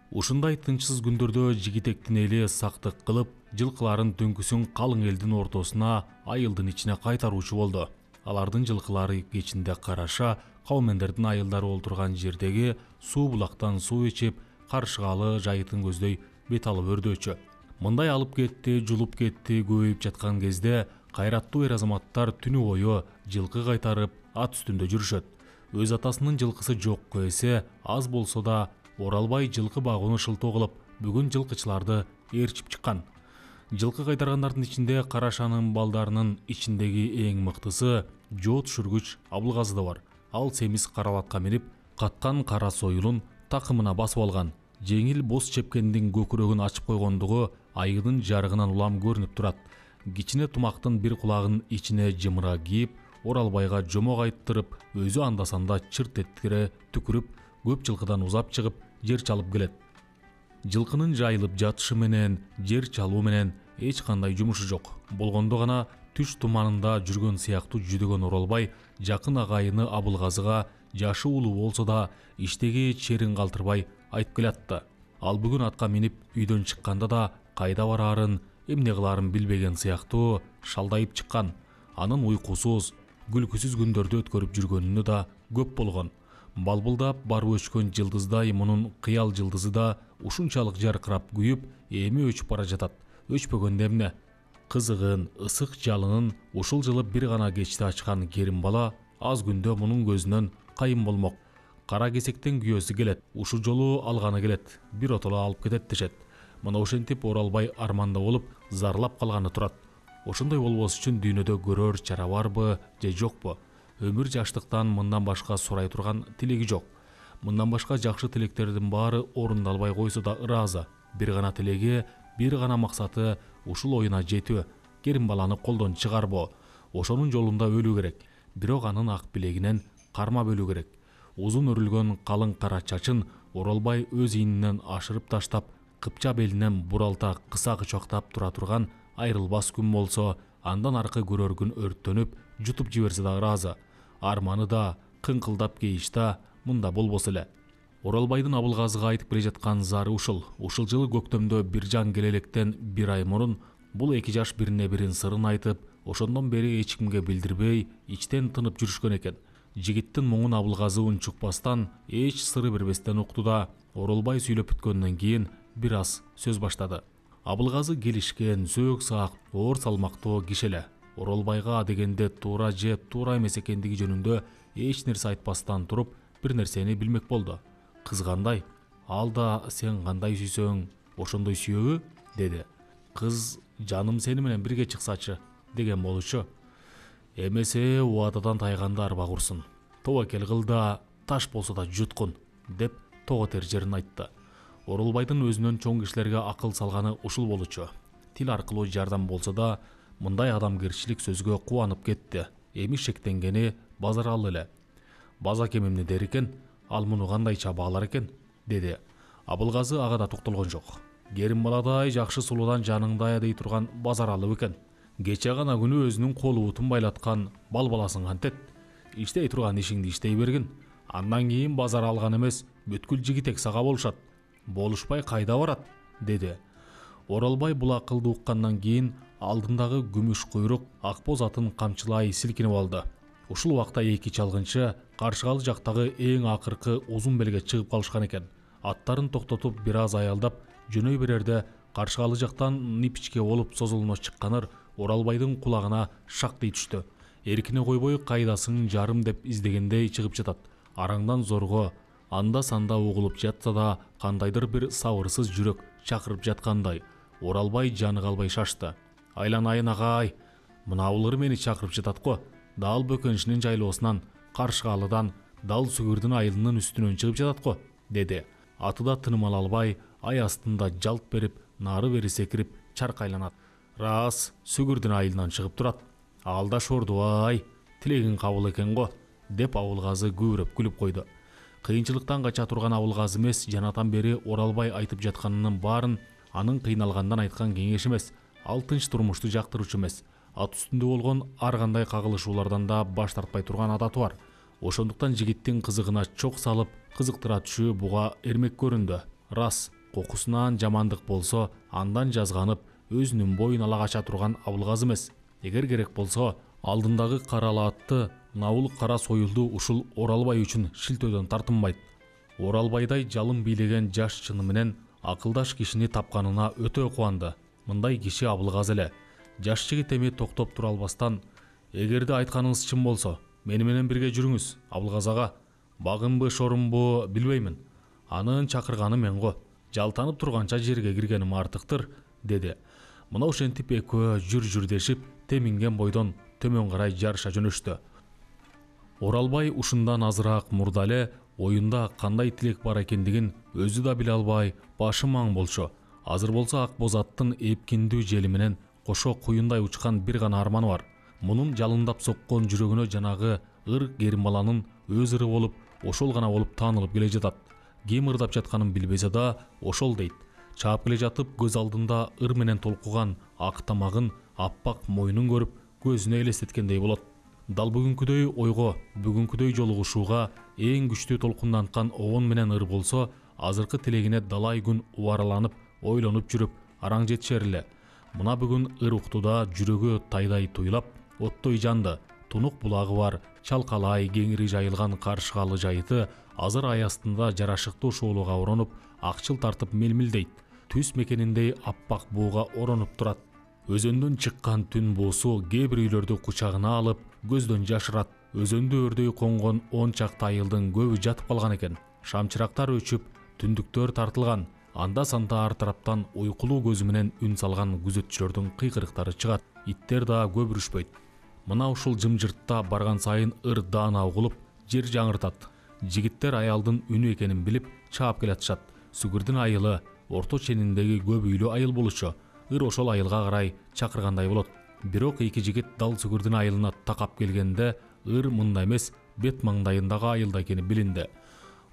Ушундай тынчсыз күндөрдө жигитектин эли сактык кылып, жылкыларын түнкүсүн калың элдин ортосуна, айылдын ичине кайтаруучу болду. Алардын жылкылары кечинде караша, кавмендердин айылдары олтурган жердеги суу булактан суу ичип, каршыгалы жайытын көздөй бет алып өрдөөчү. Мындай алып кетти, жулуп кетти көбөйүп жаткан кезде кайраттуу эр азаматтар түнү бою жылкы кайтарып ат үстүндө жүрүшөт. Өз атасынын жылкысы жокко эсе, аз болсо да оралбай жылкы багууну шылтоо кылып, бүгүн жылкычыларды ээрчип чыккан. Жылкы кайтаргандардын ичинде Карашанын балдарынын ичиндеги эң мыктысы жоо түшүргүч Абылгазы да бар. Ал семиз каралатка минип, каткан кара союлун такымына басып алган. Жеңил боз чепкендин көкүрөгүн ачып койгондугу айылдын жарыгынан улам көрүнүп турат. Кичине тумактын бир кулагынын ичине жымыра кийип, Оралбайга жомок айттырып, өзү анда-санда чырт эткире түкүрүп, көп жылкыдан узап чыгып, жер чалып келет. Жылкынын жайылып жатышы менен, жер чалуу менен эч кандай жумушу жок. Болгондо гана түш туманында жүргөн сыяктуу жүдөгөн Оралбай жакын агайыны Абылгазыга жашы улуу болсо да иштеги черин калтырбай айтып келатты. Ал бүгүн атка минип үйдөн чыкканда да кайда бараарын, эмне кылаарын билбеген сыяктуу шалдайып чыккан. Анын уйкусуз, күлкүсүз күндөрдү өткөрүп жүргөнүнө да көп болгон. Балбылдап барып өчкөн жылдыздай мунун кыял жылдызы да ушунчалык жаркырап күйүп, эми өчүп бара жатат. Өчпөгөндө эмне? Кызыгын, ысык жалынын ушул жылы бир гана кечте ачкан керим бала аз күндө мунун көзүнөн кайын болмок. Кара кесектен күйөөсү келет. Ушул жолу алганы келет. Бир отоло алып кетет дешет. Мына ошентип Оралбай арманда болуп, зарлап калганы турат. Ошондой болбош үчүн дүйнөдө көрөр чара барбы же жокпу? Өмүр жаштыктан мындан башка сурай турган тилеги жок. Мындан башка жакшы тилектердин баары орундалбай койсо да ыраазы. Бир гана тилеги, бир гана максаты ушул оюна жетүү, керим баланы колдон чыгарбоо. Ошонун жолунда өлүү керек. Бирок анын ак билегинен кармап өлүү керек. Узун өрүлгөн калың кара чачын Оралбай өз ийининен ашырып таштап, кыпча белинен буралта кыса кычактап тура турган айрылбас күн болсо, андан аркы көрөр күн өрттөнүп, жутуп жиберсе да ыраазы. Арманы да, кыңкылдап кейиш да мында болбосо эле. Оралбайдын Абылгазыга айтып келе жаткан зары ушул. Ушул жылы көктөмдө бир жан келелектен бир ай мурун бул эки жаш бирине бирин сырын айтып, ошондон бери эч кимге билдирбей, ичтен тынып жүрүшкөн экен. Жигиттин муңун Абылгазы унчукпастан, эч сыры бербестен укту да, Оралбай сүйлөп бүткөндөн кийин бир аз сөз баштады. Абылгазы келишкен, сөөк саак, оор салмактуу киши эле. Оралбайга дегенде туура же туура эмес экендиги жөнүндө эч нерсе айтпастан туруп, бир нерсени билмек болду. Кыз кандай? Ал да сен кандай сүйсөң, ошондой сүйөбү? Деди. Кыз жаным сени менен бирге чыксачы деген болчу. Эмесе убададан тайганда арба курсун. Тобокел кыл да таш болсо да жуткун, деп того тер жерин айтты. Оралбайдын өзүнөн чоң кишилерге акыл салганы ушул болчу. Тил аркылуу жардам болсо да, мындай адамгерчилик сөзгө кубанып кетти. Эми шектенгени Базаралы эле. Базакем эмне дер экен? Ал муну кандайча баалар экен? Деди. Абылгазы ага да токтолгон жок. Керим баладай жакшы сулуудан жаныңда аядей турган Базаралы экен. Кече гана күнү өзүнүн колу бутун байлаткан бал баласын кантет. Иштей турган ишиңди иштей бергин. Андан кийин базар алган эмес, бүткүл жигитек сага болушат. Болушпай кайда барат? Деди. Оралбай бул акылды уккандан кийин алдындагы күмүш куйрук ак боз атын камчылай силкинип алды. Ушул убакта эки чалгынчы Каршыгалы жактагы эң акыркы узун белге чыгып калышкан экен. Аттарын токтотуп бир аз аялдап жөнөй берерде Каршыгалы жактан нипичке болуп созулуна чыкканыр Оралбайдын кулагына шактый түштү. Эркине койбой кайдасың жарым деп издегендей чыгып жатат. Араңдан зорго анда санда угулуп жатса да кандайдыр бир сабырсыз жүрөк чакырып жаткандай. Оралбай жаны калбай шашты. Айланайын агай, мына улыр мени чакырып жатат го. Дал бөкөншүнүн жайлоосунан Каршыгалыдан дал Сүгүрдүн айылынын үстүнөн чыгып жатат го, деди. Аты да тыным ала албай, ай астында жалт берип, нары бери секирип чаркайланат. Рас, Сүгүрдүн айылынан чыгып турат. Алда шордубай, тилегиң кабыл экен го, деп Абылгазы күбүрөп күлүп койду. Кыйынчылыктан кача турган Абылгазы эмес, жанатан бери Оралбай айтып жатканынын баарын анын кыйналгандан айткан кеңеш эмес, ал тынч турмушту жактыруучу эмес, ат үстүндө болгон ар кандай кагылышуулардан да баш тартпай турган адаты бар. Ошондуктан жигиттин кызыгына чок салып, кызыктыра түшүү буга эрмек көрүндү. Рас, кокусунан жамандык болсо, андан жазганып, өзүнүн боюн ала кача турган Абылгазы эмес. Эгер керек болсо, алдындагы каралы атты, навул кара союлду ушул Оралбай үчүн шилтөөдөн тартынбайт. Оралбайдай жалын бийлеген жаш чыны менен акылдаш кишини тапканына өтө кубанды. Мындай киши Абылгазы эле. Жаш жигит эми токтоп тура албастан, эгерде айтканыңыз чын болсо, мени менен бирге жүрүңүз, Абылгазы ага. Багынбы, шорумбу билбеймин. Анын чакырганы мен го. Жалтанып турганча жерге киргеним артыктыр, деди. Мына ошентип экөө жүр-жүр дешип, теминген бойдон төмөн карай жарыша жөнөштү. Оралбай ушундан азыраак мурда эле оюнда кандай тилек бар экендигин өзү да биле албай, башы маң болчу. Азыр болсо ак боз аттын эпкиндүү жели менен кошо куюндай учкан бир гана арманы бар. Мунун жалындап соккон жүрөгүнө жанагы ыр Керимбаланын өз ыры болуп, ошол гана болуп таанылып келе жатат. Ким ырдап жатканын билбесе да, ошол дейт. Чаап келе жатып көз алдында ыр менен толкуган ак тамагын, аппак мойнун көрүп, көзүнө элестеткендей болот. Дал бүгүнкүдөй ойго, бүгүнкүдөй жолугушууга эң күчтүү толкунданткан обон менен ыр болсо, азыркы тилегине далай күн убараланып, ойлонуп жүрүп, араң жетишер эле. Мына бүгүн ыр уктуда жүрөгү тайдай туйлап, оттой жанды. Тунук булагы бар, чалкалай кеңири жайылган Каршыгалы жайыты азыр ай астында жарашыктуу шоолуга оронуп, акчыл тартып мелмилдейт. Түз мекениндей аппак бууга оронуп турат. Өзөндөн чыккан түн буусу кээ бир үйлөрдү кучагына алып, көздөн жашырат. Өзөндө өрдөй конгон он чакты айылдын көбү жатып калган экен. Шамчырактар өчүп, түндүктөр тартылган. Анда санда ар тараптан уйкулуу көзү менен үн салган күзөтчүлөрдүн кыйкырыктары чыгат. Иттер да көбүрүшпөйт. Мына ушул жымжыртта барган сайын ыр даана угулуп, жер жаңыртат. Жигиттер аялдын үнү экенин билип чаап келатышат. Сүгүрдүн айылы орто чениндеги көп үйлүү айыл болчу. Ыр ошол айылга карай чакыргандай болот. Бирок эки жигит дал Сүгүрдүн айылына такап келгенде ыр мында эмес, бет маңдайындагы айылда экени билинди.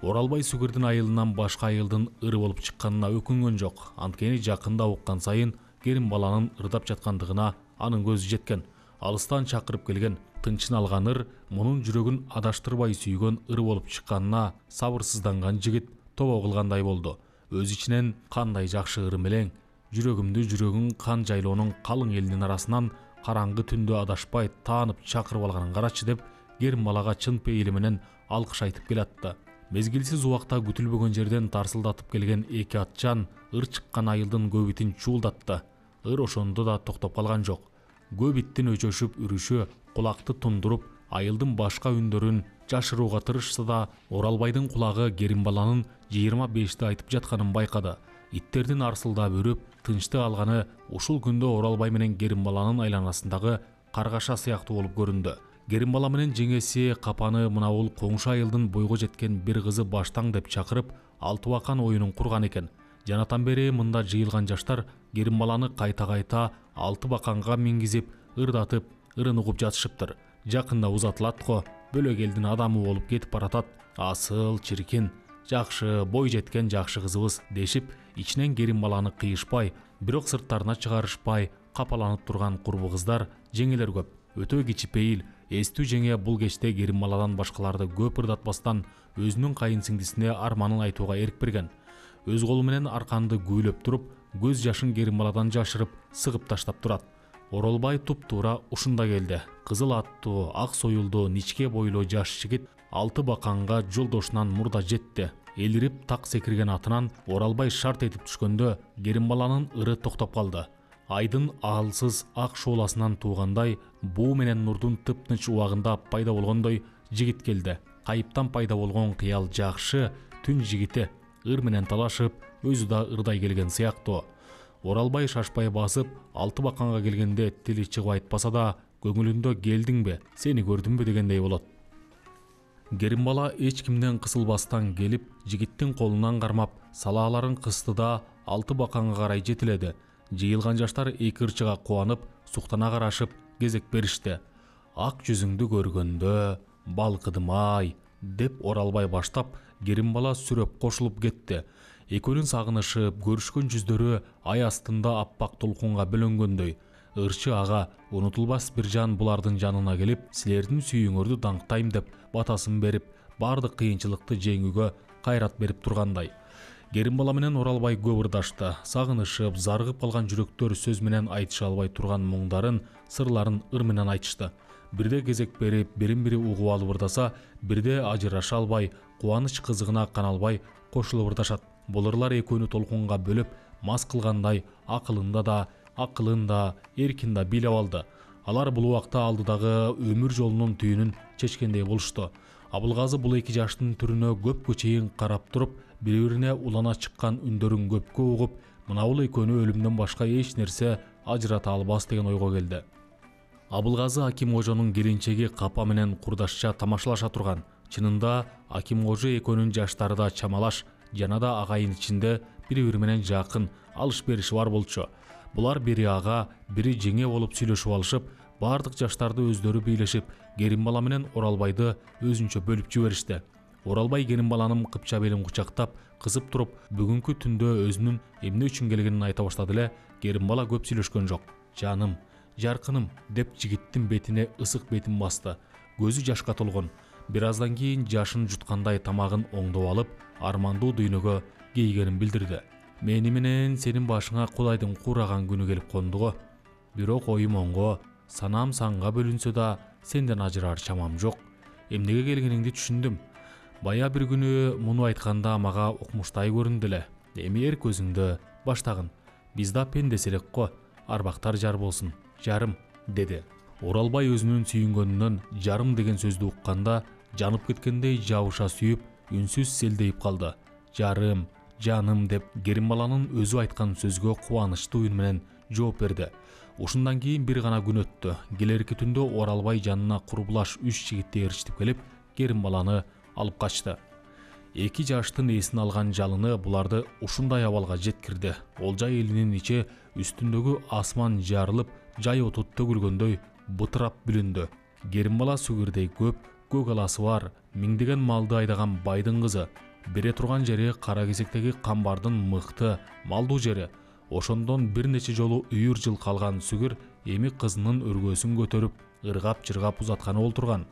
Оралбай Сүгүрдүн айылынан башка айылдын ыры болуп чыкканына өкүнгөн жок. Анткени жакында уккан сайын Керимбаланын ырдап жаткандыгына анын көзү жеткен. Алыстан чакырып келген, тынчын алган ыр мунун жүрөгүн адаштырбай сүйгөн ыр болуп чыкканына сабырсызданган жигит тобо кылгандай болду. Өз ичинен кандай жакшы ыр мелең, жүрөгүмдү жүрөгүң кан жайлоонун калың элинин арасынан караңгы түндө адашпай таанып чакырып алганын карачы деп Керимбалага чын пейили менен алкыш айтып келатты. Мезгилсиз убакта күтүлбөгөн жерден тарсылдатып келген эки атчан ыр чыккан айылдын көбүтин чуулдатты. Ыр ошондо да токтоп калган жок. Көп иттин өчөшүп үрүшү кулакты тундуруп, айылдын башка үндөрүн жашырууга тырышса да, Оралбайдын кулагы Керимбаланын жыйырма бешти айтып жатканын байкады. Иттердин арсылдап үрүп, тынчты алганы ушул күндө Оралбай менен Керимбаланын айланасындагы каргаша сыяктуу болуп көрүндү. Керимбала менен жеңеси Капаны мына бул коңшу айылдын бойго жеткен бир кызы баштаң деп чакырып, алтыбакан оюнун курган экен. Жанатан бери мында жыйылган жаштар Керимбаланы кайта-кайта алты баканга мингизип, ырдатып, ырын угуп жатышыптыр. Жакында узатылат го, бөлөк элдин адамы болуп кетип баратат. Асыл, чиркин, жакшы, бой жеткен жакшы кызыбыз дешип, ичинен Керимбаланы кыйышпай, бирок сырттарына чыгарышпай капаланып турган курбу кыздар, жеңелер көп. Өтө кичипейил, эстүү жеңе бул кечте Керимбаладан башкаларды көп ырдатпастан өзүнүн кайын сиңдисине арманын айтууга эрк берген. Өз колу менен арканды күүлөп туруп, көз жашын Керимбаладан жашырып, сыгып таштап турат. Оролбай туп-туура ушунда келди. Кызыл аттуу, ак союлдуу, ничке бойлуу жаш жигит алты баканга жолдошунан мурда жетти. Элирип так секирген атынан Оралбай шарт этип түшкөндө Керимбаланын ыры токтоп калды. Айдын аалсыз ак шооласынан туугандай, буу менен нурдун тыптынч убагында пайда болгондой жигит келди. Кайыптан пайда болгон кыял жакшы түн жигити ыр менен талашып, өзү да ырдай келген сыяктуу. Оралбай шашпай басып, алты баканга келгенде тили чыгып айтпаса да, көңүлүндө келдиңби, сени көрдүмбү дегендей болот. Керимбала эч кимден кысылбастан келип, жигиттин колунан кармап, салааларын кысты да алты баканга карай жетиледи. Жыйылган жаштар эки ырчыга кубанып, суктана карашып, кезек беришти. Ак жүзүңдү көргөндө, балкыдым-ай, деп Оралбай баштап, Керимбала сүрөп кошулуп кетти. Экөөнүн сагынышып, көрүшкөн жүздөрү ай астында аппак толкунга бөлөнгөндөй. Ырчы ага унутулбас бир жан булардын жанына келип, силердин сүйүүңөрдү даңктайм деп батасын берип, бардык кыйынчылыкты жеңүүгө кайрат берип тургандай. Керимбала менен Оралбай көп ырдашты. Сагынышып, зарыгып калган жүрөктөр сөз менен айтыша албай турган муңдарын, сырларын ыр менен айтышты. Бирде кезек берип, бирин-бири угуп алып ырдаса, бирде ажыраша албай, кубаныч кызыгына каналбай кошулуп ырдашат. Бул ырлар экөөнү толкунга бөлүп, мас кылгандай, акылында да, акылын да, эркин да бийлеп алды. Алар бул убакта алдыдагы өмүр жолунун түйүнүн чечкендей болушту. Абылгазы бул эки жаштын түрүнө көпкө чейин карап туруп, бири-бирине улана чыккан үндөрүн көпкө угуп, мына бул экөөнү өлүмдөн башка эч нерсе ажырата албас деген ойго келди. Абылгазы Аким кожонун келинчеги Капа менен курдашча тамашалаша турган. Чынында Аким кожо экөөнүн жаштары да чамалаш, жана да агайын ичинде бири-бири менен жакын, алыш-бериши бар болчу. Булар бири ага, бири жеңе болуп сүйлөшүп алышып, бардык жаштарды өздөрү бийлешип, Керимбала менен Оралбайды өзүнчө бөлүп жиберишти. Оралбай Керимбаланын кыпча белин кучактап, кысып туруп, бүгүнкү түндө өзүнүн эмне үчүн келгенин айта баштады эле. Керимбала көп сүйлөшкөн жок. Жаным, жаркыным деп жигиттин бетине ысык бетин басты. Көзү жашка толгон. Бир аздан кийин жашын жуткандай тамагын оңдоп алып, армандуу дүйнөгө кейгенин билдирди. Мени менен сенин башыңа Кудайдын кураган күнү келип кондуго. Бирок оюм оңго, санам санга бөлүнсө да, сенден ажырар чамам жок. Эмнеге келгениңди түшүндүм. Бая бир күнү муну айтканда мага укмуштай көрүндү эле. Эми эр көзүңдө баштагын. Биз да пендес элек го. Арбактар жар болсун, жарым, деди. Оралбай өзүнүн сүйүнгөнүнөн жарым деген сөздү укканда, жанып кеткендей жабыша сүйүп, үнсүз селдейип калды. Жарым, жаным деп Керимбаланын өзү айткан сөзгө кубанычтуу үн менен жооп берди. Ушундан кийин бир гана күн өттү. Келерки түндө Оралбай жанына курбулаш үч жигитти ээрчитип келип, Керимбаланы алып качты. Эки жаштын эсин алган жалыны буларды ушундай абалга жеткирди. Олжай элинин ичи үстүндөгү асман жарылып, жай оту төгүлгөндөй бытырап бүлүндү. Керимбала сүгүрдей көп, көк аласы бар, миңдеген малды айдаган байдын кызы. Бере турган жери кара кесектеги камбардын мыкты, малдуу жери. Ошондон бир нече жолу үйүр жыл калган сүгүр эми кызынын өргөсүн көтөрүп, ыргап-жыргап узатканы олтурган.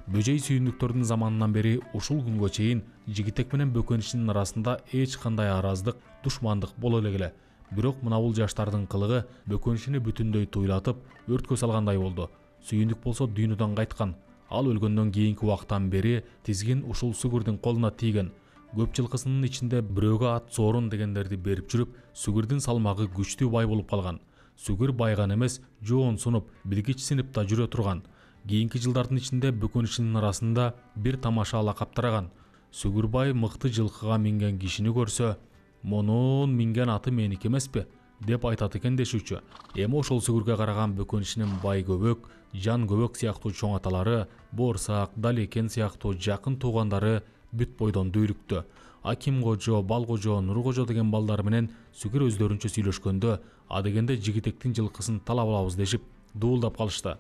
Бөжөй сүйүндүктөрдүн заманынан бери ушул күнгө чейин жигитек менен бөкөнчүнүн арасында эч кандай араздык, душмандык боло эле. Бирок мына бул жаштардын кылыгы бөкөнчүнү бүтүндөй туйлатып, өрткө салгандай болду. Сүйүндүк болсо дүйнөдөн кайткан. Ал өлгөндөн кийинки убактан бери тизгин ушул сүгүрдүн колуна тийген. Көп жылкысынын ичинде бирөөгө ат соорун дегендерди берип жүрүп, сүгүрдүн салмагы күчтүү бай болуп калган. Сүгүр байган эмес, жоон сунуп, билгич синип да жүрө турган. Кийинки жылдардын ичинде бөкөнчүнүн арасында бир тамаша лакап тараган. Сүгүрбай мыкты жылкыга минген кишини көрсө, «Монун минген аты меники эмеспи?» деп айтат экен дешүүчү. Эми ошол сүгүргө караган бөкөнчүнүн бай көбөк, жан көбөк сыяктуу чоң аталары, боорсак, далекен сыяктуу жакын туугандары бүт бойдон дүйрүктү. Аким кожо, Бал кожо, Нур кожо деген балдар менен сүгүр өздөрүнчө сүйлөшкөндө, адегенде жигитектин жылкысын талап алабыз дешип, дуулдап калышты.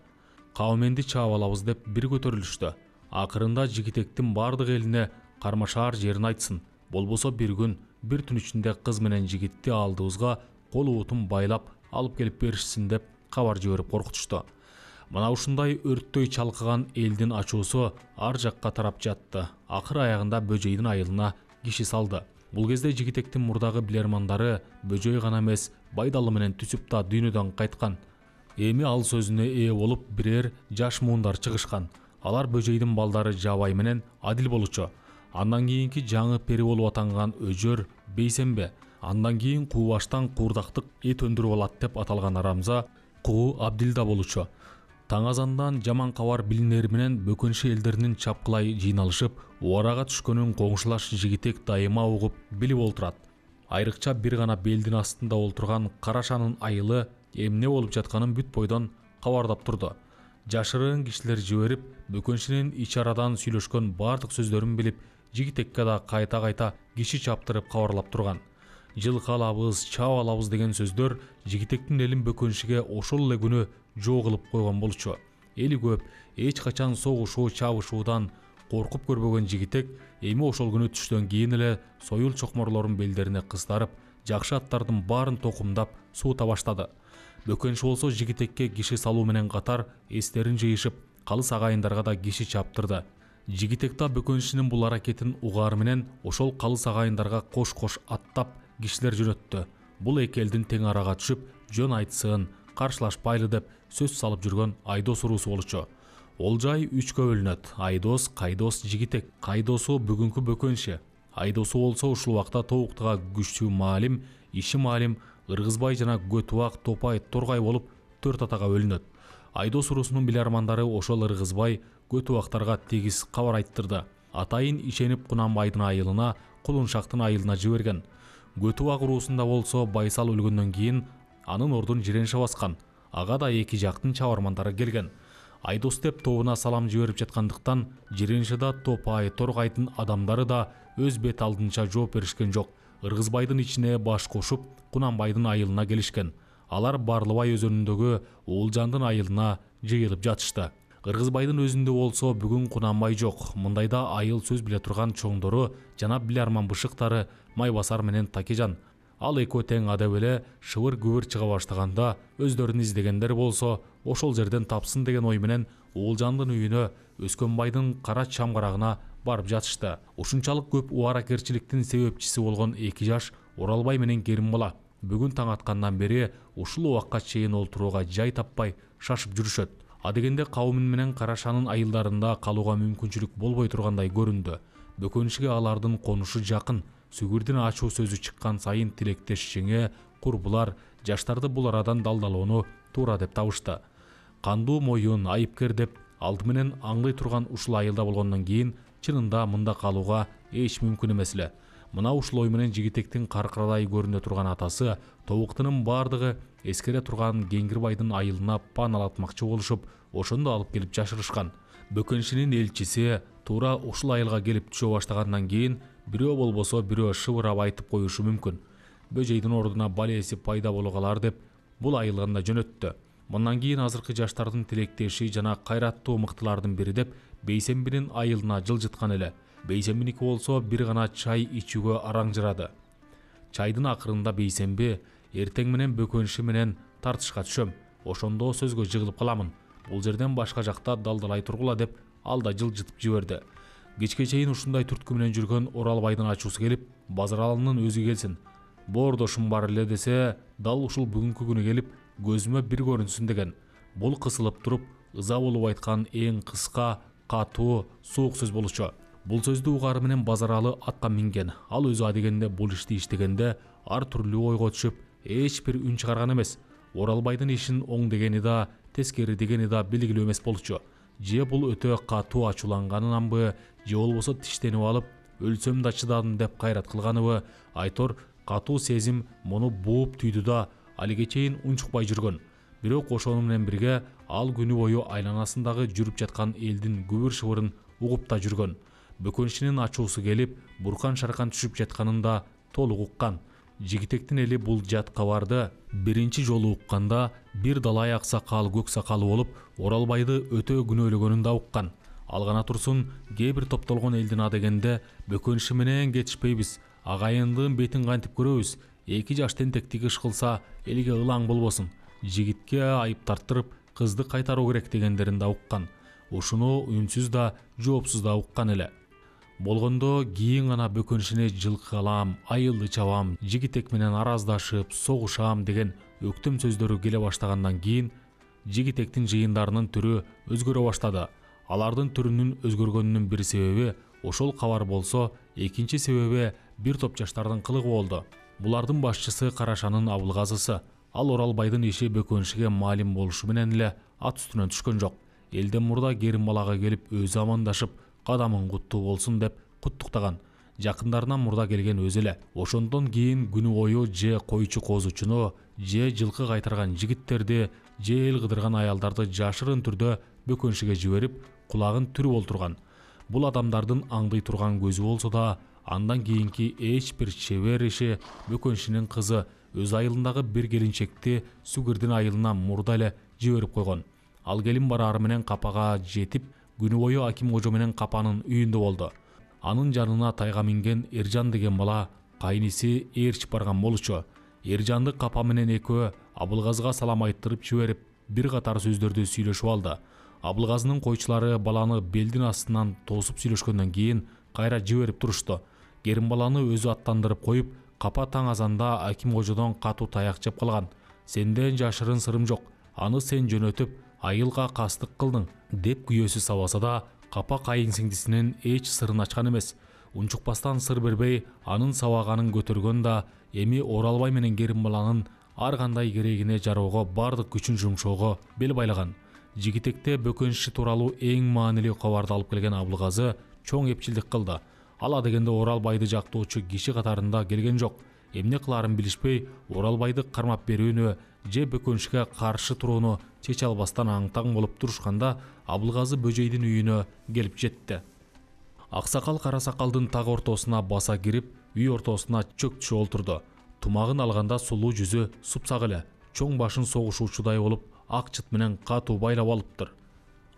Кауменди чаап алабыз деп бир көтөрүлүштү. Акырында жигитектин бардык элине кармашаар жерин айтсын. Болбосо бир күн, бир түн ичинде кыз менен жигитти алдыбызга кол уутун байлап алып келип беришсин деп кабар жиберип коркутушту. Мына ушундай өрттөй чалкыган элдин ачуусу ар жакка тарап жатты. Акыр аягында бөжөйдүн айылына киши салды. Бул кезде жигитектин мурдагы билермандары бөжөй гана эмес, Байдалы менен түсүп да дүйнөдөн кайткан.
Эми ал сөзүнө ээ болуп бирер жаш муундар чыгышкан. Алар бөжөйдүн балдары Жабай менен Адил болчу. Андан кийинки жаңы пери болуп атанган Өжөр Бейсембе, андан кийин Кубаштан куурдактык эт өндүрүп алат деп аталган Арамза Куу Абдилда болчу. Таң азандан жаман кабар билинери менен бөкөншү элдеринин чапкылай жыйналышып, убарага түшкөнүн коңшулаш Жигитек дайыма угуп билип отурат. Айрыкча бир гана белдин астында олтурган Карашанын айылы эмне болуп жатканын бүт бойдон кабардап турду. Жашырын кишилер жиберип, бөкөншүнүн ич арадан сүйлөшкөн бардык сөздөрүн билип, Жигитекке да кайта-кайта киши чаптырып кабарлап турган. Жылкы алабыз, чаап алабыз деген сөздөр Жигитектин элин бөкөншүгө ошол эле күнү жоо кылып койгон болчу. Эли көп, эч качан согушуу, чабышуудан коркуп көрбөгөн Жигитек эми ошол күнү түштөн кийин эле союл чокморлорун белдерине кыстарып, жакшы аттардын баарын токумдап суута баштады. Бөкөншү болсо Жигитекке киши салуу менен катар эстерин жыйышып, калыс агайындарга да киши чаптырды. Жигитек да бөкөншүнүн бул аракетин угаар менен ошол калыс агайындарга кош-кош аттап кишилер жөнөттү. Бул эки элдин тең арага түшүп, жөн айтсын, каршылашпайлы деп сөз салып жүргөн Айдос уруусу болчу. Олжай үчкө бөлүнөт: Айдос, Кайдос, Жигитек. Кайдосу бүгүнкү бөкөншү. Айдосу болсо ушул убакта Тобуктага күчтүү маалим, иши маалим, Ыргызбай жана Көтүбак, Топай, Торгай болуп төрт атага бөлүнөт. Айдос уруусунун билармандары ошол Ыргызбай, Көтүбактарга тегиз кабар айттырды. Атайын ишенип Кунанбайдын айылына, Кулуншактын айылына жиберген. Көтүбак уруусунда болсо Байсал өлгөндөн кийин анын ордун Жиренше баскан. Ага да эки жактын чабармандары келген. Айдос деп тобуна салам жиберип жаткандыктан Жиреншеда Топай, Торгайдын адамдары да өз бет алдынча жооп беришкен жок. Ыргызбайдын ичине баш кошуп, Кунанбайдын айылына келишкен. Алар Барлыбай өзөнүндөгү Уулжандын айылына жыйылып жатышты. Ыргызбайдын өзүндө болсо бүгүн Кунанбай жок. Мындайда айыл сөз биле турган чоңдору жана биларман бышыктары Майбасар менен Такежан. Ал экөө тең адеп эле шыбыр күбүр чыга баштаганда өздөрүн издегендер болсо ошол жерден тапсын деген ой менен Уулжандын үйүнө, Өскөнбайдын кара чамгарагына барып жатышты. Ушунчалык көп убаракерчиликтин себепчиси болгон эки жаш Оралбай менен Керимбала бүгүн таң аткандан бери ушул убакка чейин олтурууга жай таппай шашып жүрүшөт. Адегенде кауmun менен Карашанын айылдарында калууга мүмкүнчүлүк болбой тургандай көрүндү. Бөкөншүгө алардын конушу жакын. Сүгүрдүн ачуу сөзү чыккан сайын тилектеш жеңе, курбулар жаштарды бул арадан далдалоону туура деп табышты. Кандуу моюн, айыпкер деп алды менен аңлай турган ушул айылда болгондон кийин чынында мында калууга эч мүмкүн эмес эле. Мына ушул ой менен Жигитектин каркырадай көрүнө турган атасы тобуктунун бардыгы эскере турган Кеңгирбайдын айылына паналатмакчы болушуп, ошондо алып келип жашырышкан. Бөкөншүнүн элчиси туура ушул айылга келип түшө баштагандан кийин бирөө болбосо бирөө шыбырап айтып коюшу мүмкүн. Бөжөйдүн ордуна балеси пайда боло калар деп бул айылган да жөнөттү. Мындан кийин азыркы жаштардын тилектеши жана кайраттуу мыктылардын бири деп Бейсембинин айылына жылжыткан эле. Бейсембиники болсо бир гана чай ичүүгө араңжырады. Чайдын акырында Бейсемби: эртең менен бөкөншү менен тартышка түшөм. Ошондо сөзгө жыгылып каламын. Бул жерден башка жакта далдалай тургула деп ал да жылжытып жиберди. Кечке чейин ушундай түрткү менен жүргөн Оралбайдын ачуусу келип, Базаралынын өзү келсин. Боордошум бар эле десе, дал ушул бүгүнкү күнү келип, көзүмө бир көрүнсүн деген. Бул кысылып туруп, ыза болуп айткан эң кыска, катуу, суук сөз болчу. Бул сөздү угары менен Базаралы атка минген. Ал өзү адегенде бул ишти иштегенде ар түрлүү ойго түшүп, эч бир үн чыгарган эмес. Оралбайдын ишин оң дегени да, тескери дегени да белгилүү эмес болчу. Же бул өтө катуу ачууланганынанбы, же болбосо тиштенип алып, өлсөм да чыдадым деп кайрат кылганыбы, айтор катуу сезим муну бууп түйдү да алиге чейин унчукпай жүргөн. Бирок ошону менен бирге ал күнү бою айланасындагы жүрүп жаткан элдин күбүр шыбырын угуп та жүргөн. Бөкөншүнүн ачуусу келип, буркан шаркан түшүп жатканын да толук уккан. Жигитектин эли бул жат кабарды биринчи жолу укканда бир далай аксакал, көк сакалы болуп, Оралбайды өтө күнөөлөгөнүн да уккан. Ал гана турсун, кээ бир топтолгон элдин адегенде бөкөншү менен кетишпейбиз, агайындын бетин кантип көрөбүз, эки жаш тентектик иш кылса элге ылаң болбосун, жигитке айып тарттырып, кызды кайтаруу керек дегендерин да уккан. Ушуну үнсүз да, жоопсуз да уккан эле. Болгондо кийин гана бөкөншүнө жылкы алам, айылды чабам, Жигитек менен араздашып, согушам деген өктөм сөздөрү келе баштагандан кийин жигитектин жыйындарынын түрү өзгөрө баштады. Алардын түрүнүн өзгөргөнүнүн бир себеби ошол кабар болсо, экинчи себеби бир топ жаштардын кылыгы болду. Булардын башчысы Карашанын Абылгазысы. Ал Оралбайдын иши Бөкөншиге маалим болушу менен эле ат үстүнөн түшкөн жок. Элден мурда Керимбалага келип өзү амандашып, кадамың куттуу болсун деп куттуктаган. Жакындарынан мурда келген өзү эле. Ошондон кийин күнү бою же койчу козучуну, же жылкы кайтарган жигиттерди, же эл кыдырган аялдарды жашырын түрдө Бөкөншиге жиберип, кулагын түрүп олтурган. Бул адамдардын аңдый турган көзү болсо да, андан кийинки эч бир чебер иши Бөкөншинин кызы өз айылындагы бир келинчекти Сугирдин айылына мурда эле жиберип койгон. Ал келин барары менен капага жетип, күнү бою Аким кожо менен капанын үйүндө болду. Анын жанына тайга минген Эржан деген бала кайниси ээрчип барган болчу. Эржанды капа менен экөө Абылгазыга салам айттырып жиберип, бир катар сөздөрдү сүйлөшүп алды. Абылгазынын койчулары баланы белдин астынан тосуп сүйлөшкөндөн кийин кайра жиберип турушту. Керимбаланы өзү аттандырып коюп, капа таң азанда Аким кожодон катуу таяк жеп калган. Сенден жашырын сырым жок. Аны сен жөнөтүп, айылга кастык кылдың деп күйөөсү сабаса да, капа кайын сиңдисинин эч сырын ачкан эмес. Унчукпастан сыр бербей, анын сабаганын көтөргөн да эми Оралбай менен Керимбаланын ар кандай керегине жароого бардык күчүн жумшоого бел байлаган. Жигитекте Бөкөнши тууралуу эң маанилүү кабарды алып келген Абылгазы чоң эпчилдик кылды. Ала дегенде Оралбайды жактоочу киши катарында келген жок. Эмне кыларын билишпей, Оралбайды кармап берүүнү же Бөкөншиге каршы турууну чече албастан аң-таң болуп турушканда, Абылгазы бөжөйдүн үйүнө келип жетти. Аксакал Карасакалдын так ортосуна баса кирип, үй ортосуна чөк түшүп олтурду. Тумагын алганда сулуу жүзү супсак эле, чоң башын согушуучудай болуп, ак чыт менен катуу байлап алыптыр.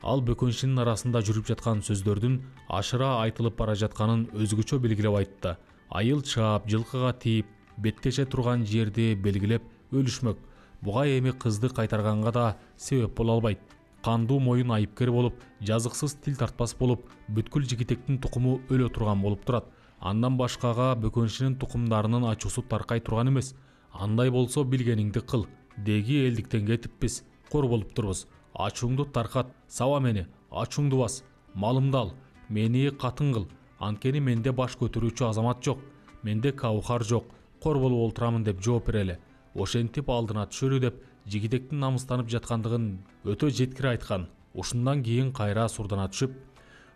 Ал Бөкөншинин арасында жүрүп жаткан сөздөрдүн ашыра айтылып бара жатканын өзгөчө белгилеп айтты. Айыл чаап, жылкыга тийип, беттеше турган жерди белгилеп өлүшмөк. Буга эми кызды кайтарганга да себеп боло албайт. Кандуу моюн айыпкер болуп, жазыксыз тил тартпас болуп, бүткүл жигитектин тукуму өлө турган болуп турат. Андан башкага Бөкөншинин тукумдарынын ачуусу таркай турган эмес. Андай болсо билгениңди кыл. Деги элдиктен кетиппиз, кор болуп турбуз. Ачууңду таркат, саба мени, ачууңду бас, малымды ал, мени катын кыл. Анткени менде баш көтөрүүчү азамат жок, менде каухар жок, кор болуп олтурамын деп жооп берели. Ошентип алдына түшөрү деп жигитектин намыстанып жаткандыгын өтө жеткире айткан. Ушундан кийин кайра сурдана түшүп,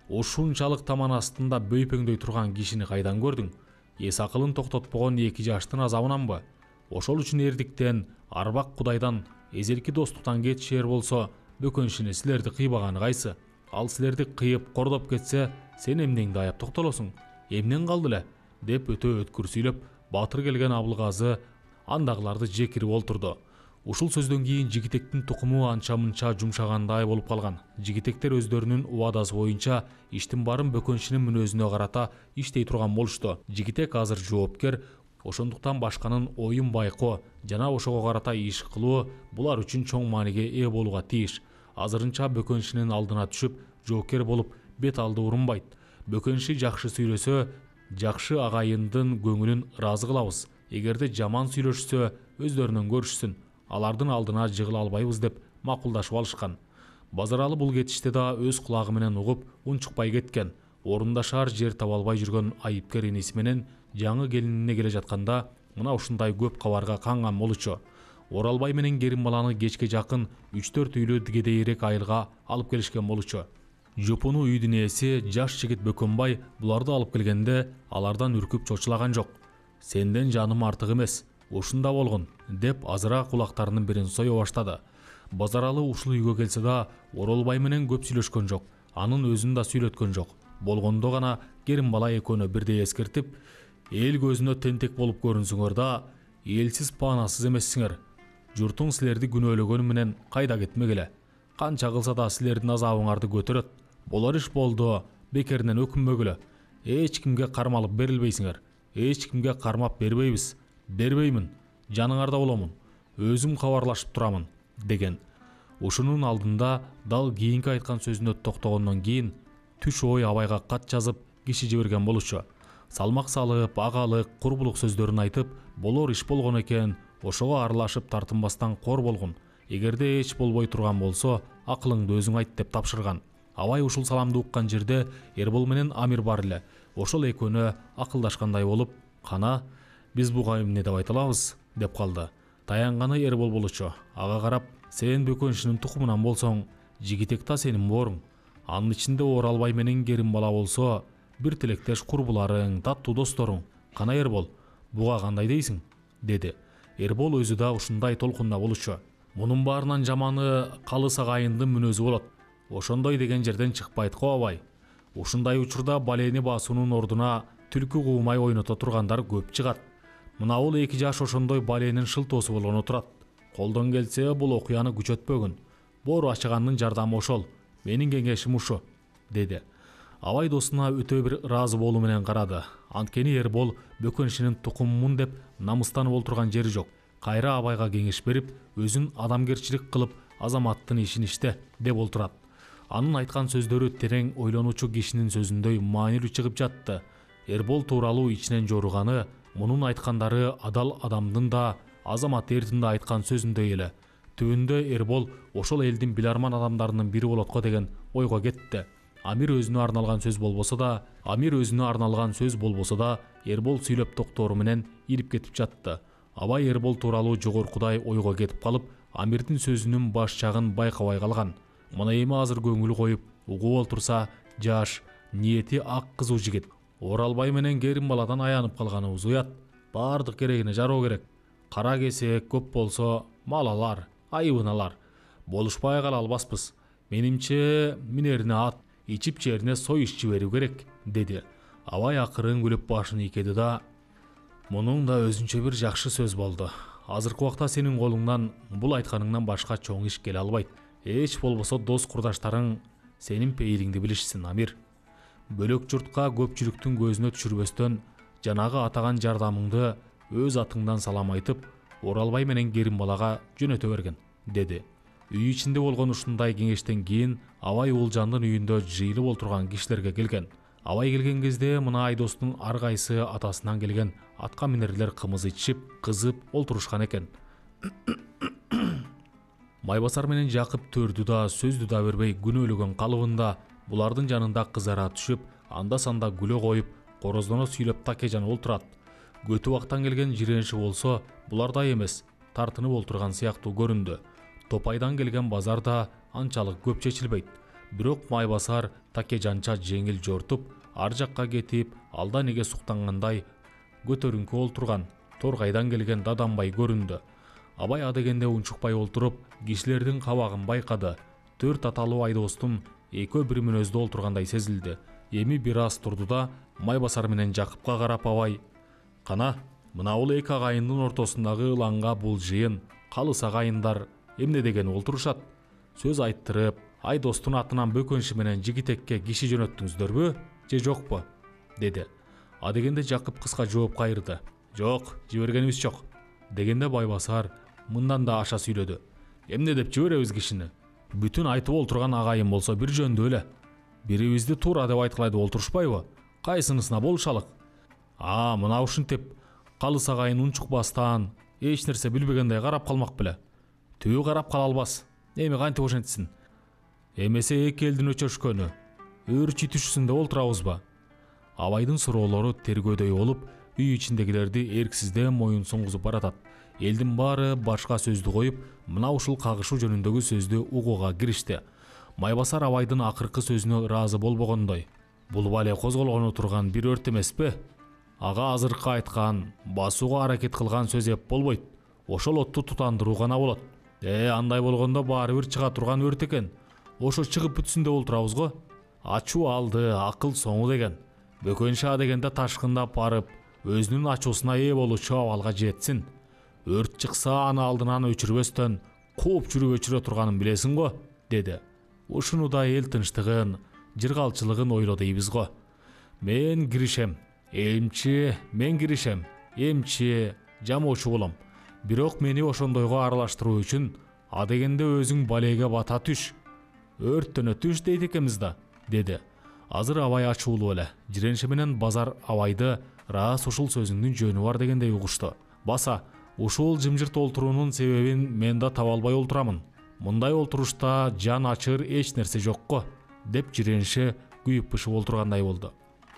ушунчалык таман астында бөйпөңдөй турган кишини кайдан көрдүң? Эс акылын токтотпогон эки жаштын азабынанбы? Ошол үчүн эрдиктен, арбак кудайдан, эзелки достуктан кетишер болсо, Бөкөншини силерди кыйбаганы кайсы? Ал силерди кыйып кордоп кетсе, сен эмнеңди аяп токтолосуң? Эмнен калды эле? Деп өтө өткүр сүйлөп, батыр келген Абылгазы андагыларды жекирип олтурду. Ушул сөздөн кийин жигитектин тукуму анча-мынча жумшагандай болуп калган. Жигитектер өздөрүнүн убадасы боюнча иштин баарын Бөкөншинин мүнөзүнө карата иштей турган болушту. Жигитек азыр жоопкер, ошондуктан башканын оюн байкоо жана ошого карата иш кылуу булар үчүн чоң мааниге ээ болууга тийиш. Азырынча Бөкөншинин алдына түшүп, жоокер болуп, бет алды урунбайт. Бөкөнши жакшы сүйлөсө, жакшы агайындын көңүлүн ыраазы кылабыз. Эгерде жаман сүйлөшсө, өздөрүнөн көрүшсүн. Алардын алдына жыгыла албайбыз деп макулдашып алышкан. Базаралы бул кетиште да өз кулагы менен угуп, унчукпай кеткен. Орундашар жер таба албай жүргөн айыпкер иниси менен жаңы келинине келе жатканда, мына ушундай көп кабарга канган болчу. Оралбай менен Керимбаланы кечке жакын үч төрт үйлүү кедейирээк айылга алып келишкен болчу. Жупуну үйдүн ээси жаш жигит Бөкөнбай буларды алып келгенде алардан үркүп чочулаган жок. Сенден жаным артык эмес, ушунда болгон деп азыраак кулактарынын бирин сое баштады. Базаралы ушул үйгө келсе да Оралбай менен көп сүйлөшкөн жок, анын өзүн да сүйлөткөн жок. Болгондо гана Керимбала экөөнү бирдей эскертип, эл көзүнө тентек болуп көрүнсүңөр да, элсиз паанасыз эмессиңер. Журтуң силерди күнөөлөгөнү менен кайда кетмегиле. Канча кылса да силердин азабыңарды көтөрөт. Болор иш болду, бекеринен өкүнбөгүлө. Эч кимге кармалып берилбейсиңер. Эч кимге кармап бербейбиз. Бербеймин. Жаныңарда боломун. Өзүм кабарлашып турамын, деген. Ушунун алдында дал кийинки айткан сөзүнө токтогондон кийин түш ой абайга кат жазып киши жиберген болчу. Салмак салып, агалык, курбулук сөздөрүн айтып, болор иш болгон экен, ошого аралашып тартынбастан кор болгон. эгерде эч болбой турган болсо акылыңды өзүң айт деп тапшырган. Абай ушул саламды уккан жерде Эрбол менен Амир бар эле. Ошол экөөнө акылдашкандай болуп, кана биз буга эмне деп айта алабыз деп калды. Таянганы Эрбол болчу. Ага карап, сен Бөкөншүнүн тукумунан болсоң, жигитек та сенин бооруң. Анын ичинде Оралбай менен Керимбала болсо, бир тилектеш курбуларың, таттуу досторуң. Кана Эрбол, буга кандай дейсиң? Деди. Эрбол өзү да ушундай толкунда болчу. Мунун баарынан жаманы калыс агайындын мүнөзү болот. Ошондой деген жерден чыкпайт го Абай. Ушундай учурда балени басуунун ордуна түлкү куумай ойното тургандар көп чыгат. Мына бул эки жаш ошондой баленин шылтоосу болгону турат. Колдон келсе бул окуяны күчөтпөгүн. Боору ачыгандын жардамы ошол. Менин кеңешим ушу, деди. Абай досуна өтө бир ыраазы болуу менен карады. Анткени Эрбол Бөкөншүнүн тукумумун деп намыстанып олтурган жери жок. Кайра Абайга кеңеш берип, өзүн адамгерчилик кылып, азаматтын ишин иште деп олтурат. Анын айткан сөздөрү терең ойлонуучу кишинин сөзүндөй маанилүү чыгып жатты. Эрбол тууралуу ичинен жоруганы, мунун айткандары адал адамдын да, азамат эрдин да айткан сөзүндөй эле. Түбүндө Эрбол ошол элдин биларман адамдарынын бири болот го деген ойго кетти. Амир өзүнө арналган сөз болбосо да, Амир өзүнө арналган сөз болбосо да, Эрбол сүйлөп токтоору менен ирип кетип жатты. Абай Эрбол тууралуу жогоркудай ойго кетип калып, Амирдин сөзүнүн баш жагын байкабай калган. Мына эми азыр көңүл коюп, угуп олтурса, жаш, ниети ак кызуу жигит. Оралбай менен Керимбаладан аянып калганыбыз уят. Бардык керегине жароо керек. Кара кесек көп болсо, мал алар, айыбын алар. Болушпай кала албаспыз. Менимче минерине ат, ичип жерине сой ишчи берүү керек, деди. Абай акырын күлүп башын ийкеди да, мунун да өзүнчө бир жакшы сөз болду. Азыркы убакта сенин колуңдан бул айтканыңдан башка чоң иш келе албайт. Эч болбосо дос курдаштарың сенин пейилиңди билишсин, Амир. Бөлөк журтка көпчүлүктүн көзүнө түшүрбөстөн, жанагы атаган жардамыңды өз атыңдан салам айтып, Оралбай менен Керимбалага жөнөтө берген, деди. Үй ичинде болгон ушундай кеңештен кийин Абай Улжандын үйүндө жыйылып олтурган кишилерге келген. Абай келген кезде мына Айдостун ар кайсы атасынан келген атка минерлер кымыз ичип, кызып олтурушкан экен. Майбасар менен Жакып төрдү да, сөздү да бербей күнөөлөгөн калыбында булардын жанында кызара түшүп, анда-санда күлө коюп, короздоно сүйлөп Такежан олтурат. Көтү бактан келген жирениши болсо, булардай эмес, тартынып олтурган сыяктуу көрүндү. Топайдан келген базар да анчалык көп чечилбейт. Бирок Майбасар Такежанча жеңил жортуп, ар жакка кетип, алда неге суктангандай көтөрүңкү олтурган торгайдан келген Даданбай көрүндү. Абай адегенде унчукпай олтуруп, кишилердин кабагын байкады. Төрт аталуу Айдостун экөө бир мүнөздө олтургандай сезилди. Эми бир аз турду да, Майбасар менен Жакыпка карап Абай: "Кана, мына бул эки агайындын ортосундагы ылаңга бул жыйын, калыс агайындар эмне деген олтурушат? Сөз айттырып, Айдостун атынан Бөкөншү менен Жигитекке киши жөнөттүңүздөрбү, же жокпу?" деди. Адегенде Жакып кыска жооп кайрды: "Жок, жибергенибиз жок." Дегенде Майбасар мындан да аша сүйлөдү: "Эмне деп жиберебиз кишини? Бүтүн айтып олтурган агайын болсо бир жөндө эле. Бирибизди туура деп айткылай деп олтурушпайбы? Кайсынысына болушалык? А, мына ушинтип калыс агайын унчукпастан, эч нерсе билбегендей карап калмак беле. Түбү карап кала албас. Эми кантип ошентсин? Эмесе эки элдин өчөшкөнү, өр чүтүшүсүндө олтурабызбы?" Абайдын суроолору тергөөдөй болуп, үй ичиндегилерди эрксизден моюн суңгузуп баратат. Элдин баары башка сөздү коюп, мына ушул кагышуу жөнүндөгү сөздү угууга киришти. Майбасар Абайдын акыркы сөзүнө ыраазы болбогондой: "Бул бале козголгону турган бир өрт эмеспи? Ага азыркы айткан, басууга аракет кылган сөз эп болбойт. Ошол отту тутандыруу гана болот. Э, андай болгондо баары бир чыга турган өрт экен. Ошо чыгып бүтсүн деп олтурабыз го. Ачуу алды, акыл соңу деген. Бөкөншү дегенде ташкындап барып, өзүнүн ачуусуна ээ болуучу абалга жетсин. Өрт чыкса аны алдынан өчүрбөстөн кууп жүрүп өчүрө турганын билесиң го", деди. Ушуну да эл тынчтыгын, жыргалчылыгын ойло дейбиз го. "Мен киришем, эмчи, мен киришем, эмчи, жамоочу болом. Бирок мени ошондойго аралаштыруу үчүн адегенде өзүң балеге бата түш. Өрттөнө түш дейт экенбиз да", деди. Азыр Абай ачуулуу эле. Жирениши менен Базар Абайды рас ушул сөзүңдүн жөнү бар дегендей угушту. Баса, Ушул жымжырт олтуруунун себебин мен да таба албай олтурамын. Мындай олтурушта жан ачыр эч нерсе жокко, деп жирениши күйүп пышып олтургандай болду.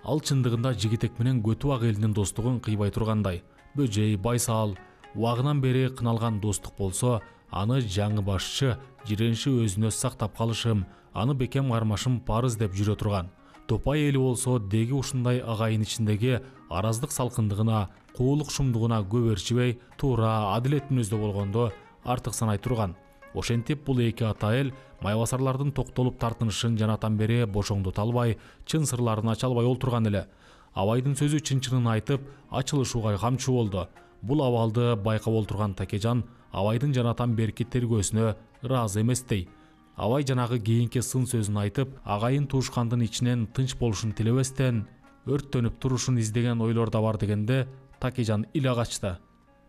Ал чындыгында жигитек менен Көтү ак элинин достугун кыйбай тургандай. Бөжей, Байсал убагынан бери кыналган достук болсо, аны жаңы башчы жирениши өзүнө сактап калышым, аны бекем кармашым парыз деп жүрө турган. Топай эли болсо деги ушундай агайын ичиндеги араздык салкындыгына, куулук шумдугуна көп ээрчибей, туура адилет мүнөздө болгондо артык санай турган. Ошентип бул эки ата эл майбасарлардын токтолуп тартынышын жанатан бери бошоңдото албай, чын сырларын ача албай олтурган эле. Абайдын сөзү чын-чынын айтып, ачылышууга камчы болду. Бул абалды байкап олтурган Такежан Абайдын жанатан берки тергөөсүнө ыраазы эместей. Абай жанагы кийинки сын сөзүн айтып, агайын туушкандын ичинен тынч болушун тилебестен, өрттөнүп турушун издеген ойлордо бар дегенде Такежан иле качты.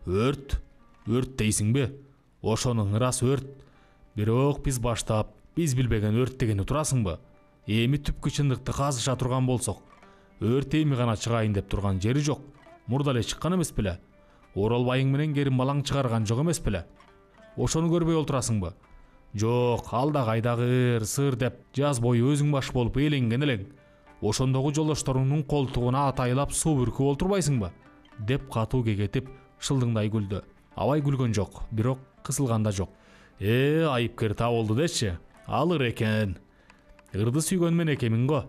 Өрт? Өрт дейсиңби? Ошонун ырасы өрт. Бирок биз баштап, биз билбеген өрт дегени турасыңбы? Эми түпкү чындыкты казыша турган болсок, өрт эми гана чыгайын деп турган жери жок. Мурда эле чыккан эмес беле? Оролбайың менен керим балаң чыгарган жок эмес беле? Ошону көрбөй олтурасыңбы? Жок, алда кайдагы сыр деп жаз бою өзүң баш болуп эленген элең. Ошондогу жолдошторуңдун колтугуна атайлап суу бүркүп олтурбайсыңбы? Деп катуу кекетип шылдыңдай күлдү. Абай күлгөн жок, бирок кысылган да жок. Э, айыпкер табылды дечи. Алыр экен. Ырды сүйгөн мен экемин го.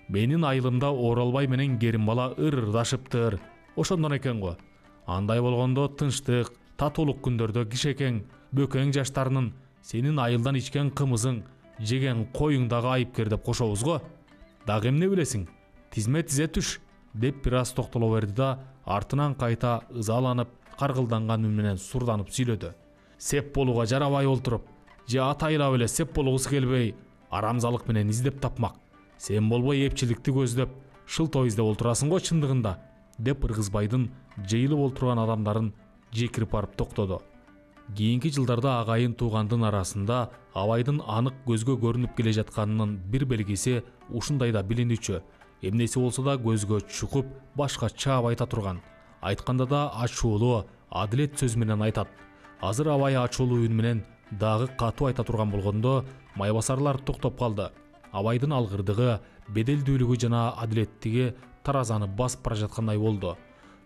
Менин айылымда Оролбай менен керим бала ыр-ырдашыптыр. Ошондон экен го. Андай болгондо тынчтык, татуулук күндөрдө кишекең, бөкөң жаштарынын сенин айылдан ичкен кымызың, жеген коюң дагы айыпкер деп кошобуз го. Дагы эмне билесиң? Тизме тизе түш, деп бир аз токтоло берди да, артынан кайта ызаланып, каргылданган үн менен сурданып сүйлөдү. Сеп болууга жарабай олтуруп, же атайлап эле сеп болгусу келбей, арамзалык менен издеп тапмак. Сен болбой эпчиликти көздөп, шылтоо издеп олтурасың го чындыгында, деп Ыргызбайдын жыйылып олтурган адамдарын жекирип барып токтоду. Кийинки жылдарда агайын туугандын арасында Абайдын анык көзгө көрүнүп келе жатканынын бир белгиси ушундайда билинүүчү. Эмнеси болсо да көзгө чукуп, башка чаап айта турган. Айтканда да ачуулуу, адилет сөз менен айтат. Азыр Абай ачуулуу үн менен дагы катуу айта турган болгондо, майбасарлар токтоп калды. Абайдын алгырдыгы, беделдүүлүгү жана адилеттиги таразаны басып бара жаткандай болду.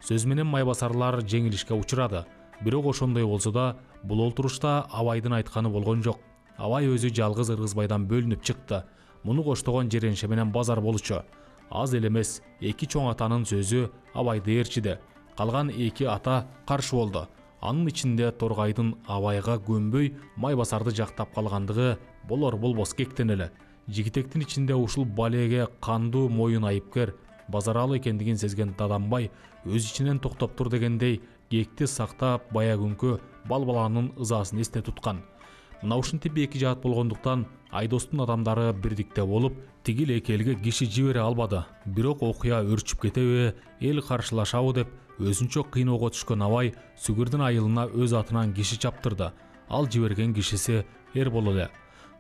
Сөз менен майбасарлар жеңилишке учурады. Бирок ошондой болсо да, бул олтурушта Абайдын айтканы болгон жок. Абай өзү жалгыз Ыргызбайдан бөлүнүп чыкты. Муну коштогон жиренше менен базар болчу. Аз эле эмес, эки чоң атанын сөзү Абайды ээрчиди. Калган эки ата каршы болду. Анын ичинде Торгайдын Абайга көнбөй майбасарды жактап калгандыгы болор болбос кектен эле. Жигитектин ичинде ушул балеге кандуу моюн айыпкер Базаралы экендигин сезген Даданбай өз ичинен токтоп тур дегендей кекти сактап баягүнкү бал баланын ызасын эсте туткан. Мына ушинтип эки жаат болгондуктан Айдостун адамдары бирдикте болуп, тигил эки элге киши жибере албады. Бирок окуя өрчүп кетеби, эл каршылашабы деп өзүнчө кыйноого түшкөн Абай Сүгүрдүн айылына өз атынан киши чаптырды. Ал жиберген кишиси Эрбол эле.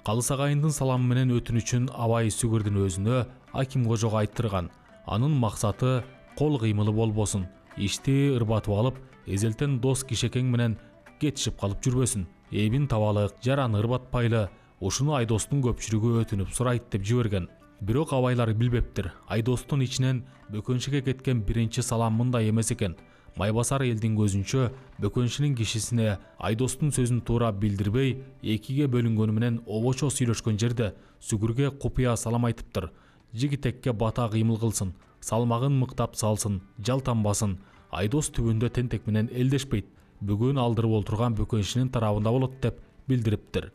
Калыс агайындын саламы менен өтүнүчүн Абай Сүгүрдүн өзүнө Аким кожого айттырган. Анын максаты кол кыймылы болбосун, ишти ырбатып алып, эзелтен дос кишекең менен кетишип калып жүрбөсүн. Эбин табалык, жараны ырбатпайлы, ушуну Айдостун көпчүлүгү өтүнүп сурайт деп жиберген. Бирок Абайлар билбептир. Айдостун ичинен бөкөншүгө кеткен биринчи салам мындай эмес экен. Майбасар элдин көзүнчө бөкөншүнүн кишисине Айдостун сөзүн туура билдирбей, экиге бөлүнгөнү менен обочо сүйлөшкөн жерде Сүгүргө купуя салам айтыптыр. Жигитекке бата кыймыл кылсын, салмагын мыктап салсын, жалтанбасын. Айдос түбүндө тентек менен элдешпейт. Бүгүн алдырып олтурган бөкөншүнүн тарабында болот деп билдириптир.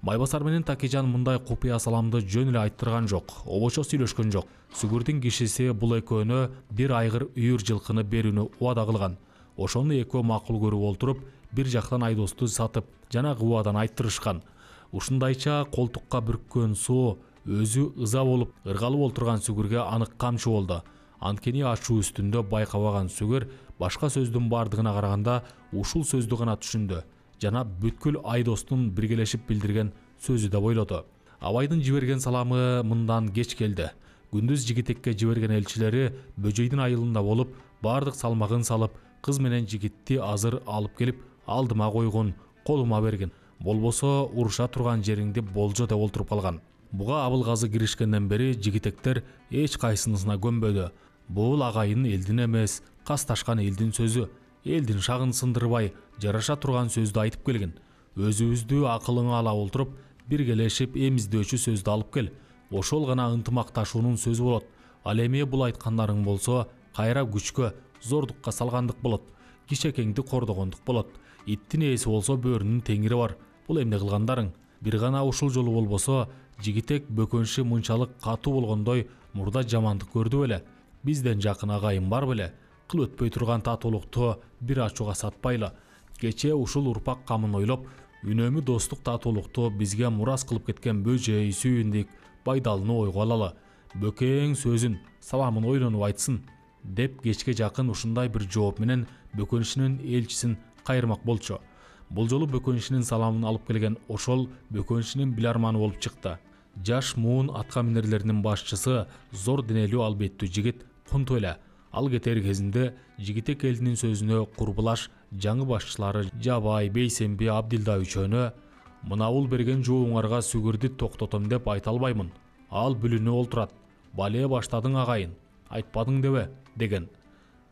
Майбасар менен Такежан мындай купуя саламды жөн эле айттырган жок, обочо сүйлөшкөн жок. Сүгүрдүн кишиси бул экөөнө бир айгыр үйүр жылкыны берүүнү убада кылган. Ошону экөө макул көрүп олтуруп, бир жактан Айдосту сатып, жанагы убадан айттырышкан. Ушундайча колтукка бүрккөн суу өзү ыза болуп, ыргалып олтурган Сүгүргө анык камчы болду. Анткени ачуу үстүндө байкабаган Сүгүр башка сөздүн бардыгына караганда ушул сөздү гана түшүндү. Жана бүткүл Айдостун биргелешип билдирген сөзү деп ойлоду. Абайдын жиберген саламы мындан кеч келди. Күндүз Жигитекке жиберген элчилери Бөжөйдүн айылында болуп, бардык салмагын салып, кыз менен жигитти азыр алып келип алдыма койгон, колума берген. Болбосо уруша турган жериңди болжо деп олтуруп калган. Буга Абылгазы киришкенден бери жигитектер эч кайсынысына көнбөдү. Бул агайын элдин эмес, касташкан элдин сөзү. Элдин шагын сындырбай, жараша турган сөздү айтып келген. Өзүбүздү акылыңа ала олтуруп, биргелешип эмиздөөчү сөздү алып кел. Ошол гана ынтымакташуунун сөзү болот. Ал эми бул айткандарың болсо, кайра күчкө, зордукка салгандык болот. Кичекеңди кордогондук болот. Иттин ээси болсо бөөрүнүн теңири бар. Бул эмне кылгандарың? Бир гана ушул жолу болбосо, жигитек бөкөншү мынчалык катуу болгондой мурда жамандык көрдү беле? Бизден жакын агайын бар беле? Кыл өтпөй турган татуулукту бир ачууга сатпайлы. Кече ушул урпак камын ойлоп, үнөмү достук татуулукту бизге мурас кылып кеткен Бөжөй, Сүйүндүк, Байдалыны ойго алалы. Бөкең сөзүн, саламын ойлонуп айтсын, деп кечке жакын ушундай бир жооп менен бөкөншүнүн элчисин кайырмак болчу. Бул жолу бөкөншүнүн саламын алып келген ошол бөкөншүнүн биларманы болуп чыкты. Жаш муун атка минерлеринин башчысы зор денелүү албеттүү жигит Кунту эле. Ал кетер кезинде жигитек элинин сөзүнө курбулаш жаңы башчылары Жабай, Бейсемби, Абдилда үчөөнө мынабул берген жообуңарга сүгүрдү токтотом деп айта албаймын. Ал бүлүнүп олтурат. Бале баштадың агайын, айтпадың дебе деген.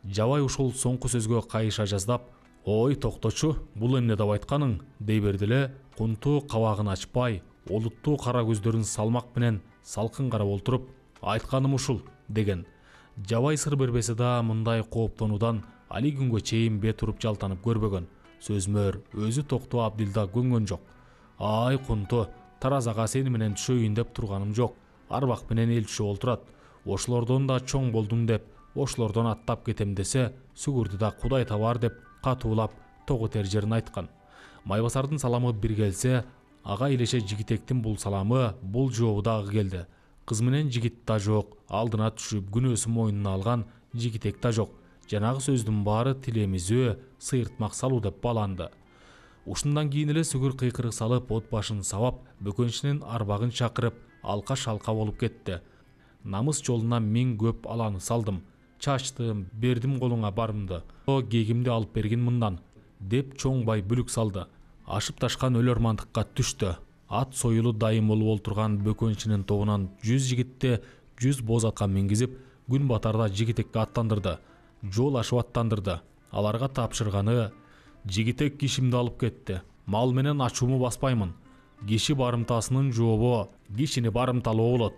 Жабай ушул соңку сөзгө кайыша жаздап, ой токточу, бул эмне деп айтканың дей берди эле. Кунту кабагын ачпай, олуттуу кара көздөрүн салмак менен салкын карап олтуруп, айтканым ушул деген. Жабай сыр бербесе да мындай кооптонуудан али күнгө чейин бет уруп жалтанып көрбөгөн. Сөзмөр өзү токтоо Абдилда көнгөн жок. Ай Кунту, таразага сени менен түшөйүн деп турганым жок. Арбак менен элчү олтурат. Ошолордон да чоң болдум деп, ошолордон аттап кетем десе, сүгүрдү да Кудай табар деп катуулап тогу тер жерин айткан. Майбасардын саламы бир келсе, ага илеше жигитектин бул саламы, бул жообу дагы келди. Кыз менен жигит да жок, алдына түшүп күнөөсүн мойнуна алган жигитек да жок. Жанагы сөздүн баары тилемизөө, сыйыртмак салуу деп бааланды. Ушундан кийин эле сүгүр кыйкырык салып, от башын сабап, бөкөншүнүн арбагын чакырып, алка-шалка болуп кетти. Намыс жолуна мен көп аланы салдым, чачтым, бердим колуңа барымды. О кегимди алып бергин мындан, деп чоң бай бүлүк салды. Ашып ташкан өлөрмандыкка түштү. Ат союлу дайым болуп олтурган бөкөншүнүн тобунан жүз жигитти жүз боз атка мингизип, күн батарда жигитекке аттандырды. Жол ашып аттандырды. Аларга тапшырганы: жигитек кишимди алып кетти. Мал менен ачууму баспаймын. Киши барымтасынын жообу кишини барымталоо болот.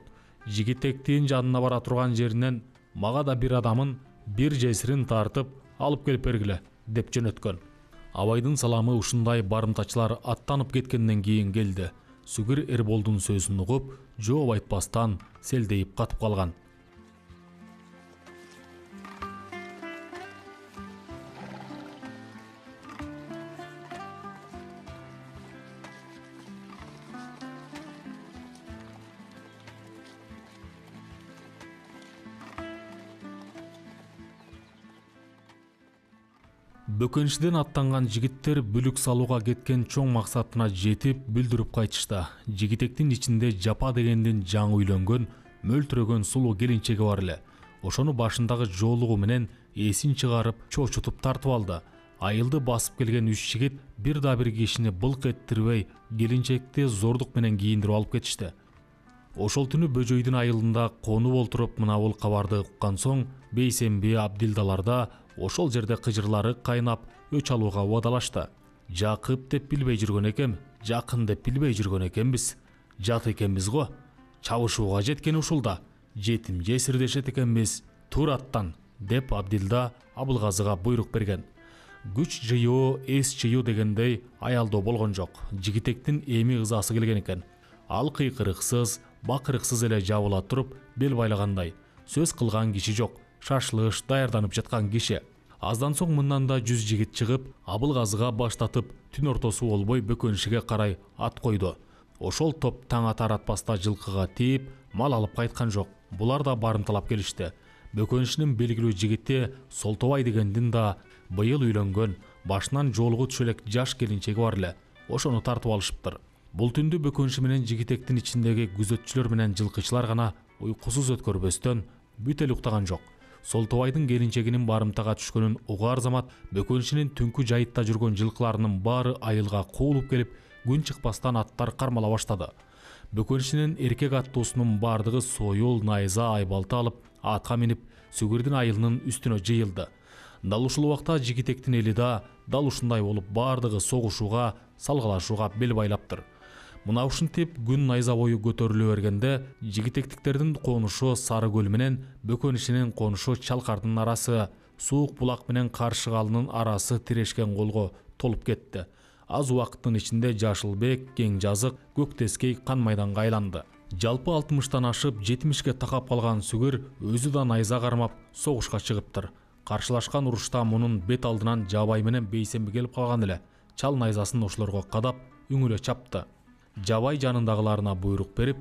Жигитектин жанына бара турган жеринен мага да бир адамын бир жесирин тартып алып келип бергиле деп жөнөткөн. Абайдын саламы ушундай барымтачылар аттанып кеткенден кийин келди. Сүгүр Эрболдун сөзүн угуп, жооп айтпастан селдейип катып калган. Бөкөншүдөн аттанган жигиттер бүлүк салууга кеткен чоң максатына жетип бүлдүрүп кайтышты. Жигитектин ичинде Жапа дегендин жаңы үйлөнгөн, мөлтүрөгөн сулуу келинчеги бар эле. Ошону башындагы жоолугу менен эсин чыгарып, чочутуп тартып алды. Айылды басып келген үч жигит бир да бир кишини былк эттирбей, келинчекти зордук менен кийиндирип алып кетишти. Ошол түнү Бөжөйдүн айылында конуп олтуруп мына бул кабарды уккан соң, Бейсемби, Абдилдаларда ошол жерде кыжырлары кайнап, өч алууга убадалашты. Жакып деп билбей жүргөн экем, жакын деп билбей жүргөн экенбиз. Жат экенбиз го. Чабышууга жеткен ушулда. Жетим жесирдешет экенбиз. Тур аттан, деп Абдилда Абылгазыга буйрук берген. Күч жыйуу, эс жыйуу дегендей аялдоо болгон жок. Жигитектин эми ызасы келген экен. Ал кыйкырыксыз, бакырыксыз эле жабыла туруп, бел байлагандай. Сөз кылган киши жок. Шашлыш даярданып жаткан киши. Аздан соң мындан да жүз жигит чыгып, Абылгазыга баштатып, түн ортосу болбой бөкөншүгө карай ат койду. Ошол топ таң атар атпаста жылкыга тийип, мал алып кайткан жок. Булар да барымталап келишти. Бөкөншүнүн белгилүү жигити Солтобай дегендин да быйыл үйлөнгөн, башынан жоолугу түшө элек жаш келинчеги бар эле. Ошону тартып алышыптыр. Бул түндү бөкөншү менен жигитектин ичиндеги күзөтчүлөр менен жылкычылар гана уйкусуз өткөрбөстөн бүт эле уктаган жок. Солтобайдын келинчегинин барымтага түшкөнүн угаар замат бөкөншинин түнкү жайытта жүргөн жылкыларынын баары айылга куулуп келип, күн чыкпастан аттар кармала баштады. Бөкөншинин эркек аттуусунун бардыгы сойул, найза, айбалты алып, атка минип, Сүгүрдүн айылынын үстүнө жыйылды. Дал ушул убакта жигитектин эли да дал ушундай болуп бардыгы согушууга, салгылашууга бел байлаптыр. Мына ушинтип күн найза бою көтөрүлө бергенде жигитектиктердин конушу Сары көл менен Бөкөншинин конушу Чалкардын арасы, Суук булак менен Каршы калынын арасы тирешкен колго толуп кетти. Аз убакыттын ичинде Жашылбек, Кең жазык, Көктескей кан майданга айланды. Жалпы алтымыштан ашып жетимишке такап калган Сүгүр өзү да найза кармап согушка чыгыптыр. Каршылашкан урушта мунун бет алдынан Жабай менен Бейсенби келип калган эле. Чал найзасын ошолорго кадап үңүлө чапты. Жабай жанындагыларына буйрук берип,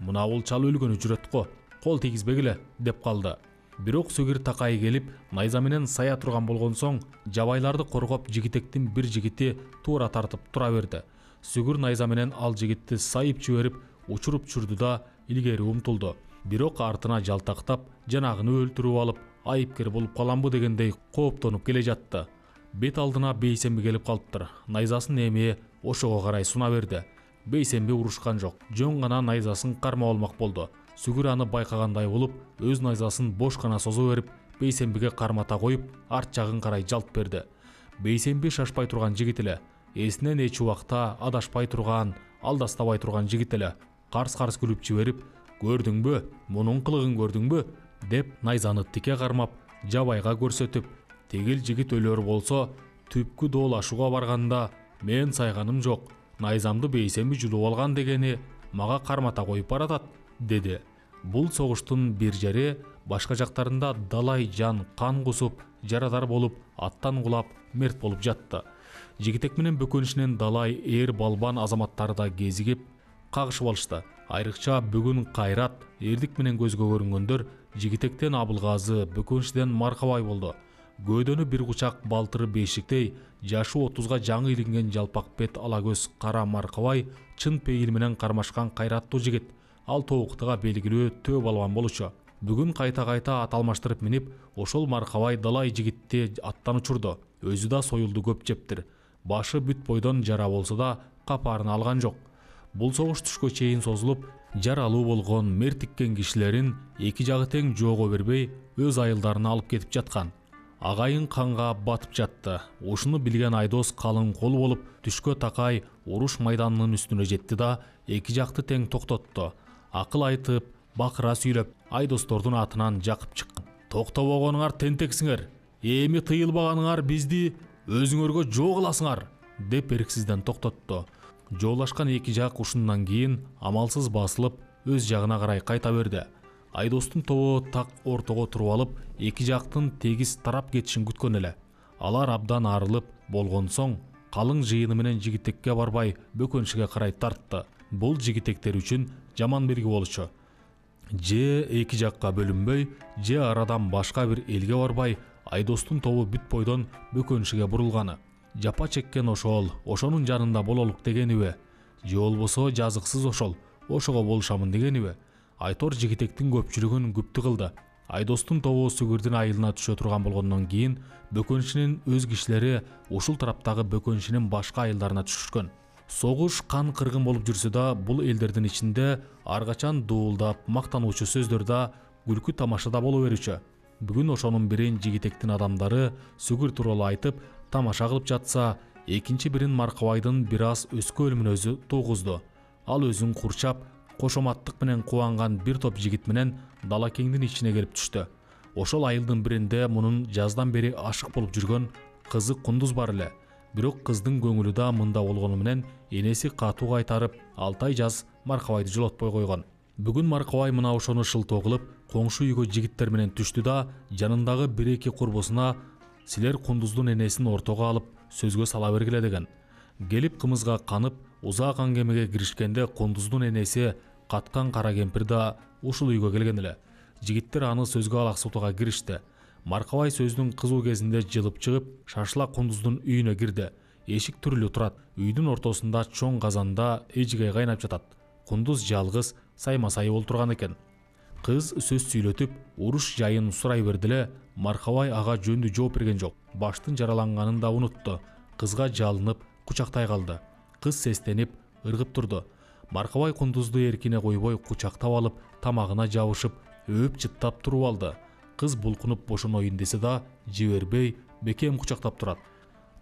мына бул чал өлгөнү жүрөт го, кол тийгизбегиле деп калды. Бирок Сүгүр такай келип, найза менен сая турган болгон соң, Жабайларды коргоп жигитектин бир жигити туура тартып тура берди. Сүгүр найза менен ал жигитти сайып жиберип, учуруп чүрдү да илгери умтулду. Бирок артына жалтактап, жанагыны өлтүрүп алып, айыпкер болуп каламбы дегендей кооптонуп келе жатты. Бет алдына Бейсенби келип калыптыр. Найзасын эми ошого карай суна берди. Бейсенби урушкан жок. Жөн гана найзасын кармап алмак болду. Сүгүр аны байкагандай болуп, өз найзасын бош гана созо берип, Бейсенбиге кармата коюп, арт жагын карай жалт берди. Бейсенби шашпай турган жигит эле, эсинен эч убакта адашпай турган, алдастабай турган жигит эле. Карс-карс күлүп жиберип, "Көрдүңбү? Мунун кылыгын көрдүңбү?" деп найзаны тике кармап, Жабайга көрсөтүп, "Тегил жигит өлөр болсо, түпкү доолашууга барганда мен сайганым жок. Найзамды Бейсенби жулуп алган дегени мага кармата коюп баратат" деди. Бул согуштун бир жери башка жактарында далай жан кан кусуп, жарадар болуп, аттан кулап, мерт болуп жатты. Жигитек менен Бөкөншинин далай эр балбан азаматтары да кезигип, кагышып алышты. Айрыкча бүгүн Кайрат, эрдик менен көзгө көрүнгөндөр Жигитектен Абылгазы, Бөкөншиден Маркабай болду. Гөөдөнү бир кучак балтыры бешиктей, жашы отузга жаңы илинген жалпак бет ала көз кара Маркабай чын пейил менен кармашкан кайраттуу жигит. Ал тобуктуга белгилүү төө балбан болчу. Бүгүн кайта-кайта ат алмаштырып минип, ошол Маркабай далай жигитти аттан учурду. Өзү да союлду көп жептир. Башы бүт бойдон жара болсо да капарын алган жок. Бул согуш түшкө чейин созулуп, жаралуу болгон, мертиккен кишилерин эки жагы тең жоого бербей өз айылдарына алып кетип жаткан. Агайын канга батып жатты. Ушуну билген Айдос калың кол болуп, түшкө такай уруш майданынын үстүнө жетти да эки жакты тең токтотту. Акыл айтып, бакыра сүйлөп, Айдостордун атынан жакып чыккан. "Токтобогонуңар тентексиңер. Эми тыйылбаганыңар бизди өзүңөргө жоо кыласыңар" деп эрксизден токтотту. Жоолашкан эки жак ушундан кийин амалсыз басылып, өз жагына карай кайта берди. Айдостун тобу так ортого туруп алып, эки жактын тегиз тарап кетишин күткөн эле. Алар абдан арылып болгон соң, калың жыйыны менен Жигитекке барбай Бөкөншиге карай тартты. Бул жигитектер үчүн жаман белги болчу. Же эки жакка бөлүнбөй, же арадан башка бир элге барбай, Айдостун тобу бүт бойдон Бөкөншиге бурулганы. Жапа чеккен ошол, ошонун жанында бололук дегениби? Же болбосо жазыксыз ошол, ошого болушамын дегениби? Айтор жигитектин көпчүлүгүн күптү кылды. Айдостун тобу Сүгүрдүн айылына түшө турган болгондон кийин Бөкөншинин өз кишилери ушул тараптагы Бөкөншинин башка айылдарына түшүшкөн. Согуш кан кыргын болуп жүрсө да, бул элдердин ичинде ар качан дуулдап, мактануучу сөздөр да, күлкү тамаша да боло берүүчү. Бүгүн ошонун бирин Жигитектин адамдары Сүгүр тууралуу айтып, тамаша кылып жатса, экинчи бирин Маркабайдын бир аз өскө өлүмүн өзү тугузду. Ал өзүн курчап, кошоматтык менен кубанган бир топ жигит менен дала кеңдин ичине келип түштү. Ошол айылдын биринде мунун жаздан бери ашык болуп жүргөн кызы Кундуз бар эле. Бирок кыздын көңүлү да мында болгону менен энеси катуу кайтарып, алты ай жаз Маркабайды жолотпой койгон. Бүгүн Маркабай мына ошону шылтоо кылып, коңшу үйгө жигиттер менен түштү да, жанындагы бир-эки курбусуна "Силер Кундуздун энесин ортого алып, сөзгө сала бергиле" деген. Келип кымызга канып, узак аңгемеге киришкенде Кундуздун энеси каткан кара кемпир да ушул үйгө келген эле. Жигиттер аны сөзгө алаксытууга киришти. Маркабай сөздүн кызуу кезинде жылып чыгып, шашыла Кундуздун үйүнө кирди. Эшик түрүлү турат. Үйдүн ортосунда чоң казанда эжигей кайнап жатат. Кундуз жалгыз сайма-сай болуп турган экен. Кыз сөз сүйлөтүп уруш жайын сурай берди эле Маркабай ага жөндүү жооп берген жок. Баштын жараланганын да унутту. Кызга жалынып кучактай калды. Кыз сестенип ыргып турду. Маркабай кундузду эркине койбой кучактап алып, тамагына жабышып, өөп чыттап туруп алды. Кыз булкунуп бошоноюн десе да жибербей бекем кучактап турат.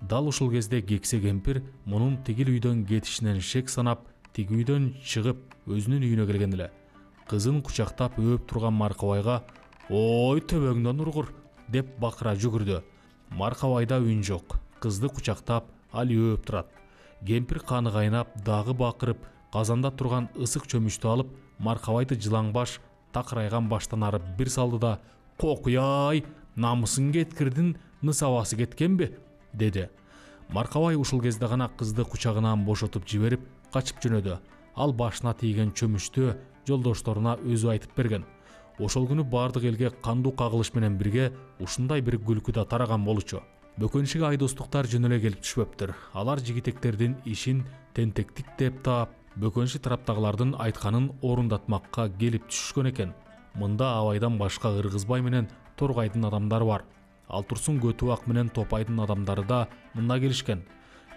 Дал ушул кезде кексе кемпир мунун тигил үйдөн кетишинен шек санап, тиги үйдөн чыгып өзүнүн үйүнө келген эле. Кызын кучактап өөп турган Маркабайга «Ой, төбөңдөн ургур!» деп бакыра жүгүрдү. Маркабайда үн жок. Кызды кучактап, ал өөп турат. Кемпир каны кайнап, дагы бакырып, казанда турган ысык чөмүчтү алып, Маркабайды жылаңбаш, такырайган баштан арып бир салды да «Кокуяй, намысын кеткирдин, нысабасы кеткенби?» деди. Маркабай ушул кезде гана кызды кучагынан бошотуп жиберип, качып жөнөдү. Ал башына тийген чөмүчтү жолдошторуна өзү айтып берген. Ошол күнү бардык элге кандуу кагылыш менен бирге ушундай бир күлкү да тараган болчу. Бөкөншүгө айдостуктар жөн эле келип түшпөптүр. Алар жигитектердин ишин тентектик деп таап, бөкөншү тараптагылардын айтканын орундатмакка келип түшүшкөн экен. Мында Абайдан башка Ыргызбай менен Торгайдын адамдары бар. Ал турсун Көтүбак менен Топайдын адамдары да мында келишкен.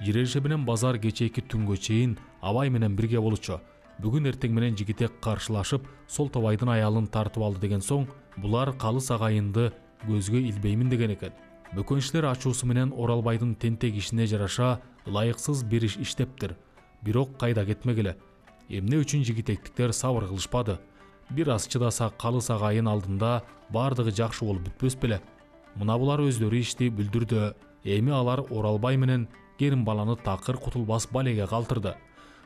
Жиренше менен базар кечээки түнгө чейин Абай менен бирге болчу. Бүгүн эртең менен жигитек каршылашып, сол Тобайдын аялын тартып алды деген соң, булар калыс агайынды көзгө илбеймин деген экен. Бөкөнчүлөр ачуусу менен Оралбайдын тентек ишине жараша ылайыксыз бир иш иштептир. Бирок кайда кетмегиле. Эмне үчүн жигитектиктер сабыр кылышпады? Бир аз чыдаса калыс агайын алдында бардыгы жакшы болуп бүтпөс беле? Мына булар өздөрү ишти бүлдүрдү. Эми алар Оралбай менен Керимбаланы такыр кутулбас балеге калтырды.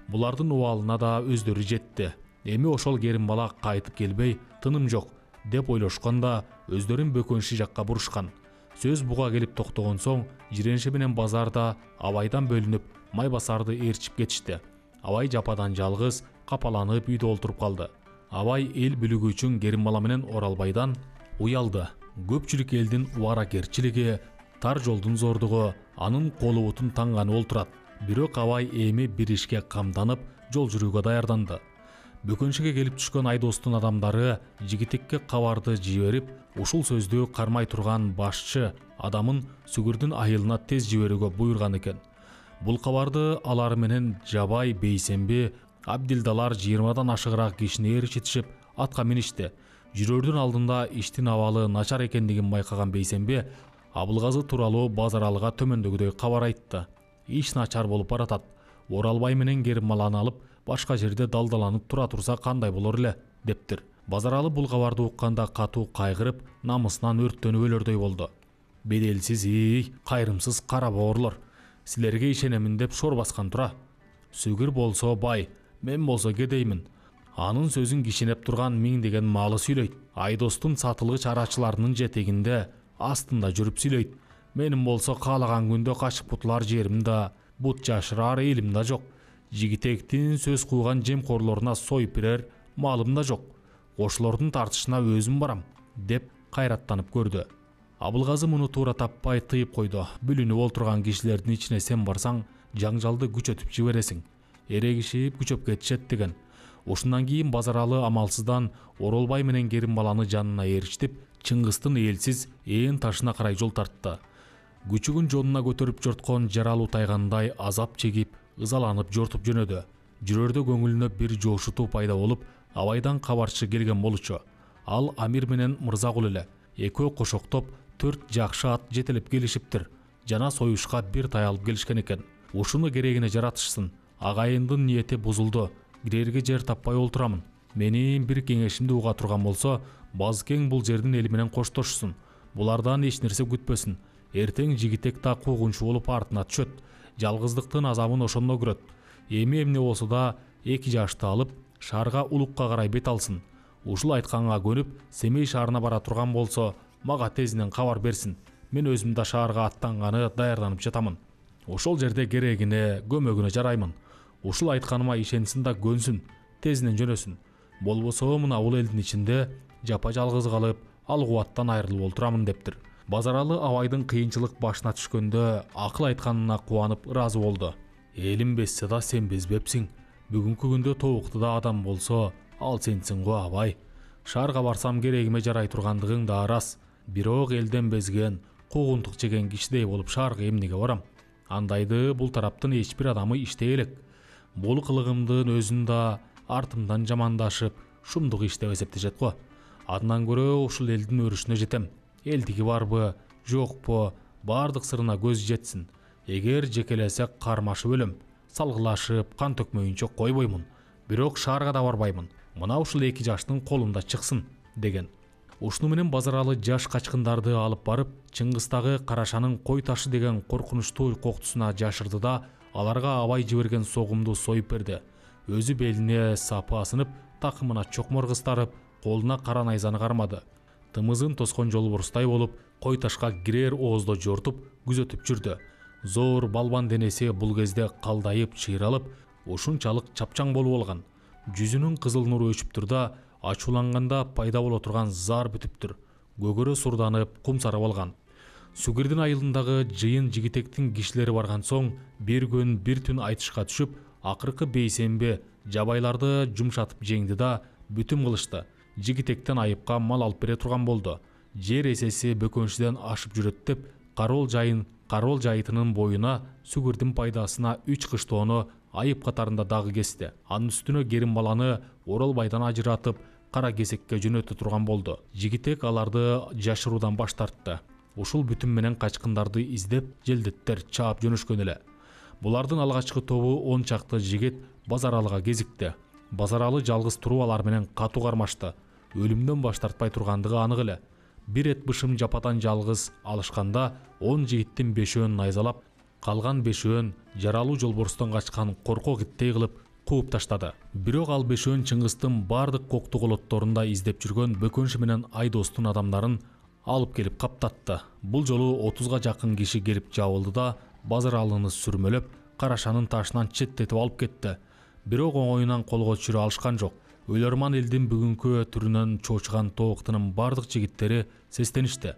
Булардын убалына да өздөрү жетти. Эми ошол Керимбала кайтып келбей, тыным жок деп ойлошконда өздөрүн бөкөншү жакка бурушкан. Сөз буга келип токтогон соң, Жиренше менен базарда Абайдан бөлүнүп, Майбасарды ээрчип кетишти. Абай жападан жалгыз капаланып үйдө олтуруп калды. Абай эл бүлүгү үчүн Керимбала менен Оралбайдан уялды. Көпчүлүк элдин убаракерчилиги, тар жолдун зордугу анын колу бутун таңганып олтурат. Бирок Абай эми бир ишке камданып, жол жүрүүгө даярданды. Бөкөншүгө келип түшкөн айдостун адамдары жигитекке кабарды жиберип, ушул сөздү кармай турган башчы адамын Сүгүрдүн айылына тез жиберүүгө буйрган экен. Бул кабарды алар менен Жабай, Бейсенби, Абдилдалар жыйырмадан ашыгыраак кишини ээрчитишип атка миништи. Жүрөрдүн алдында иштин абалы начар экендигин байкаган Бейсенби Абылгазы тууралуу Базаралыга төмөндөгүдөй кабар айтты. Иш начар болуп баратат. Оралбай менен Керимбаланы алып башка жерде далдаланып тура турса кандай болор эле дептир. Базаралы бул кабарды укканда катуу кайгырып, намысынан өрттөнүп өлөрдөй болду. Беделсиз, ий, кайрымсыз кара боорлор, силерге ишенемин деп шор баскан тура. Сүгүр болсо бай, мен болсо кедеймин. Анын сөзүн кишинеп турган миңдеген малы сүйлөйт. Айдостун сатылгыч арачыларынын жетегинде астында жүрүп сүйлөйт. Менин болсо каалаган күндө качып кутулар жерим да, бут жашырар элим да жок. Жигитектин сөз кууган жемкорлоруна союп берер малым да жок. Кошулордун тартышына өзүм барам деп кайраттанып көрдү. Абылгазы муну туура таппай тыйып койду. Бүлүнүп олтурган кишилердин ичине сен барсаң, жаңжалды күчөтүп жибересиң. Эрегишип күчөп кетишет деген. Ушундан кийин Базаралы амалсыздан Оролбай менен Керимбаланы жанына ээрчитип, Чыңгыстын элсиз ээн ташына карай жол тартты. Күчүгүн жонуна көтөрүп жорткон жаралуу тайгандай азап чегип, ызаланып жортуп жөнөдү. Жүрөрдө көңүлүнө бир жоошутуу пайда болуп, Абайдан кабарчы келген болчу. Ал Амир менен Мырзагул эле. Экөө кошоктоп, төрт жакшы ат жетелеп келишиптир. Жана союшка бир таялып келишкен экен. Ушуну керегине жаратышсын. Агайындын ниети бузулду. Кирерге жер таппай олтурамын. Менин бир кеңешимди уга турган болсо, Базкең бул жердин эли менен коштошсун. Булардан эч нерсе күтпөсүн. Эртең жигитек та куугунчу болуп артына түшөт. Жалгыздыктын азабын ошондо көрөт. Эми эмне болсо да эки жашты алып, шаарга улукка карай бет алсын. Ушул айтканга көнүп, Семей шаарына бара турган болсо, мага тезинен кабар берсин. Мен өзүм да шаарга аттанганы даярданып жатамын. Ошол жерде керегине, көмөгүнө жараймын. Ушул айтканыма ишенсин да көнсүн, тезинен жөнөсүн. Болбосо мына бул элдин ичинде жапа жалгыз калып, ал кубаттан айрылып олтурамын дептир. Базаралы Абайдын кыйынчылык башына түшкөндө акыл айтканына кубанып ыраазы болду. Элим безсе да сен безбепсиң. Бүгүнкү күндө тобуктуда адам болсо, ал сенсиң го Абай. Шаарга барсам керегиме жарай тургандыгың да рас. Бирок элден безген, куугунтук жеген кишидей болуп шаарга эмнеге барам? Андайды бул тараптын эч бир адамы иштей элек. Бул кылыгымдын өзүн да артымдан жамандашып, шумдук иш деп эсептешет го. Андан көрө ушул элдин өрүшүнө жетем. Элдиги барбы, жокпу, бардык сырына көз жетсин. Эгер жекелесек кармашып өлөм, салгылашып, кан төкмөйүнчө койбоймун. Бирок шаарга да барбаймын. Мына ушул эки жаштын колунда чыксын деген. Ушуну менен Базаралы жаш качкындарды алып барып, Чыңгыстагы Карашанын кой ташы деген коркунучтуу коктусуна жашырды да, аларга абай жиберген согумду союп берди. Өзү белине сапы асынып, такымына чокмор кыстарып, колуна кара найзаны кармады. Тымызын тоскон жолборстай болуп, кой ташка кирер оозду жортуп, күзөтүп жүрдү. Зор балбан денеси бул кезде калдайып, чыйралып, ушунчалык чапчаң болуп алган. Жүзүнүн кызыл нуру өчүптүр да, ачууланганда пайда боло турган зар бүтүптүр. Көгөрө сурданып, кумсарып алган. Сүгүрдүн айылындагы жыйын жигитектин кишилери барган соң, бир күн бир түн айтышка түшүп, акыркы бейсенбе жабайларды жумшатып жеңди да, бүтүм кылышты. Жигитектен айыпка мал алып бере турган болду. Жер эсеси бөкөнчүдөн ашып жүрөт деп, Карол жайын, Карол жайытынын боюна сүгүрдүн пайдасына үч кыштоону айып катарында дагы кести. Анын үстүнө Керимбаланы Оролбайдан ажыратып, кара кесекке жөнөтө турган болду. Жигитек аларды жашыруудан баш тартты. Ушул бүтүм менен качкындарды издеп, желдеттер чаап жөнөшкөн эле. Булардын алгачкы тобу он чакты жигит Базаралыга кезикти. Базаралы жалгыз туруп алар менен катуу кармашты. Өлүмдөн баш тартпай тургандыгы анык эле. Бир эт бышым жападан жалгыз алышканда он жигиттин бешөөнүн найзалап, калган бешөөн жаралуу жолборстон качкан коркок иттей кылып кууп таштады. Бирок ал бешөөн Чыңгыстын бардык кокту колотторунда издеп жүргөн Бөкөншү менен Айдостун адамдарын алып келип каптатты. Бул жолу отузга жакын киши келип жабылды да, Базаралыны сүрмөлөп, Карашанын ташынан четтетип алып кетти. Бирок оңоюнан колго түшүрө алышкан жок. Өлөрман элдин бүгүнкү түрүнөн чоочуган тобуктунун бардык жигиттери сестеништи.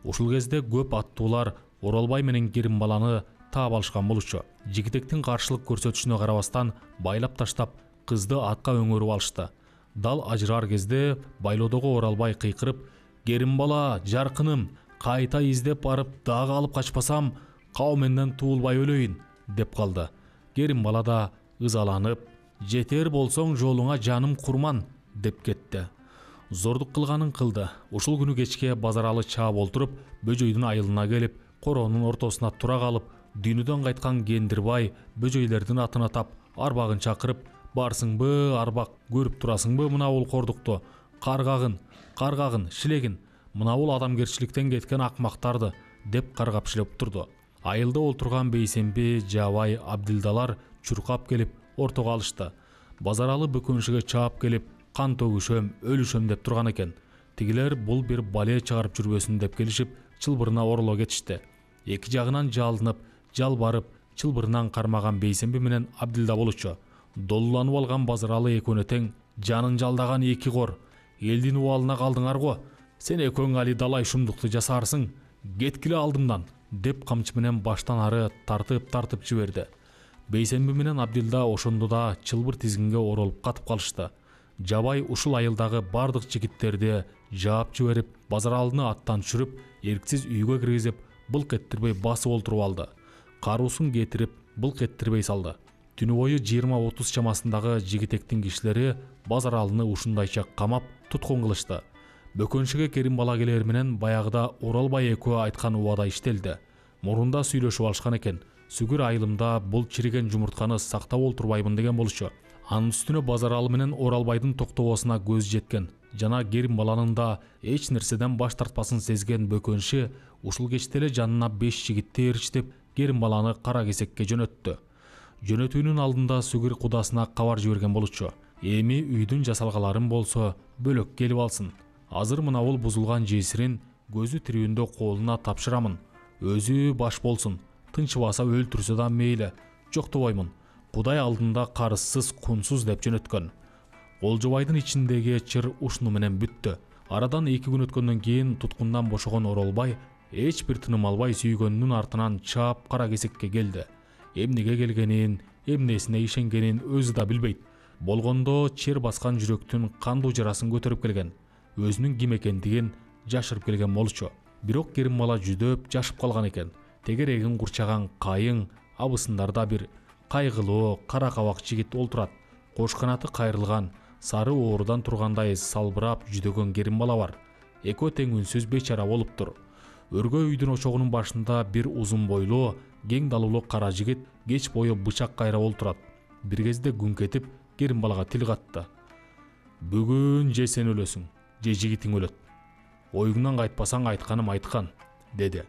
Ушул кезде көп аттуулар Оролбай менен Керимбаланы таап алышкан болчу. Жигитектин каршылык көрсөтүшүнө карабастан байлап таштап, кызды атка өңөрүп алышты. Дал ажырар кезде байлоодогу Оролбай кыйкырып: "Керимбала, жаркыным, кайта издеп барып дагы алып качпасам, кабыл туулбай өлөйүн" деп калды. Керимбала да ызаланып: "Жетер болсоң жолуңа жаным курман" деп кетти. Зордук кылганын кылды. Ушул күнү кечке Базаралы чаап олтуруп, бөжөйдүн айылына келип, короонун ортосуна тура калып, дүйнөдөн кайткан Кендирбай бөжөйлердин атын атап, арбагын чакырып: "Барсыңбы, арбак, көрүп турасыңбы мына бул кордукту? Каргагын, каргагын, шилегин, мына бул адамгерчиликтен кеткен акмактарды" деп каргап шилеп турду. Айылда олтурган бейсенби, жабай, абдилдалар чуркап келип ортого алышты. Базаралы Бөкөншүгө чаап келип, кан төгүшөм, өлүшөм деп турган экен. Тигилер бул бир бале чыгарып жүрбөсүн деп келишип, чылбырына ороло кетишти. Эки жагынан жалынып, жалбарып, чылбырынан кармаган бейсенби менен Абдилда болчу. Долуланып алган Базаралы экөөнө тең: "Жанын жалдаган эки кор, элдин убалына калдыңар го. Сен экөөң али далай шумдукту жасарсың, кеткиле алдымдан" деп камчы менен баштан ары тартып-тартып жиберди. Бейсенби менен Абдилда ошондо да чылбыр тизгинге оролуп катып калышты. Жабай ушул айылдагы бардык жигиттерди жаап жиберип, Базаралыны аттан түшүрүп, эрксиз үйгө киргизип, былк эттирбей басып олтуруп алды. Каруусун кетирип, былк эттирбей салды. Түнү бою жыйырма отуз чамасындагы жигитектин кишилери Базаралыны ушундайча камап, туткун кылышты. Бөкөншүгө Керимбала келер менен баягыда Оролбай экөө айткан убада иштелди. Мурунда сүйлөшүп алышкан экен. Сүгүр айылымда бул чириген жумуртканы сактап олтурбаймын деген болчу. Анын үстүнө Базаралы менен Оролбайдын токтобосуна көз жеткен жана Керимбаланын да эч нерседен баш тартпасын сезген Бөкөншү ушул кечте эле жанына беш жигитти ээрчитип, Керимбаланы кара кесекке жөнөттү. Жөнөтүүнүн алдында Сүгүр кудасына кабар жиберген болчу: "Эми үйдүн жасалгаларын болсо бөлөк келип алсын. Азыр мына бул бузулган жесирин көзү тирүүндө колуна тапшырамын. Өзү баш болсун. Тынчыбаса өлтүрсө да мейли, жоктобоймун. Кудай алдында карызсыз, кунсуз" деп жөнөткөн. Олжобайдын ичиндеги чыр ушуну менен бүттү. Арадан эки күн өткөндөн кийин туткундан бошогон Оролбай эч бир тыным албай сүйгөнүнүн артынан чаап кара кесекке келди. Эмнеге келгенин, эмнесине ишенгенин өзү да билбейт. Болгондо чер баскан жүрөктүн кандуу жарасын көтөрүп келген. өзүнүн ким экендигин жашырып келген болчу. Бирок керимбала жүдөп жашып калган экен. Тегерегин курчаган кайың абысындарда бир кайгылуу кара кабак жигит олтурат. Кош канаты кайрылган, сары оорудан тургандай салбырап жүдөгөн керимбала бар. Экөө тең үнсүз бечара болуптур. Өргөй үйдүн очогунун башында бир узун бойлуу, кең далулуу кара жигит кеч бою бычак кайрап олтурат. Бир кезде күңк этип керимбалага тил катты. Бүгүн же сен өлөсүң, же жигитиң өлөт. Оюңнан кайтпасаң айтканым айткан, деди.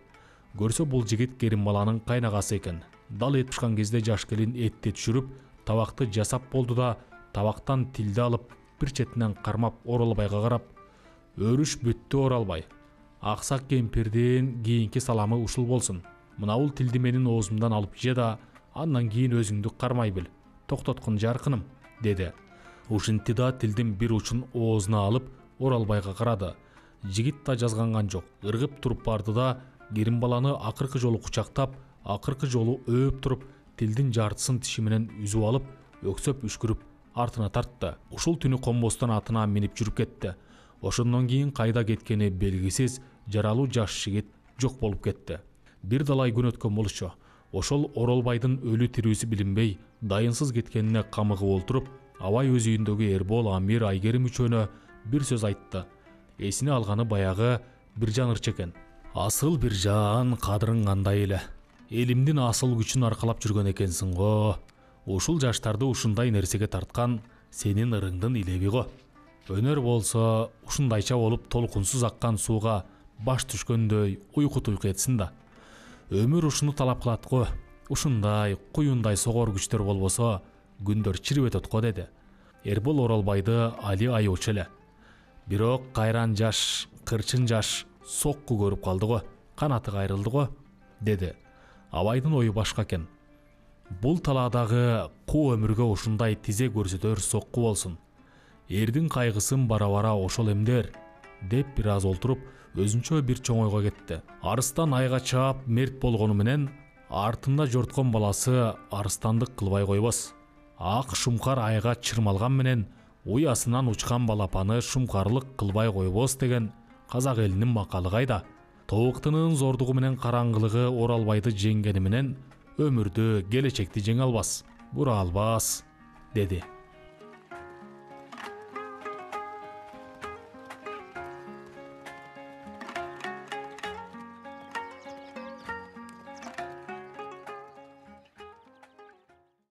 Көрсө бул жигит керимбаланын кайнагасы экен. Дал эт пышкан кезде жаш келин этти түшүрүп, табакты жасап болду да, табактан тилди алып, бир четинен кармап Оролбайга карап: "Өрүш бүттү Оралбай. Аксак кемпирдин кийинки саламы ушул болсун. Мына бул тилди менин оозумдан алып же да, андан кийин өзүңдү кармай бил. Токтоткун жаркыным", деди. Ушинтти да тилдин бир учун оозуна алып Оралбайга карады. Жигит да жазганган жок. Ыргып туруп барды да керимбаланы акыркы жолу кучактап, акыркы жолу өөп туруп, тилдин жартысын тиши менен үзүп алып, өксөп үшкүрүп артына тартты. Ушул түнү комбостон атына минип жүрүп кетти. Ошондон кийин кайда кеткени белгисиз жаралуу жаш жигит жок болуп кетти. Бир далай күн өткөн болчу. Ошол Оролбайдын өлү тирүүсү билинбей, дайынсыз кеткенине камыгып олтуруп, Абай өз үйүндөгү Эрбол, Амир, Айгерим үчөөнө бир сөз айтты. Эсине алганы баягы Биржан ырчы экен. "Асыл Биржан, кадырың кандай эле. Элимдин асыл күчүн аркалап жүргөн экенсиң го. Ушул жаштарды ушундай нерсеге тарткан сенин ырыңдын илеби го. Өнөр болсо ушундайча болуп толкунсуз аккан сууга баш түшкөндөй уйку туйку этсин да. Өмүр ушуну талап кылат го. Ушундай куюндай согор күчтөр болбосо күндөр чирип өтөт го", деди. Эрбол Оролбайды али аyoочу эле. Бирок кайран жаш, кырчын жаш сокку көрүп калды го. Канаты кайрылды го, деди. Абайдын ою башка экен. Бул талаадагы куу өмүргө ушундай тизе көрсөтөр сокку болсун. Эрдин кайгысын бара-бара ошол эмдер, деп бир аз олтуруп, өзүнчө бир чоң ойго кетти. Арыстан айга чаап мерт болгону менен артында жорткон баласы арыстандык кылбай койбос. Ак шумкар айга чырмалган менен уясынан учкан балапаны шумкарлык кылбай койбос деген казак элинин макалы кайда? Тобуктунун зордугу менен караңгылыгы Оралбайды жеңгени менен өмүрдү, келечекти жеңе албас, бура албас, деди.